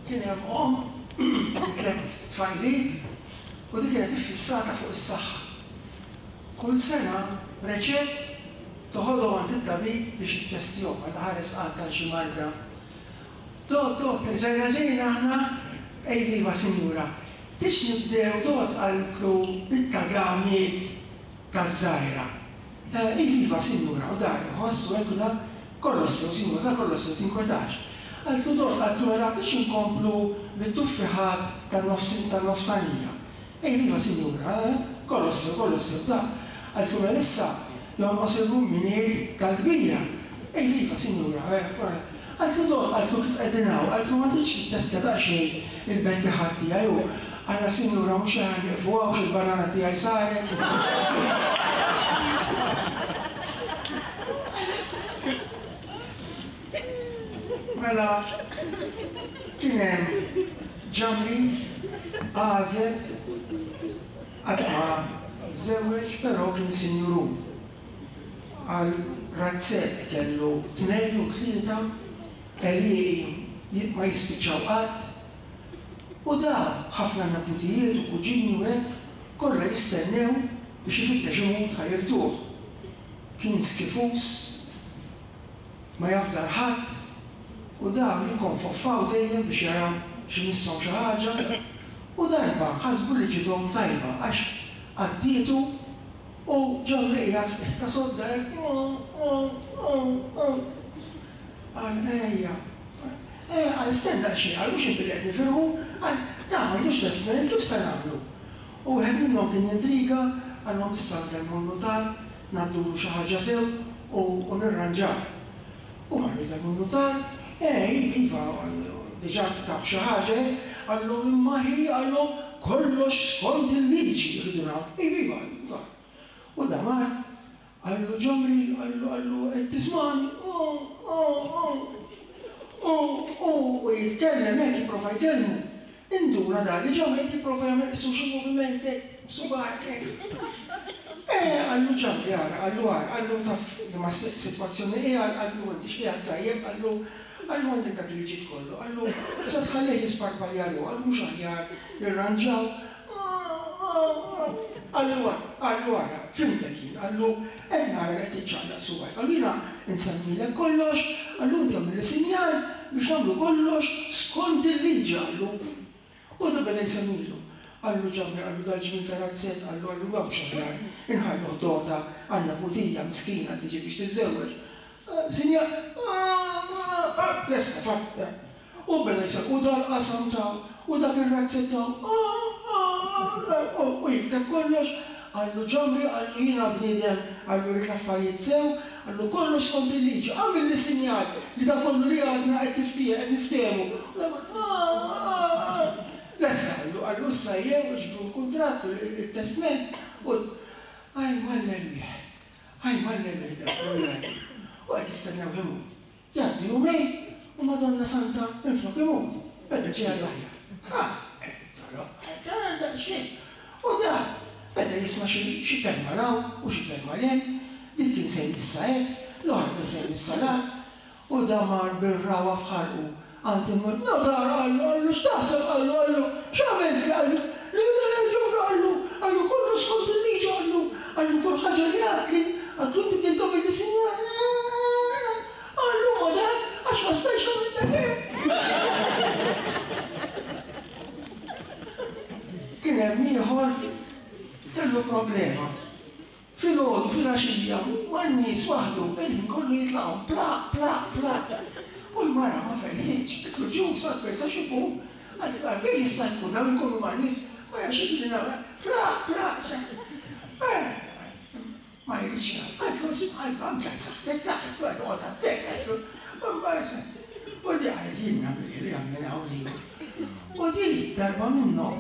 Kien hemm omm tliet tfajliet u dik kienet iffissata fuq is-saħħa. Kull sena reċett toħodhom għand it-tabib biex jittestjhom għal ħares qatt għal xi marda. Dot, dot, terġajna ġejna aħna, ej iva sinjura, tix nibdew dot qaltlu bit-tadamiet taż-żgħira. Iva sinjura, u dar iħoss u hekk u da kollox sew sinjura, da kollox sew tinkwetax. Qaltlu dot, qaltlu mela tix inkomplu bit-tuffiħat tan-nofsanija. Ej iva sinjura, kollox sew, kollox sew, da. Qaltlu mela issa jonqos il-rumminiet tal-kbira. Ej iva sinjura, qaltlu dot, qaltlu kif qegħdin hawn, qaltlu ma tridx tittestja daqsxejn il-bettiħat tiegħi u għala sinjura mhux aħjar nieqfu hawn x'il-banana tiegħi saret. Mela kien hemm ġamri għażel qatt ma żewweġ però kien sinjurun. Għal razzett kellu tnejn u tlieta għelieqi ma jispiċċaw qatt u da ħafna neputijiet u kuġini u hekk kollha jistennew biex ifittex imut ħajrtuh. Kien skifus, ma jafdal ħadd u dawn jikkonfoffaw dejjem biex jaraw x'misshom xi ħaġa u darba ħasbu li ġidhom tajba għax għaddietu u ġamri qiegħed fih ta' sodda hekk qal ejja. Qal stenna daqsxejn, qal mhux inti li qed nifirħu, qal da m'għandux testament kif se nagħmlu. U wieħed minnhom kien jintriga, qalhom issa nkellmu n-nutar, ngħaddulu xi ħaġa sew u nirranġaw. U marru jkellmu n-nutar, eh iva, diġà taf xi ħaġa, qalhom imma hi, qalhom kollox skont il-liġi rridu nagħmlu. Iva, iva, u da mar, qallu ġamri, qallu qallu qed tismani, u jitkellem hekk jipprova jkellmu. Induna dan li ġamri qed jipprova jagħmel qisu xi moviment hekk, subgħajh hekk. Eh, qallu ġamri ara, qallu ara, qallu taf li ma sitwazzjoni qiegħed, qallu inti x'qiegħed tajjeb, qallu qallu għandek dak il-ġid kollu, qallu se tħallih jisparpalja ruħu, qallu mhux aħjar nirranġaw. Qallu ara, qallu ara, fimtek jien, qallu qed nara li qed tiċċaqlaq subgħajk, qallu jiena nsemmilek kollox, qallu inti għamilli sinjal biex nagħmlu kollox skont il-liġi, qallu. U da beda jsemmilu. Qallu ġamri, qallu dal-ġmien ta' razzett, qallu qallu għaw xaħjar, inħallu ħdota għandna putija miskina tiġi biex tiżżewweġ. Sinjal, lesta fatt. U beda jsemmi, u dal-qasam ta' u dak ir-razzett ta' u jikteb kollox, qallu ġamri, qallu jiena bniedem, qallu rrid l-affarijiet sew, qallu kollox skont il-liġi, għamilli sinjal li da kollu li għadna qed tiftiehem, qed niftehmu. Lesta qallu, qallu issa jew iġbru l-kuntratt, il-testment, u għaj mal-erwieħ, għaj mal-erwieħ dak kollu jgħid. U qed jistennew imut. Jgħaddi jumejn u Madonna Santa minflok imut, beda ġej għall-aħjar. Ha, daqsxejn. U da beda jisma' xi kelma 'l hawn u xi kelma 'l hemm, dik kien se jmissha hekk, l-oħra kien se jmissha 'l hawn, u da mar bir-rawa f'ħalqu għand in-notar, qallu qallu x'taħseb, qallu qallu x'għamilt, qallu le le ġobra, qallu qallu kollox skont il-liġi, qallu qallu kull ħaġa li għadtli, qallu inti bdejt tagħmilli sinjal, qallu ma dak għax ma stajtx nagħmel hekk. Kien hemm ieħor kellu problema. Filgħodu, filgħaxija, man-nies waħdu, il-ħin kollu jitlaqhom plaq, plaq, plaq. U l-mara ma ferħitx, qitlu ġus, għad ma jistax ikun. Għad kif jista' jkun dawn ikunu man-nies, ma jafx li nagħmel plaq, plaq. Ma jridx jgħid, għad nsib qalba anke saħħtek taħt, għad attek, u di għalet jien nagħmel li għamel hawn li. U di darba minnhom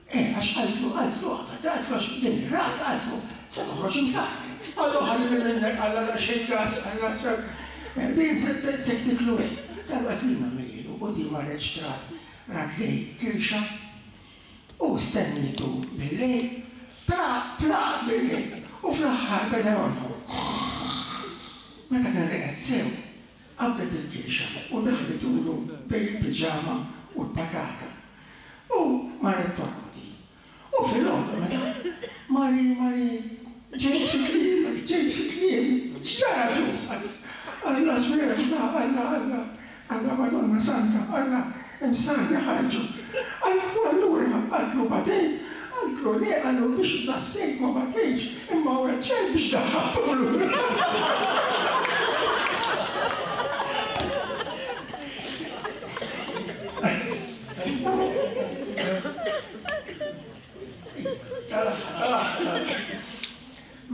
Eh, għax qaltlu, qaltlu, qaltlu, għax din ir-rat, qaltlu, se toħroġ imsaħħek. Qallu ħallini minnek, qalla daqsxejn gas, qalla din tektiklu hekk. Darba klima melilu, u di marret xtrat rat lej kirxa u stennitu bil-lejl, plaq, plaq bil-lejl, u fl-aħħar beda jonħor. Meta kien reqed sew, qabdet il-kirxa u daħlitulu bejn il-piġama u l-patata. U marret torqod. U filgħodu meta Mari, Mari, ġejt fi kliemek, ġejt fi kliemek, x'ġara Ġuż? Alla ġverna, Alla, Alla, Alla Madonna Santa, Alla imsani ħarġu. Qaltlu allura, qaltlu batejt, qaltlu le, qallu biex nassejt ma batejtx, imma weġġajt biex daħħaltulu.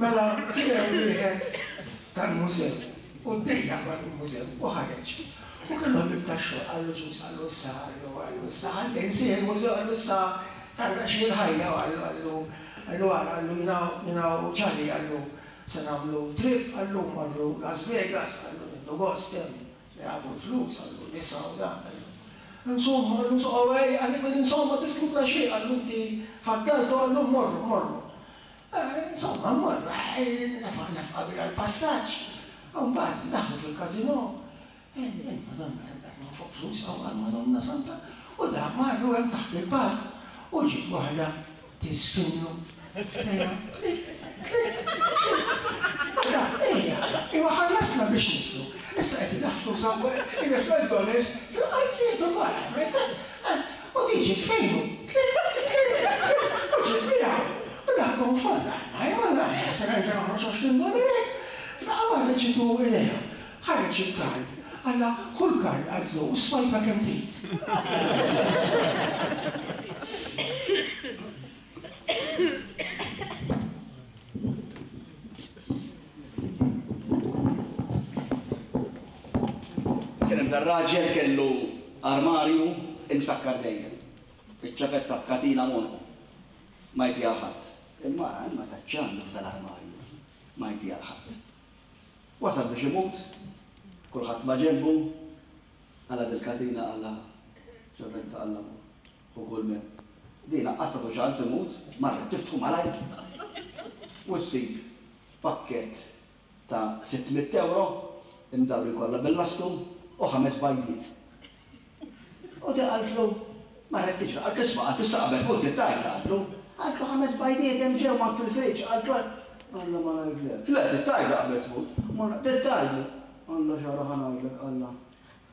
Mela kien hemm wieħed tal-mużew u ddejjaq mal-mużew u ħareġ. U kellu ħbieb tax-xogħol qallu Ġuż qallu issa qallu qallu issa ħalli nsih il-mużew qallu issa tarda xi l-ħajja u qallu qallu qallu ara qallu jiena jiena u Charlie qallu se nagħmlu trip qallu mmorru Las Vegas qallu nieħdu gost hemm nilagħbu l-flus qallu nisa u dan qallu. Insomma qallu ej qalli insomma tiskupra xejn qallu inti faddaltu qallu mmorru mmorru. Insomma mmorru nefaq nefqa kbira l-passaġġ u mbagħad daħlu fil-każinò. Il-Madonna kemm qed nonfoq flus hawn għall-Madonna Santa u da marru hemm taħt il-palk u ġiet waħda tisfinnu sejra klik klik klik. U da ejja, imma ħallasna biex nidħlu. Issa qed idaħħlu idaħħlu d-dollars fil-qalziet ukoll u din ġiet fejnu klik klik klik u ġiet miegħu. U dak konfonda, imma se nerġa' noħroġ għoxrin dollari hekk. F'daqqa waħda ġietu idea. Ħareġ il-kard. Alla, kull kard qaltlu u swajpa kemm trid. Kien hemm dar-raġel kellu armarju imsakkar dejjem. Iċ-ċavetta b'katina m'għonqu. Ma jtiha ħadd. Il-mara imma taċċandu f'dal-armarju. Ma jtiha ħadd. Wasal biex imut, kulħadd ma ġenbu, għala dil-katina għalla ċavetta għalla u kull min. Din laqqas tagħtu ċans imut, marret tiftħu malajr u ssib pakkett ta' sitt mitt euro imdawrin kollha bil-lastu u ħames bajdiet. U di qaltlu, marret tiġri, qaltlu isma' qaltlu issa qabel tmut tittajta qaltlu, qaltlu ħames bajdiet hemm ġew mat fil-friġġ, qaltlu Alla ma ngħidlek. Le tittajta qabel tmut, ma tittajta. Alla xara ħa ngħidlek Alla.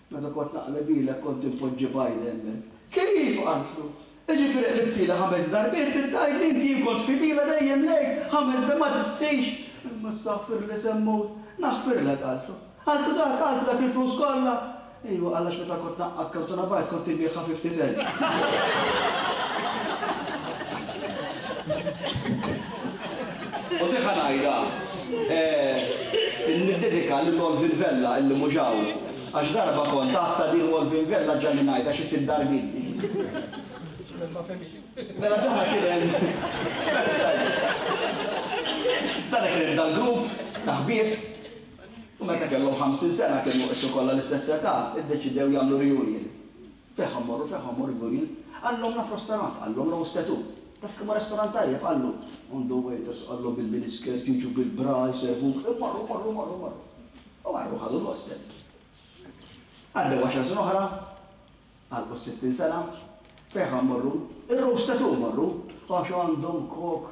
Meta kont naqleb ilek kont inpoġġi bajda hemmhekk. Kif qaltlu? Jiġifieri qlibtili ħames darbiet tittajt li inti jien kont fidila dejjem lejk, ħames darbiet ma tistħix. Imma issa aħfirli se mmut. Naħfirlek qaltlu. Qaltlu dak qaltlu dak il-flus kollha. Ejwa għax meta kont naqqad kartuna bajd kont inbiegħha fifty cents. U di ħa ngħidha, niddedika lil Olvin Vella illi mhux hawn. Għax darba kont għadta din Olvin Vella ġalli ngħidha xi sitt darbiet din. Mela dana kien hemm dana kien hemm dal-grupp ta' ħbieb u meta kellhom ħamsin sena kienu qisu kollha l-istess età, iddeċidew jagħmlu reunion. Fejn ħa mmorru, fejn ħa mmorru reunion? Qallhom naf restaurant, qallhom Roast Tattoo. Taf kemm hu restaurant tajjeb, qallu. Għandu waiters, qallu bil-miniskirt, jiġu bil-bra, jservuk, immorru, morru, morru, morru. U marru ħadu l-hostel. Għaddew għaxar snin oħra, għalqu s-sittin sena, fejn ħa mmorru? Ir-Roast Tattoo morru, għax għandhom kok,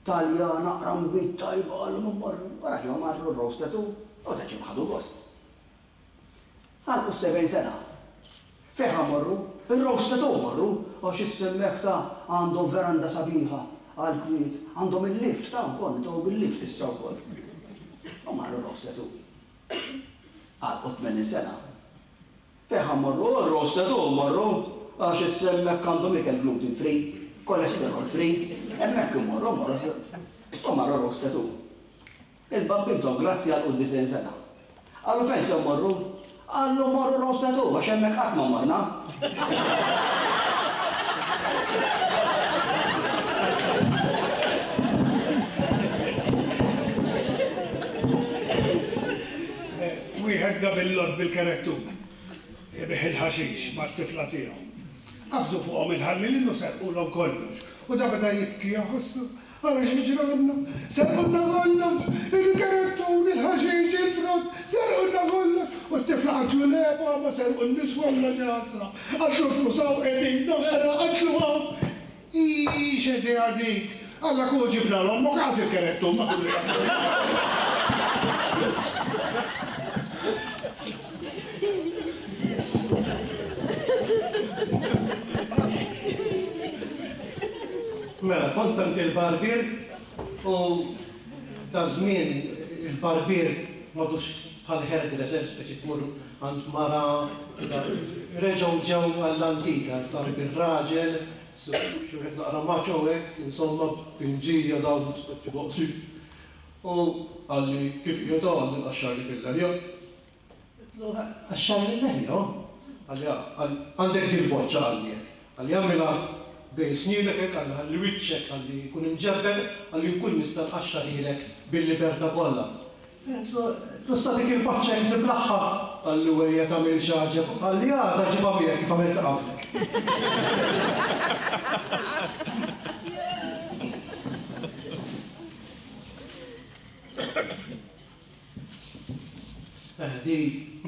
talja, naqra nbid tajba, qallu mmorru. U raġgħu marru r-Roast Tattoo, u ta' ġim ħadu gost. Għalqu s-sebgħin sena. Fejn ħa mmorru? Ir-Roast Tattoo morru, għax issemmek ta' għandhom veranda sabiħa għall-kwiet, għandhom il-lift ta' wkoll, nitgħu bil-lift issa wkoll. U marru r-Roast Tattoo. Għalqu tmenin sena. Fejn ħa mmorru? Ir-Roast Tattoo morru, għax issemmek għandhom ikel gluten free, cholesterol free, hemmhekk immorru, morru. U marru r-Roast Tattoo. Il-bambintom grazzi għalqu disgħin sena. Qallu fejn se mmorru? Qallu morru Roast Tattoo, għax hemmhekk qatt ma morna. Wieħed gabillot bil-kerettur, ibih il-ħaxix mat-tifla tiegħu. Qabżu fuqhom il-ħallelin u serqulhom kollox. U da beda jibki jaħossu, Ara x'ġranna, serqulna kollox, il-kerettun, il-ħaxix, il-frott, serqulna kollox. U t-tifla qaltlu le pa ma serqulniex kollox ja ħasra. Qaltlu l-flus hawn qegħdin, naqra, qaltlu hawn. Ii x'idea dik! Alla kieku ġibna l-ommok qas il-kerettun ma kienu jagħmlu. Mela, kont għand il-barbier u ta' żmien il-barbier m'għadux bħal hairdresser, speċi tmur għand mara, reġgħu ġew għall-antika, il-barbier raġel, xi wieħed naqra macho hekk, insomma b'pinġija dawn speċi boqsi. U qalli kif qiegħed hawn qalli nqaxxarlek il-leħja. Għedtlu qaxxarli l-leħja? Qalli għandek dil-boċċa qalli hekk. Qalli agħmilha bejn snienek hekk qalli ħalli wiċċek qalli jkun imġebbel qalli nkun nista' nqaxxarhielek bil-libertà kollha. Għedtlu sa dik il-boċċa hekk niblaħħa. Qalli wejja tagħmilx għaġeb. Qalli għada ġibha miegħek kif għamiltha qablek. Eh, di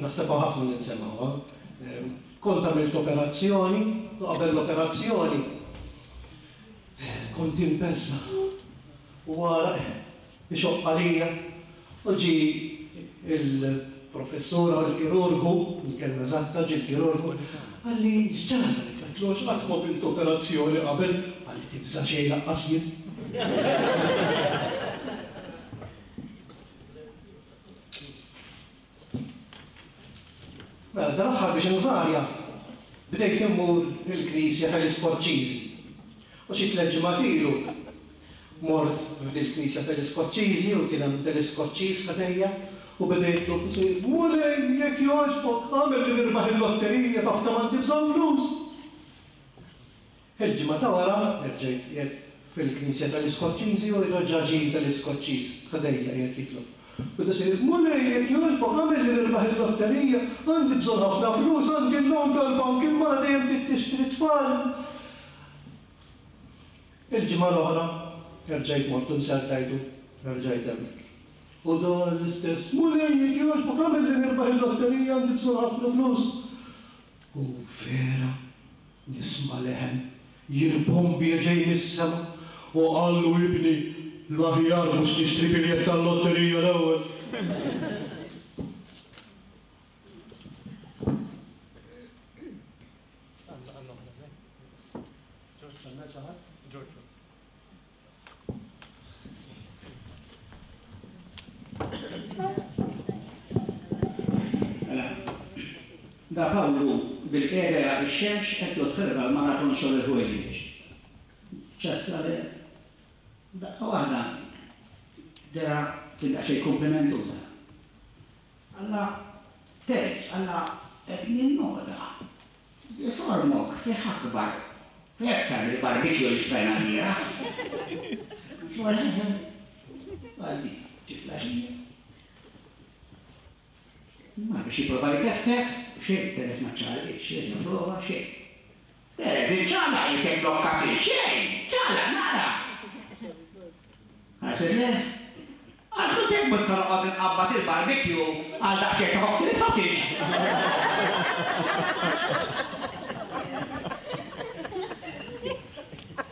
naħsebha ħafna li nsemgħuha. Kont għamilt operazzjoni, u qabel l-operazzjoni kont imbeżża' u għaraq ixoqq għalija u ġie il-professur u l-kirurgu, il-kelma eżatta, ġie l-kirurgu, qalli x'ġaralek? Għedtlu għax qatt ma għamilt operazzjoni qabel, qalli tibża' xejn lanqas jien. Mela, dal-aħħar biex invarja, bdejt immur il-knisja tal-Iskoċċiżi. U xi tliet ġimgħat ilu mort f'dil-knisja tal-Iskoċċiżi u kien hemm tal-Iskoċċiż ħdejja u bdejt Mulej, jekk jogħġbok, agħmel li nirbaħ il-lotterija taf kemm għandi bżonn flus. Il-ġimgħa ta' wara erġajt qiegħed fil-knisja tal-Iskoċċiżi u reġa' ġie tal-Iskoċċiż ħdejja qiegħed jitlob. U tisir, Mulej, jekk jogħġbok, agħmel li nirbaħ il-lotterija, għandi bżonn ħafna flus, għandi l-loan tal-bank, il-mara dejjem trid tixtri tfal. Il-ġimgħa l-oħra, erġajt mort u nsertajtu, erġajt hemmhekk. U dan l-istess, Mulej, jekk jogħġbok, agħmel li nirbaħ il-lotterija, għandi bżonn ħafna flus. U vera, nisma' leħen jirbombja ġej mis-sema u qallu ibni, l-aħjar mhux tixtri biljett tal-lotterija l-ewwel. Mela, da Pawlu bil-qiegħda jara x-xemx qed josserva l-maraton xogħol il-ħwejjeġ. Ċassa le daqqa waħda dera kien daqsxejn komplimentuża. Alla terz, alla qed ninnoda li sormok fih akbar, fih aktar mill-barbecue li xtrajna l-bieraħ. Għaldi, tiflaxija. Ma biex jipprova jteftef, xejn Teres ma ċaqalqitx, xejn jipprova xejn. Teres iċċaqlaq jisek blokka sil xejn, ċaqlaq nara. Ħarset le? Għallu tek mhux se noqgħod inqabbad il-barbecue għal daqsxejn ta' cocktail sausage.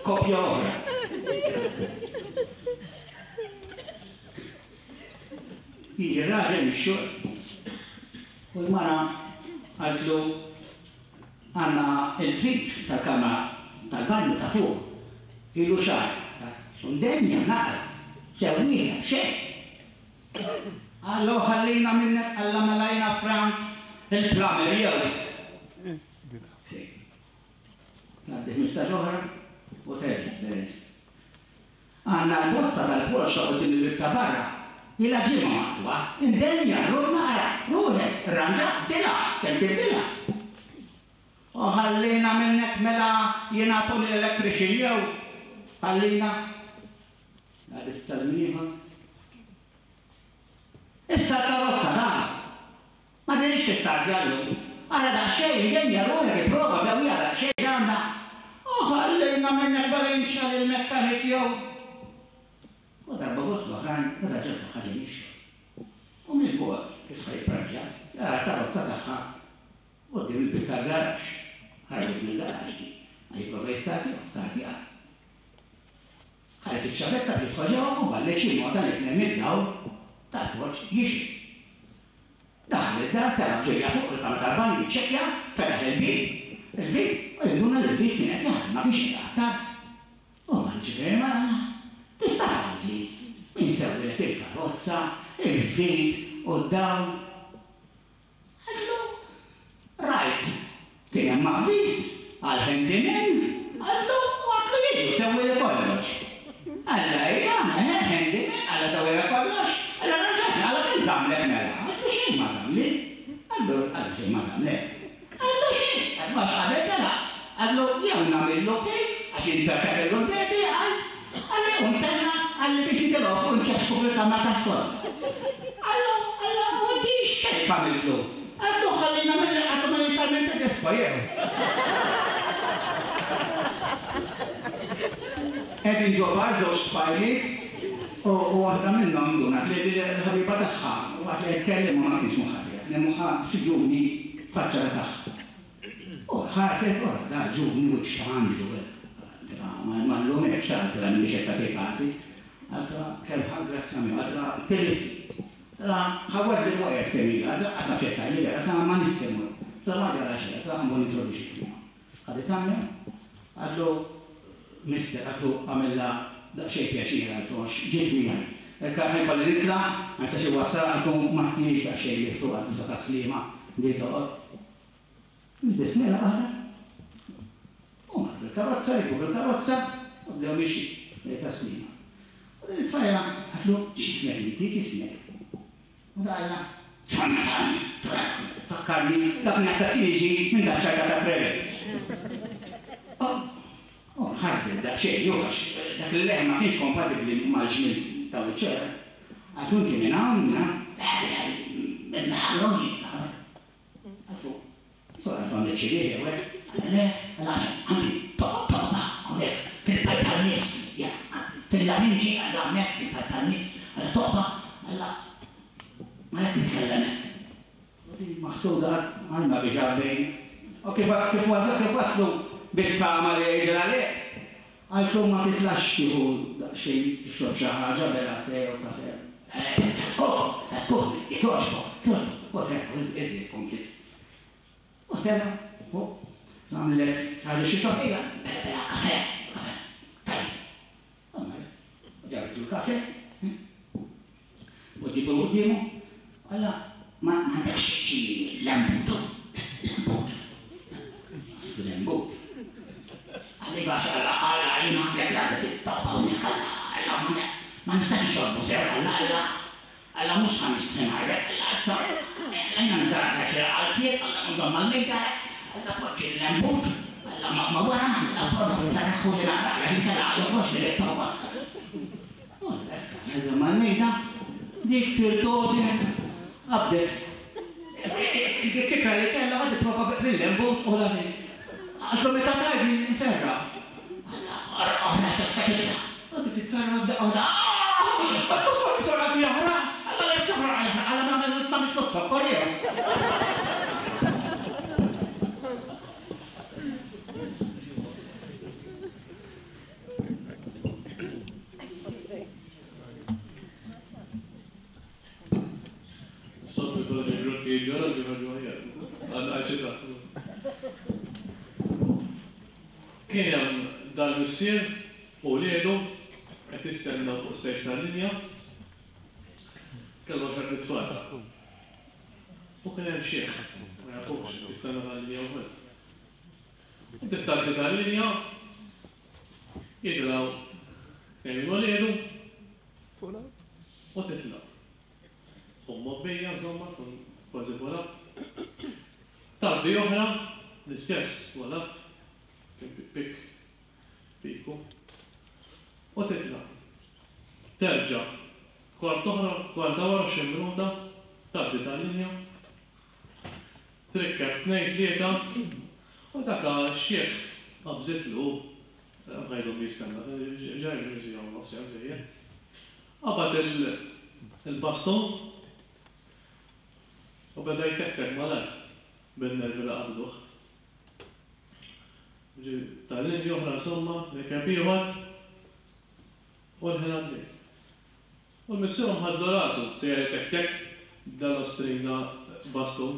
Kopja oħra. Jiġi raġel mix-xogħol u l-mara qaltlu għandna il-vit tal-kamra tal-banju ta' fuq ilu xahar. Undenja naqra. Sewwieha b'xejn. Allo ħallina minnek alla melajna Franz il-plumber jew. Tgħaddi ħmistax oħra u terġa' Teres. Għandna l-bozza tal-Porsche quddiem il-bieb ta' barra. Ilha ġimgħa maqtugħa, indenja, ruħ naqra, ruħek, irranġa, bdilha, kemm tibdilha. U ħallina minnek mela jiena Tony l-electrician jew. Ħallina. Għadit ta' żmien ieħor. Issa l-karozza dan. Ma dinix tistartja llum. Ara daqsxejn indenja ruħek ipprova sewwieha daqsxejn għandha. U ħallina minnek mela jinċal il-mekkanik jew. U darba fost l-oħrajn, ir-raġel tagħha ġej mix-xogħol. U mill-bogħod kif ħa jipparkja, jara l-karozza tagħha quddiem il-bieb tal-garaxx. Ħarġet mill-garaxx di. Ma jipprova jistartja, startja. Ħaret iċ-ċavetta biex jidħol ġewwa u ballet xi nota li kien hemm id-dawl tal-poċ jixgħel. Daħal id-dar, tela' b'ġirja fuq il-kamra tal-banju jiċċekkja, fetaħ il-bieb, il-vit, u jinduna li l-vit kien qed jaħdem ma kienx iqattar. U mar ġifieri mara qallha, Tista' tgħidli min sewwilek il-karozza, il-vit u d-dawl? Qallu, Rajt, kien hemm avviż għal handyman, qallu, u għadlu jiġi u sewwili kollox. Qallha, Iva, eħe, handyman, qallha sewwilek kollox, qallha rranġatni, qallha kemm żammlek mela? Qallu, xejn ma żammli. Qallu, qallu xejn ma żammlek. Qallu xejn, qallu għax qabel telaq, qallu jew nagħmillu cake għax inzerta kellu l-birthday, qal, qallu jew inkella qalli biex nitilgħu fuq inċaċċku fil-kamra tas-sodda. Qallu, qallu u inti x'cake għamiltlu? Qallu ħalli nagħmillek qallu ma lil Carmen Tedesco jew. Qegħdin ġo bar żewġ tfajliet u waħda minnhom ndunat li l-ħabiba tagħha waqt li qed tkellimha ma kienx moħħha fiha, kien moħħha f'xi ġuvni faċċata tagħha. U ħarset u rat dal-ġuvni wiċċ ta' anġlu hekk. Qaltilha ma nlumekx, qaltilha m'iniex qed tagħtik kasi. Qaltilha kemm ħa grazzja miegħu, qaltilha tilifni. Qaltilha ħawwadli l-wires kemm ili, qaltilha qas naf x'qed tgħidli, qaltilha ma niftehmu. Qaltilha ma ġara xejn, qaltilha ħa mmur nintroduċik miegħu. Ħaditha miegħu, qaltlu Mister, qaltlu għamilha daqsxejn pjaċir, qaltlu għax ġiet miegħi. Ħa jkolli nitlaq, ma nistax inwassalha, qaltlu ma tniex daqsxejn lift u qaltlu sa Tas-Sliema di toqgħod. Nbissmilha aħna. U mar fil-karozza, rikbu fil-karozza u bdew mixjin lejn Tas-Sliema. U din it-tfajla qaltlu x'ismek inti, x'ismek? U da qalha Jonathan, Jonathan. Fakkarni dak naħseb kien jiġi minn daċ-ċajta ta' Trevor. U nħasdet daqsxejn hu għax dak il-leħen ma kienx kompatibbli mal-ġmiel ta' wiċċha. Qaltlu inti minn hawn, minn hawn? Le, le, minn Ħamrun jien, minn Ħamrun. Qaltlu, sora qaltlu għandek xi riħ jew hekk? Qallha le, qallha għax għandi toqba hawnhekk fil-pajp tan-nifs, fil-larinġi qallha hawnhekk fil-pajp tan-nifs, qallha toqba, qallha għalhekk nitkellem hekk. U din maħsuda għal ma biex għabbejna. U kif kif waslu bit-tama li jgħidilha le, qaltlu ma titlax tieħu daqsxejn tixrob xi ħaġa bela te jew kafè. Taskuh, taskuh, jekk jogħġbok, jogħġbok. U telgħu iżjed kompliet. U tela' fuq, nagħmlilek xi ħaġa xi xrob, ejja, bela bela kafè, kafè. Tajjeb. U marret, u ġabitlu l-kafè, poġġitu quddiemu, qallha ma għandekx xi lembutu, lembut. Lembut. Qalli għax Alla Alla jiena għandek l-għadda tittoqba hawnhekk Alla Alla ma nistax nixorbu sew Alla Alla Alla mhux ħa nixtri ngħidlek Alla issa Alla jiena niżarha xi qalziet Alla nżomm mal-mejda Alla poġġi l-lembut Alla ma wara Alla prova nsarraħhu li naqra għax inkella joħroġli lit-toqba. U hekk nżomm mal-mejda dik tirtogħdek qabdet il-kikra li kellha ħa tipprova fil-lembut u dak Qaltlu meta tgħidli nferra'. Alla oħra tista' tibda. U dik titferra' f'daqqa waħda. Qaltlu sorry sorry għadu jaħraq. Alla le x'jaħraq jaħraq alla ma għamiltlu zokkor jew. Is-soltu jkollok il-grokkijiet ġo rasi joħorġu aħjar. Għal xi Kien hemm dal-missier u wliedu qed jistennew fuq stage tal-linja. Kellu għaxart itfal. U kien hemm xiħ, ma jafux, qed jistenna tal-linja wkoll. U bdiet tgħaddi tal-linja, jitilgħu tnejn minn uliedu u titla'. Tkun mgħobbija, insomma, tkun kważi full up. Tgħaddi oħra, l-istess full up. Pik, piku. U titla'. Terġa'. Kwart oħra, kwarta wara xi minuta, tgħaddi tal-linja. Trikkeb tnejn tlieta u dak x-xiħ qabżitlu, bqa' jdum jistenna, ġa jmur siegħa u nofs jew żejjed. Qabad il-baston u beda jtektek mal-art bin-nervi li qabduh. Tal-linja oħra insomma, rekeb ieħor u l-ħin għaddej. U l-missierhom ħadlu rasu, sejjer itektek dal-ostrina bastun.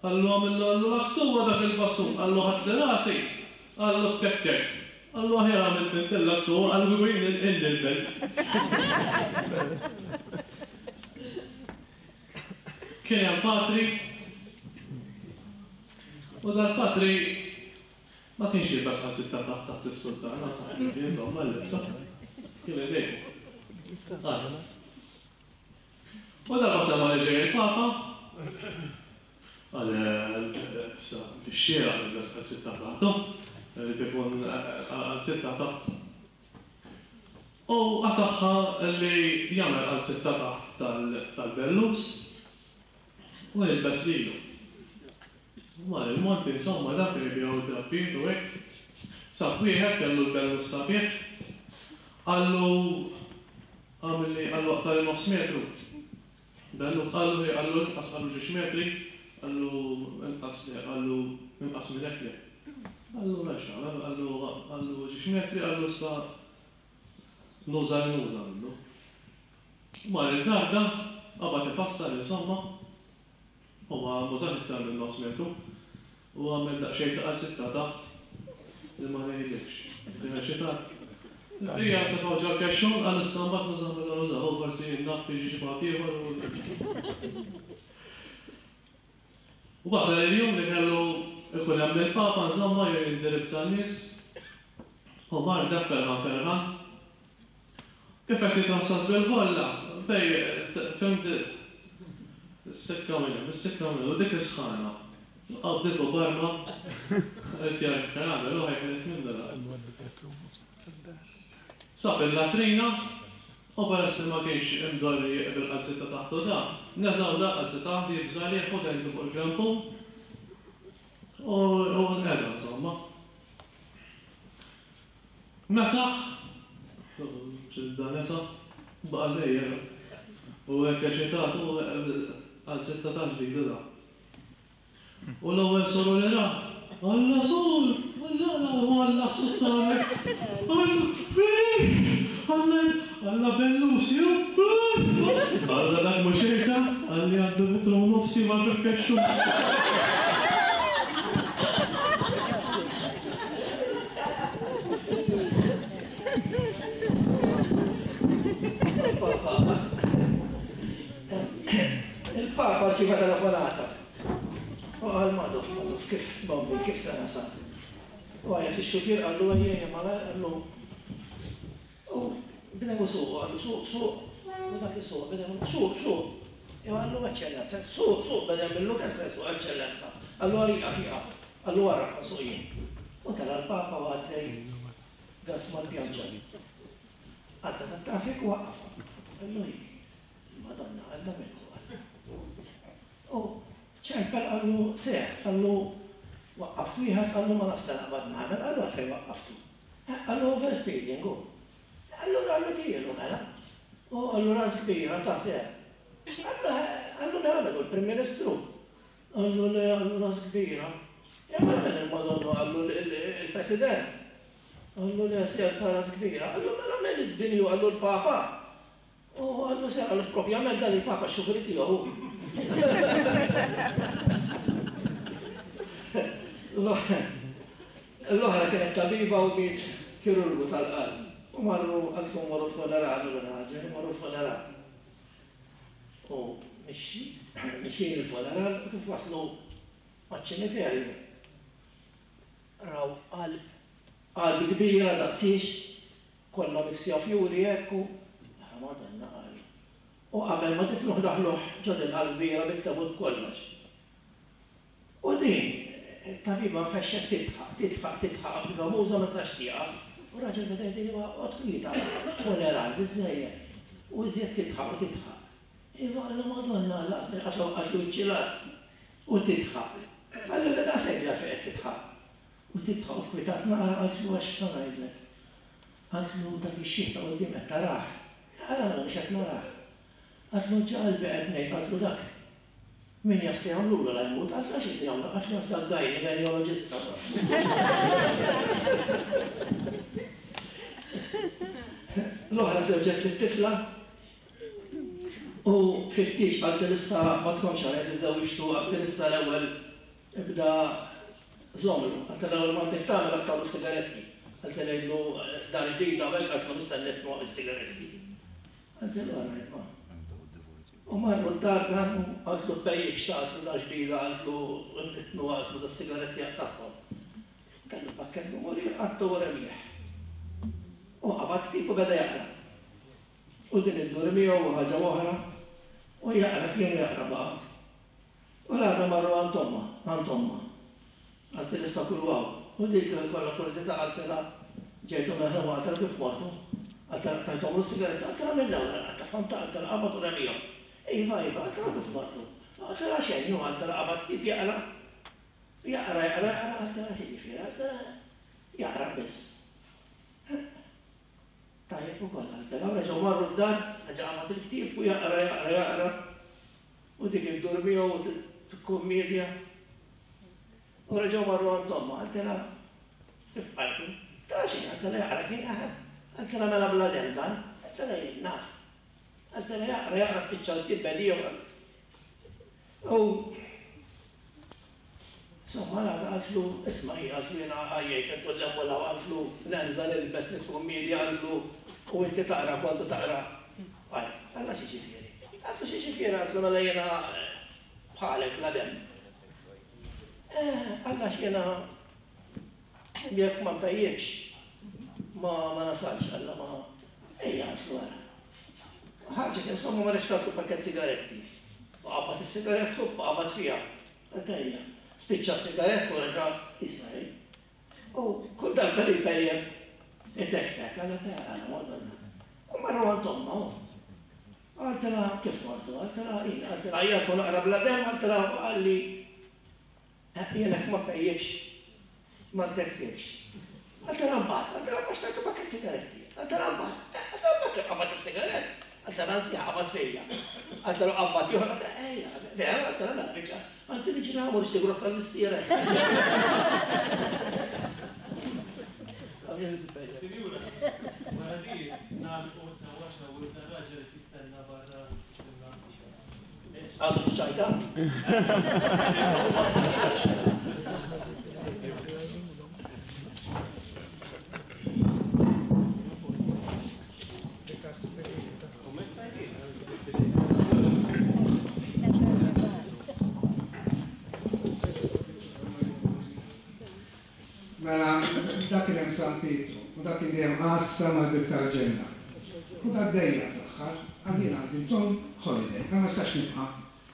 Qallu għamillu qallu lakstuwa dak il-bastun, qallu ħadli rasi, qallu tektek. Qallu aħjar għamilt int il-lakstuwa, qallu kieku jien ilni l-belt. Kien hemm patri u dal-patri ma kienx jilbes qalzitta taħt taħt is-sultana, taħt insomma l-libsa. Kien idejqu. U darba sema li ġej il-Papa, qal issa bix-xieraq nilbes qalzitta taħtu, irid ikun qalzitta taħt. U qatagħha li jagħmel qalzitta taħt tal-bellus u jilbes lilu. Mar il-monti insomma da fejn jbigħu d-drappijiet u hekk. Sab wieħed kellu l-bellus sabiħ, qallu għamilli qallu aqtar nofs metru. Dallu qallu hi qallu inqas qallu ġiex metri, qallu inqas le, qallu inqas minn hekk le. Qallu m'hemmx tagħmel, qallu qallu ġiex metri, qallu issa nuża li nuża minnu. Mar id-dar da, qabad ifassal insomma, u ma mużax iktar minn nofs metru, u għamel daqsxejn ta' qalzitta taħt li ma ngħidlekx. Kien eċitat. Ija tefgħu ġol-kexxun, qal issa mbagħad nużah meta nużah, u forsi naf jiġi xi pap ieħor u. U wasal il-jum li kellu ikun hemm il-Papa insomma jew jindirizza n-nies. U mar dak ferħan ferħan. Kif qed jitrassas bil-ħolla, bej fimt is-sikka minn hemm, is-sikka minn hemm, u dik is-sħana. Qabditu barma, qed jara kif jagħmel, u ħajħles minnu da. Sab il-latrina, u peress li ma kienx imdorri bil-qalzitta taħtu da, neżaw da qalzitta taħt jibża' li u dejtu fuq il-grampun u nqeda insomma. Mesaħ, xilda nesaħ, baqa' sejjer. U hekk eċitat u qalzitta taħt ġdida da. U l-ewwel soru li ra, Alla sur, Alla la, Alla suttane, Alla, Alla, Alla bellusju, Alla dak mhux hekk, Alla għandu metru u nofsi ma fil-kexxu. Il-Papa rċieva telefonata. U qal Madoff, Madoff, kif bombi, kif se nasal? U għajat ix-xufier qallu ejja malajr qallu. U bdew isuqu, qallu suq, suq, u dak isuq, bdew suq, suq. Jew qallu eċċellenza, suq, suq, beda jagħmillu kemm se suq eċċellenza. Qallu għal ieqaf ieqaf, qallu wara suq jien. U tela l-Papa u għaddej gas mal-pjanċa. Għadda tat-traffiku waqqafha. Qallu hi, Madonna, għadda minnu. U ċempel qallu seħ, qallu waqqaft wieħed, qallu ma nafx se naqbad nagħmel, qallu għalfejn waqqaftu. Qallu overspeeding hu. Qallu qallu tielu mela. U qallu ras kbira ta' seħ. Qallu mela mela l-Prim Ministru. Qallu le qallu ras kbira. Ja mela mela il-Madonna qallu il-President. Qallu le seħ ta' ras kbira. Qallu mela mela id-dinju qallu l-Papa. U qallu seħ qallu propjament dan il-Papa x-xufri tiegħu. L-oħra kienet tabiba u miet kirurgu tal-qalb. U marru għalkom marru funeral u l-raġel, marru funeral. U mixin il-funeral, u kif waslu maċ-ċimiterju. Raw qalb, qalb kbira daqsix, kollha miksija fjuri hekk u Madonna qal. U qabel ma tifluħ daħluh ġod il-qalb kbira bit-tabut kollox. U din, it-tabiba nfexxet tidħaq, tidħaq, tidħaq, b'famuża ma tistax tieqaf. U raġel beda jgħidli ma qgħod kwieta, funeral biżżejjed. U iżjed tidħaq u tidħaq. Iva qallu Madonna, laqas minn qatt waqqatlu wiċċi l-art. U tidħaq. Qallu li daqshekk għalfejn qed tidħaq. U tidħaq u kwitat naqra qaltlu għax ta' ngħidlek. Qaltlu dak ix-xiħ ta' quddiem qed tarah. Għala mela biex qed narah. Qaltlu ġa qalbi qed ngħid, qaltlu dak. Min jaf se jagħmlulu la jmut, qaltlu għax inti jagħmlu, qaltlu għax dak gajni gajnoloġista. L-oħra żewġet lit-tifla u fit-tieġ qaltilha issa ma tkomx għalhekk iżżewġtu, qaltilha issa l-ewwel ibda żomlu, qaltilha l-ewwel m'għandek tagħmel aqtgħu s-sigaretti. Qaltilha jgħidlu dar ġdida u hekk qaltlu issa nitnu is-sigaretti. Qaltilha għarajt ma. U marru d-dar dan u qaltlu tpejjibx ta' qaltlu dar ġdida, qaltlu nitnu qaltlu das-sigaretti aqtagħhom. Kellu pakkett numuri qattu u remieħ. U qabad ktieb u beda jaqra. U din iddur miegħu u ħaġa oħra u jaqra kien jaqra baqa'. U l-għada marru għand omma, għand omma. Qaltilha issa kull waw. U dik kollha kurżità qaltilha ġejtu meħlu qaltilha kif mortu. Qaltilha qtajthom is-sigaretta, qaltilha mill-ewwel qatagħhom ta' qaltilha qabad u remihom. Iva, iva, qaltilha kif mortu. Qaltilha xejn, u qaltilha qabad ktieb jaqra. Jaqra, jaqra, jaqra, qaltilha x'jiġifieri, qaltilha jaqra biss. Tajjeb ukoll qaltilha, u reġgħu marru d-dar, reġa' qabad il-ktieb u jaqra, jaqra, jaqra. U dik iddur miegħu u tikkummedja. U reġgħu marru għand omma, qaltilha kif bqajtu? Ta' xejn, qaltilha jaqra kien jaħeb. Qaltilha mela bla demm dan, qaltilha jien naf. Qaltilha jaqra, jaqra spiċċa l-ktieb bediehom. U insomma l-għada qaltlu, isma' hi, qaltlu jiena għajjejt intu l-hemm u l-hawn, qaltlu nenża nilbes nikkummedja, qaltlu u inti taqra kontu taqra. Għaj, qalha x'jiġifieri. Qaltlu x'jiġifieri, qaltlu mela jiena bħalek bla demm. Qalha x'jiena jekk ma npejjibx ma ma nasalx, qalha ma ejja qaltlu ara. Ħarġet insomma ma rixtartu pakket sigaretti. U qabad is-sigarettu u qabad fiha. Qaltha ejja. Spiċċa s-sigarettu u reġa' jisaj. U kull darba li jpejjeb itektek, qalha ta' għala madonna. U marru għand omma hu. Qaltilha kif mortu, qaltilha jien, qaltilha ejja nkun naqra bla demm, qaltilha u qalli jien hekk ma pejjibx ma ntektekx. Qaltilha mbagħad, qaltilha ma xtaqtu pakket sigaretti. Qaltilha mbagħad, qaltilha mbagħad kif qabad is-sigarett. Qaltilha anzi qabad fija. Qaltilha qabad ieħor, qaltilha ejja, vera, qaltilha mela biċċa. Għanti li ġina għamur xtiegħu rassal missierek. Sinjura, wara di nagħlqu sewwa x'nawwir dar-raġel qed jistenna barra jistenna. Għadu xi ċajta? Mela, dak kien hemm San Pietru, u dak kien dejjem għassa mal-bieb tal-ġenna. U dak dejja fl-aħħar, għal jien għandi bżonn holiday, ma nistax nibqa'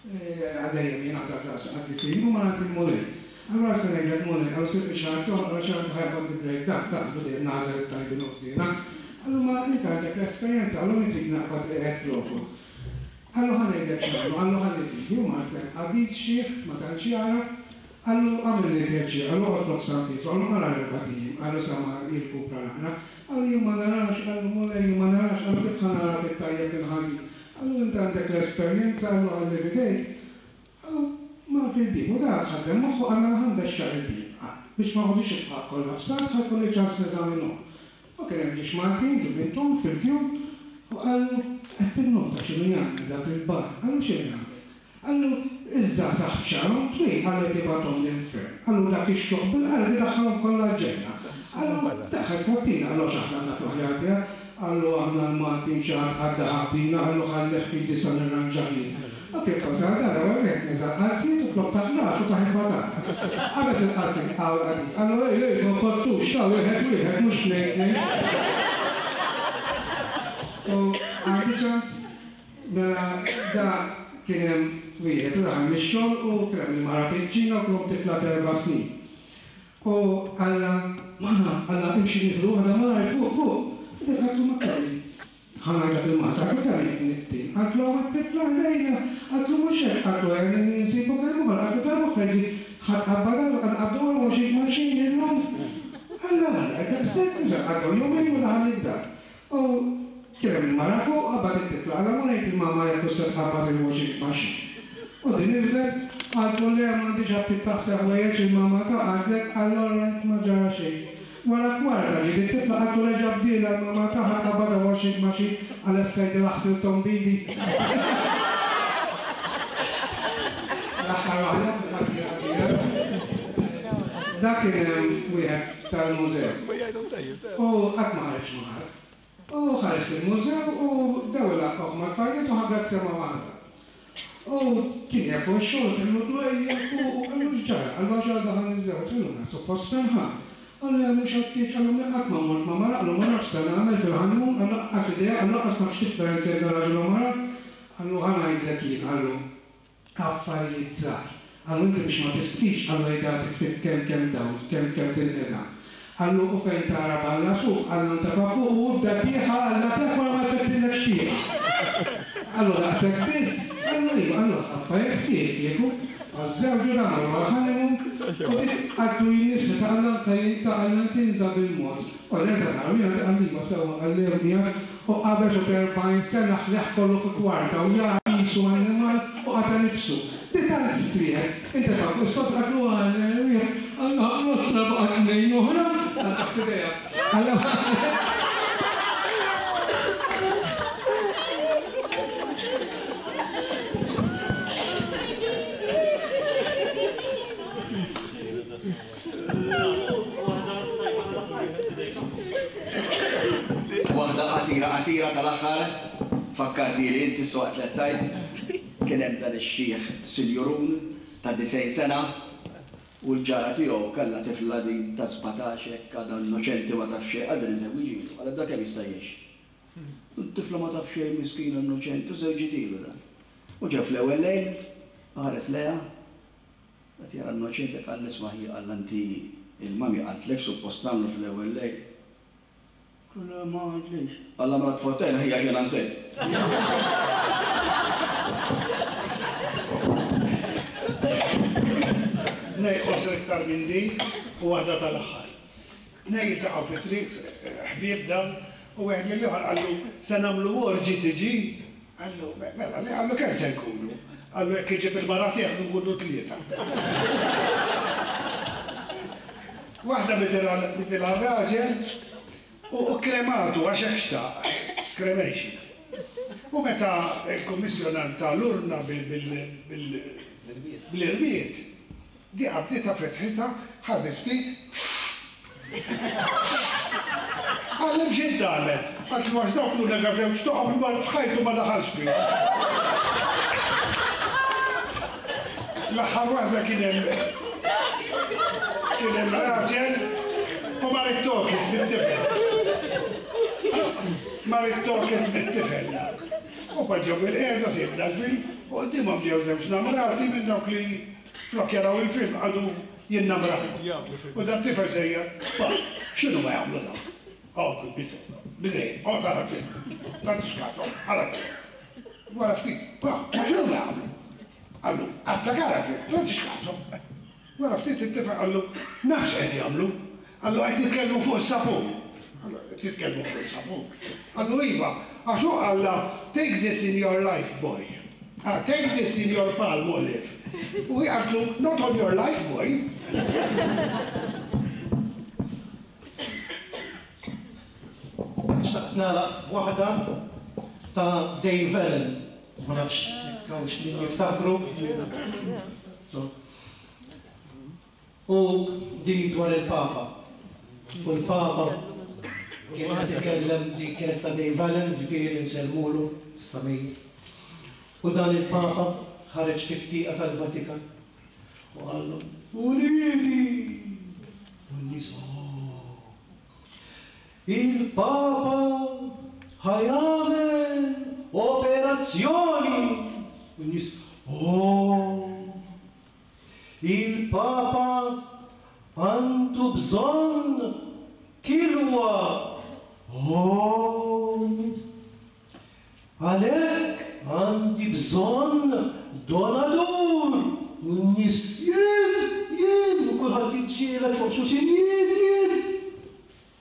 għal dejjem jien għadha daqs qaddisin, u ma għandi l-Mulej. Allura se ngħidlek Mulej, għallu sib xi ħadd toħroq xi ħadd ħajqgħod bi break dak, dak dejjem nagħżel it-tajbin u ħżiena. Għallu ma inti għandek l-esperjenza, għallu min trid naqbad li qed floku. Għallu ħa ngħidlek x'nagħmlu, għallu ħalli fidi, u martek qaddis xiħ, ma tantx jara, għallu għamilli pjaċir, għallu oqgħod flok San Pietru, għallu qara l-erbat ijiem, għallu sa ma jirkupra naqra, għallu jien ma narax, għallu Mulej jien ma narax, għallu kif ħa nara fit-tajjeb il-ħażin. Għallu inti għandek l-esperjenza, għallu ħalli f'idejk, għallu mar fil-bieb, u dak ħaddem moħħu għal mela ħa nbexxaq il-bieb, biex ma noqogħdux ibqa' kollha f'salt ħa jkolli ċans neżaminhom. U kien hemm ġiex Maltin ġuvintur fil-kju u qallu qed tinnota x'inhu jagħmel dak il-bar, qallu x'inhu jagħmel. Qallu iż-żgħażagħ b'xagħarhom twil qallu qed jibgħathom l-infern. Qallu dak ix-xuħ bil-qalb idaħħalhom kollha l-ġenna. Qallu daħħal fottina, qallu għax aħna nafu aħjar tiegħek, qallu aħna l-Maltin xi ħadd għadda ħabbina, qallu ħallih f'idi sa nirranġah jien. U kif wasal dan l-ewwel wieħed neża' qalziet u flok taħ rasu taħ il-batata. Qabeż il-qasim qawl qadis, qallu ej ej ma nfottux ta' wieħed wieħed mhux tnejn tnejn. U għandi ċans mela da kien hemm wieħed u daħal mix-xogħol u kien hemm il-mara fil-ġina u kellhom tifla ta' erba' snin. U qalla mara, qalla imxi nieħdu waħda malajr fuq fuq. U dik qaltlu ma kelli. Ħa ngħidlek il-Malta, qaltlu kemm hi tnittin. Qaltlu hawn it-tifla ħdejna, qaltlu mhux hekk, qaltlu ejja nsibu kelma oħra, qaltlu kelma oħra jgħid ħa tqabbad għal nqabbdu għal għoxrin maxin illum. Alla alla, daqshekk, għaddew jumejn u daħal id-dar. U kien hemm il-mara fuq, qabad lill-mama jekk se tqabbad il-washing machine. U din niżlet, qaltlu le m'għandix aptit taħsel ħwejjeġ il-mama ta' qaltlek, qallu alright ma ġara xejn. Wara kwarta ġiet it-tifla qaltlu reġa' bdielha l-mama tagħha tqabbadha washing machine għal tgħidilha ħsilthom b'idi. L-aħħar waħda, qasira. Dak kien hemm wieħed tal-mużew. U qatt ma ħareġ ma' ħadd. U ħareġ fil-mużew u bdew ilaqqgħuh ma' tfajliet u ħa grazzja ma' waħda. U kien jaf fuq ix-xogħol, kellu dwejjaq fuq u qallu x'ġara, qallu għax għadha ħa niżżewweġ, qallu mela suppost ferħan. Qallu le mhux għattiġ, qallu mela qatt ma mort ma' mara, qallu ma nafx se nagħmel fil-honeymoon, qallu lanqas idea, qallu lanqas naf x'differenza bejn raġel u mara, qallu ħa ngħidlek jien, qallu affarijiet żgħar. Qallu inti biex ma tistix, qallu jgħatik ftit kemm kemm dawl, kemm kemm tinqeda. Qallu u fejn tara balla suf, qallu ntefa' fuq u ibda tieħa alla tiegħek wara ma jfettilek xtieqa. Qallu daqshekk biss, qallu iva, qallu affarijiet ħfief kieku, għaż-żewġ u dan wara honeymoon, u dik qaltlu jien ta' Alla anke jien ta' Alla tinża' bil-mod. U nerġa' nara jiena qalli iva sewwa qalli hemm qiegħed u qabeż u erbgħin sena ħleħ kollu fi kwarta u jagħti qisu annimal u qata' nifsu. Di tant strieħet, inti taf fuq is-sod qaltlu għal wieħed, qallu nostra baqa' tnejn oħra, għal idea. Waħda qasira qasira tal-aħħar, fakkarti li inti waqt li tajt, kien hemm dan ix-xieħ sinjurun ta' disgħin sena u l-ġara tiegħu kellha tifla din ta' sbatax hekk għadha innoċenti ma taf xejn, għadha niżewwiġilu, għal dak kemm jista' jgħix. It-tifla ma taf xejn miskina innoċenti u żewġitilu dan. U ġa fl-ewwel lejl ħares lejha, qed jara innoċenti qal isma' hi qal inti il-mami qaltlek suppost nagħmlu fl-ewwel lejl. Kulla ma għadlix. Alla mela tfottejna ħija ġena nsejt. Nej qosir iktar minn din u waħda tal-aħħar. Nej jiltaqgħu fi triq ħbieb dawn u wieħed lil ieħor qallu se nagħmlu orġi tiġi. Qallu mela li qallu kemm se nkunu. Qallu jekk iġib il-mara tiegħek nkunu tlieta. Waħda bidilha r-raġel u krematu għax hekk xtaq, cremation. U meta l-kummissjonant tal-urna bil-irmied, di qabditha fetħitha, ħadet ftit. Għallem x'int tagħmel? Qaltlu għax dawk l-unika żewġ toqob li f'ħajtu ma daħalx fihom. L-aħħar waħda kien hemm kien hemm raġel u mar it-tokis bit-tifel. Mar it-tokis bit-tifel. U poġġew bil-qiegħda sibna l-film u quddiemhom ġew żewġ namrati minn dawk li flok jaraw il-film għadu jinnamraw. U dat tifel sejjer, pa, x'inhu ma jagħmlu dawn? Oh, biżejjed, oh tara l-film. Tagħtix kasom, ara l-film. Wara ftit, pa, ma x'inhu ma jagħmlu? Qallu, għadlek ara l-film, tagħtix kasom. Wara ftit it-tifel qallu, naf x'qed jagħmlu. Qallu qed jitkellmu fuq is-sapun. Qallu qed jitkellmu fuq is-sapun. Qallu iva, għax hu qallha take this in your life, boy. Ah, take this in your palm, olive. U hi qaltlu not on your life, boy. Xtaqt nagħlaq b'waħda ta' Dave Allen. Ma nafx jekk hawnx min jiftakru. U din dwar il-Papa. U l-Papa kien qed ikellem di kienet ta' Dave Allen, ġifieri nsellmulu s-samir. U dan il-Papa ħareġ fit-tieqa tal-Vatikan u qallu Uliedi! U n-nies oh! Il-Papa ħajamel operazzjoni! U n-nies oh! Il-Papa għandu bżonn kilwa! Oh! Għalhekk għandi bżonn donatur! U n-nies jien, jien, u kulħadd jiġġieled fuq xulxin, jien, jien!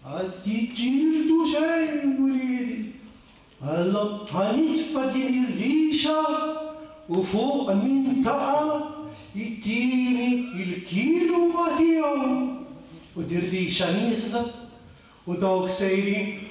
Għad jiġġieldu xejn, uliedi! Allora ħa nitfa' din ir-riża u fuq min taqa' jittini il-kilu ma tiegħu. U dirrixa nieżla u dawk sejrin.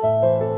Thank you.